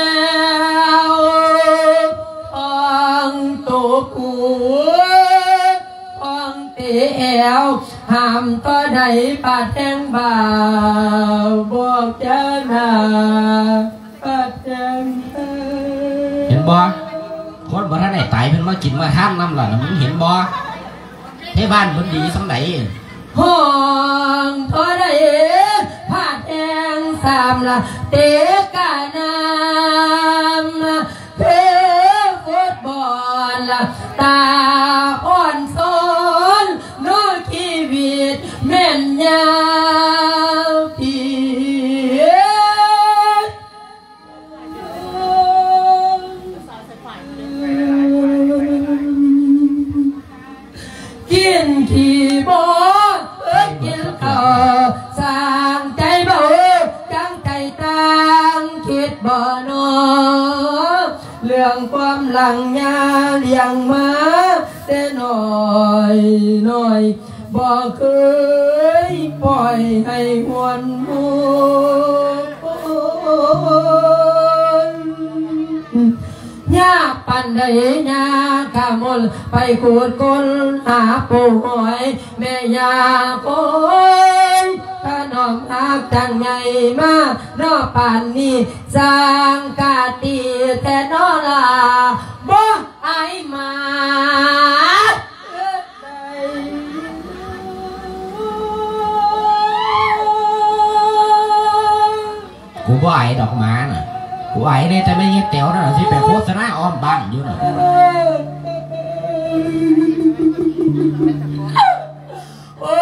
ວ ຂອງໂຕກູ ຂອງເຕແອວ ຫ້າມຕໍ່ໃດປາດແຮງບ່າວ ບອກຈາໜ້າປາດແຮງເທີ້າ. ເຫັນບໍ່? ຄົນບໍ່ທັນໄດ້ຕາຍ ເພິ່ນມາກິນມາທານນຳລະນະ ມຶງເຫັນບໍ່? ເທວານເພິ່ນດີສ່ຳໃດ. ຫ້ອງທໍ່ໃດພາດແຮງສາມລະ ເຕະກະນຳ ຄືຟຸດບອນລະ ຕາອ່ອນໂຊນ ເນາະ ຊີວິດແມ່ນຍາວປີ. ກິນຂີ້ບໍ່ເອີຍກິນເຂົ້າ ສ້າງໃຈເບົາຈັ່ງໃຈຕ່າງ ຄິດບໍ່ນໍ ເລື່ອງຄວາມຫຼັງຍາລ້ຽງມາແຕ່ນ້ອຍນ້ອຍ ບໍ່ເຄີຍປ່ອຍໃຫ້ຫວນຫົວ. ຍາກປານໃດຍາກກະມົນ ໄປຂຸດຄົ້ນຫາປູຫອຍ ແມ່ຍ່າໂກຍ ຖະໜອມຮັກຈັ່ງໃຫຍ່ມາເນາະປານນີ້ ຊ່າງກະຕີແທ້ເນາະລາ ບໍ່ອາຍໝາ. ກູບໍ່ອາຍດອກໝານະ ກູອາຍແດ່ແຕ່ແມ່ເຍແຕວນັ້ນ ທີ່ໄປໂຄສະນາອ້ອມບ້ານຢູ່ນະ. ໂອ້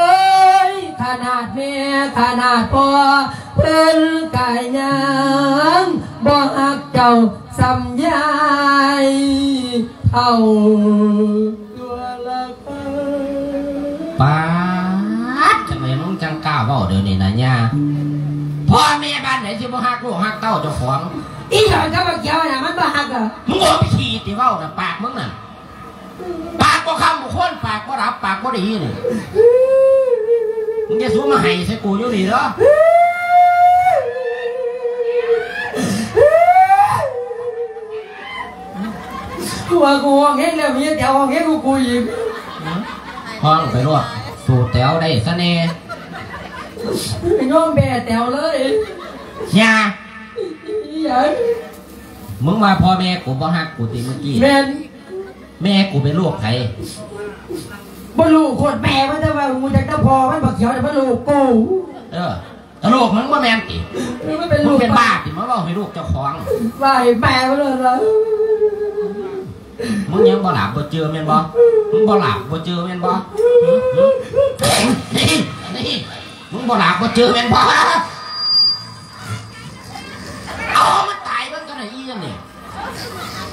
ຍ ຂະໜາດແມ່ຂະໜາດພໍ່ ເພິ່ນກະຍັງບໍ່ຮັກເຈົ້າສ່ຳຍາຍເຖົ້າຕົວລະ. ປາດ ຈັ່ງໃດມຶງຈັ່ງກ້າເວົ້າດຽວນີ້ນະຍ່າ? ພໍ່ແມ່ບ້ານໃດຊິບໍ່ຮັກລູກຮັກເຕົ້າເຈົ້າຂອງ? ອີ່ດອນກັບບັກຂຽວນະ ມັນບໍ່ຮັກເດີ. ມຶງອອກໄປຂີ້ຕິເວົ້ານະ ປາກມຶງນະ ປາກບໍ່ຄຳບໍ່ຄວນ ປາກບໍ່ດັບ ປາກບໍ່ດີນີ້. ມຶງຢ່າສູ່ມາໄຫ້ໃສ່ກູຢູ່ນີ້ເດີ. ກູວ່າກູຮ້ອງແຮງແລ້ວ ມີແຕ່ຮ້ອງແຮງກວ່າກູອີກ. ຮ້ອງໄປໂລດ ສູ້ແຕວໄດ້ຊະແດ່. ຍອມແພ້ແຕວເລີຍ. ຢ່າ. ອີຫຍັງ? ມຶງວ່າພໍ່ແມ່ກູບໍ່ຮັກກູຕິມື້ກີ້? ແມ່ນ. ແມ່ກູເປັນລູກໃຜ? ບໍ່ຮູ້ໂຄດແມ່ມັນ ແຕ່ວ່າຮູ້ຈັກແຕ່ພໍ່ມັນ ບັກຂຽວນີ້ມັນລູກກູ. ເອີ. ຕະຫຼົກ ມຶງບໍ່ແມ່ນຕິ? ເອີ ມັນເປັນລູກ ມຶງເປັນບ້າຕິ ມາເວົ້າໃຫ້ລູກເຈົ້າຂອງ ວ່າໃຫ້ແມ່ມັນເລີຍລະ. ມຶງຍັງບໍ່ຫຼັບບໍ່ເຈື່ອແມ່ນບໍ່? ມຶງບໍ່ຫຼັບບໍ່ເຈື່ອແມ່ນບໍ່? ຫຶ? ຫຶ? ນີ້ ນີ້ ມຶງບໍ່ຫຼັບບໍ່ເຈື່ອແມ່ນບໍ່? ເອົາມັນຕາຍເບິ່ງກັນ ອີ່ຫຍັງນີ້?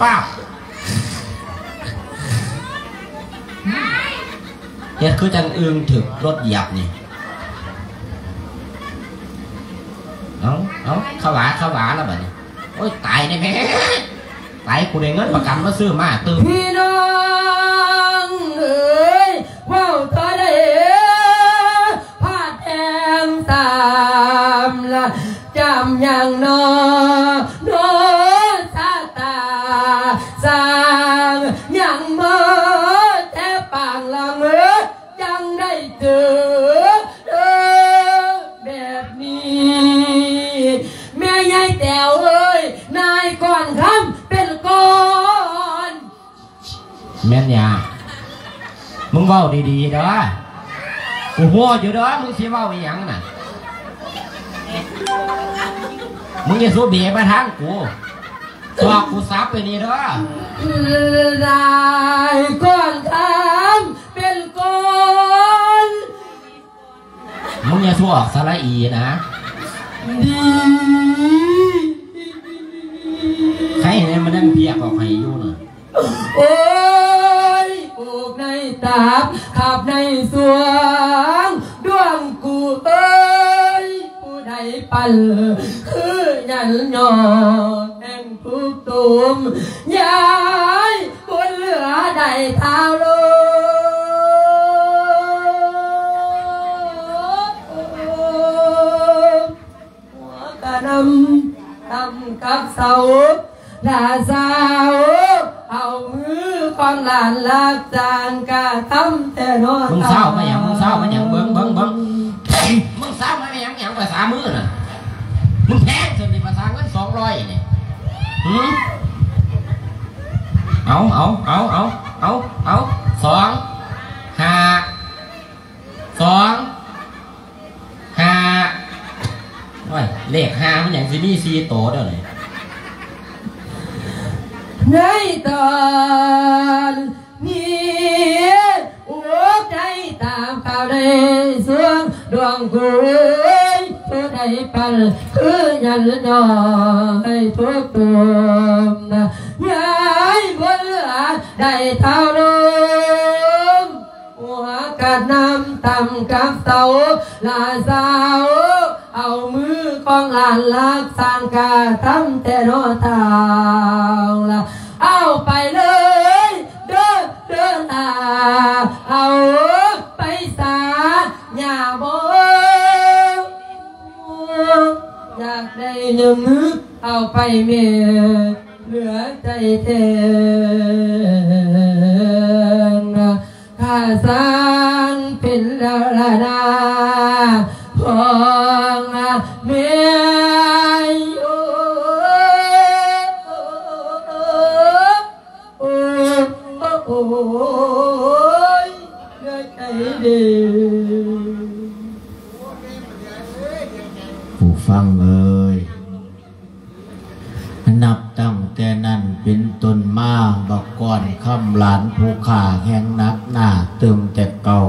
ປ້າບ ເຮັດຄືຈັ່ງອຶ່ງຖືກລົດຢຽບນີ້. ເອົາ ເອົາ ຂະຫວາ ຂະຫວາລະບາດນີ້. ໂອ້ຍ ຕາຍແນ່ແມ່ ຕາຍ ກູໄດ້ເງິນປະກັນມາຊື້ມ້າຕື່ມ. ພີ່ນ້ອງເອີຍ ເວົ້າເທົ່າໃດ ພາດແຮງສາມລະ ຈຳຫຍັງນໍ ນໍຊະຕາ ສ້າງຫຍັງມາແຕ່ປາງຫຼັງ ຈັ່ງໄດ້ເຈີ ມຶງເວົ້າດີໆເດີ ກູຮູ້ຢູ່ເດີ ມຶງຊິເວົ້າອີ່ຫຍັງນະ ມຶງຢ່າສູ່ເບມາທາງກູ ສອກກູສັບໄປນີ້ເດີ ຫຼາຍຄົນທຳເປັນຄົນ ມຶງຢ່າສູ່ອອກສະຫຼະອີນະ ດີ ໃຄແນ່ ມັນຍັງພຽກອອກໃຫ້ຢູ່ນະ. ໂອ້ຍ ໂອກໃນຕັບ ຂັບໃນສວງ ດວງກູເອີຍ ຜູ້ໃດປັນ ຄືຍັນຍໍແຫ່ງທຸກຕຸມ ຍາຍບຸນເຫຼືອໄດ້ທ້າວລົງ ຫົວກະນຳ ນຳກັບເສົາ ລາຊາວ ເອົາມືຂອງຫຼານລັກສານກະທຳແທ້ນໍ ມຶງຊາວມາຫຍັງ ມຶງຊາວມາຫຍັງ ເບິ່ງ ເບິ່ງ ເບິ່ງ ມຶງຊາວມາຫຍັງ ຫຍັງພາສາມືນະ ມຶງແພງຊັ້ນນີ້ ພາສາເງິນສອງຮ້ອຍນີ້ ຫື ເອົາ ເອົາ ເອົາ ເອົາ ເອົາ ເອົາ ສອງ ຫ້າ ສອງ ຫ້າ ໂອ້ຍ ເລກຫ້າມັນຫຍັງຊິມີສີ່ໂຕດຽວນີ້ ໃນຕອນນີ້ ໂອກໃຈຕາມຂ່າວໃນສວງ ດວງກູເອີຍ ຜູ້ໃດປັນ ຄືຍັນຍໍໃຫ້ທຸກຕຸມ ຍາຍບຸນເຫຼືອໄດ້ທ້າວລົງ ຫົວກະນຳຕຳກັບເສົາ ລາຊາວ ເອົາມືຂອງຫຼານລັກສານກະທຳແທ້ນໍທ້າວລະ ເອົາໄປເລີຍເດີ ເດີລາ ເອົາໄປສາ ຍ່າບໍ່ ຢາກໄດ້ຍາມນຶກ ເອົາໄປແມ່ນເຫຼືອໃຈແທ້ ຂ້າສ້າງເປັນດາລະນາຂອງແມ່ ໂອ້ ໂອ້ ໂອ້ ໂອ້ຍ ເຫຼືອໃຈເດ້ ຜູ້ຟັງເອີຍ. ນັບຕັ້ງແຕ່ນັ້ນເປັນຕົ້ນມາ ບັກກ້ອນຄຳຫຼານຜູ້ຂ້າແຮ່ງໜັກໜ້າຕື່ມແຕ່ເກົ່າ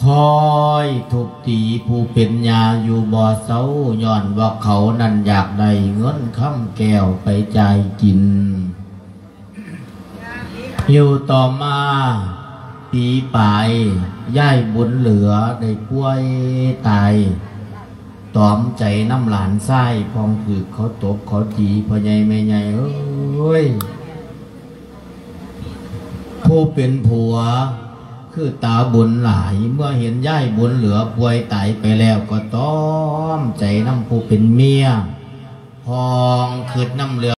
ຄອຍທຸບຕີຜູ້ເປັນຍ່າຢູ່ບໍ່ເຊົາ ຍ້ອນວ່າເຂົານັ້ນຢາກໄດ້ເງິນຄຳແກ້ວໄປຈ່າຍກິນ. ຢູ່ຕໍ່ມາປີປາຍ ຍາຍບຸນເຫຼືອໄດ້ປ່ວຍຕາຍ ຕອມໃຈນຳຫຼານຊາຍ ພ້ອງຖືກເຂົາຕົບເຂົາຕີ ພໍ່ໃຫຍ່ແມ່ໃຫຍ່ເອີຍ ຜູ້ເປັນຜົວຄືຕາບຸນຫຼາຍ ເມື່ອເຫັນຍາຍບຸນເຫຼືອປ່ວຍຕາຍໄປແລ້ວ ກໍຕອມໃຈນຳຜູ້ເປັນເມຍ ພ້ອງຄຶດນຳເລື່ອງ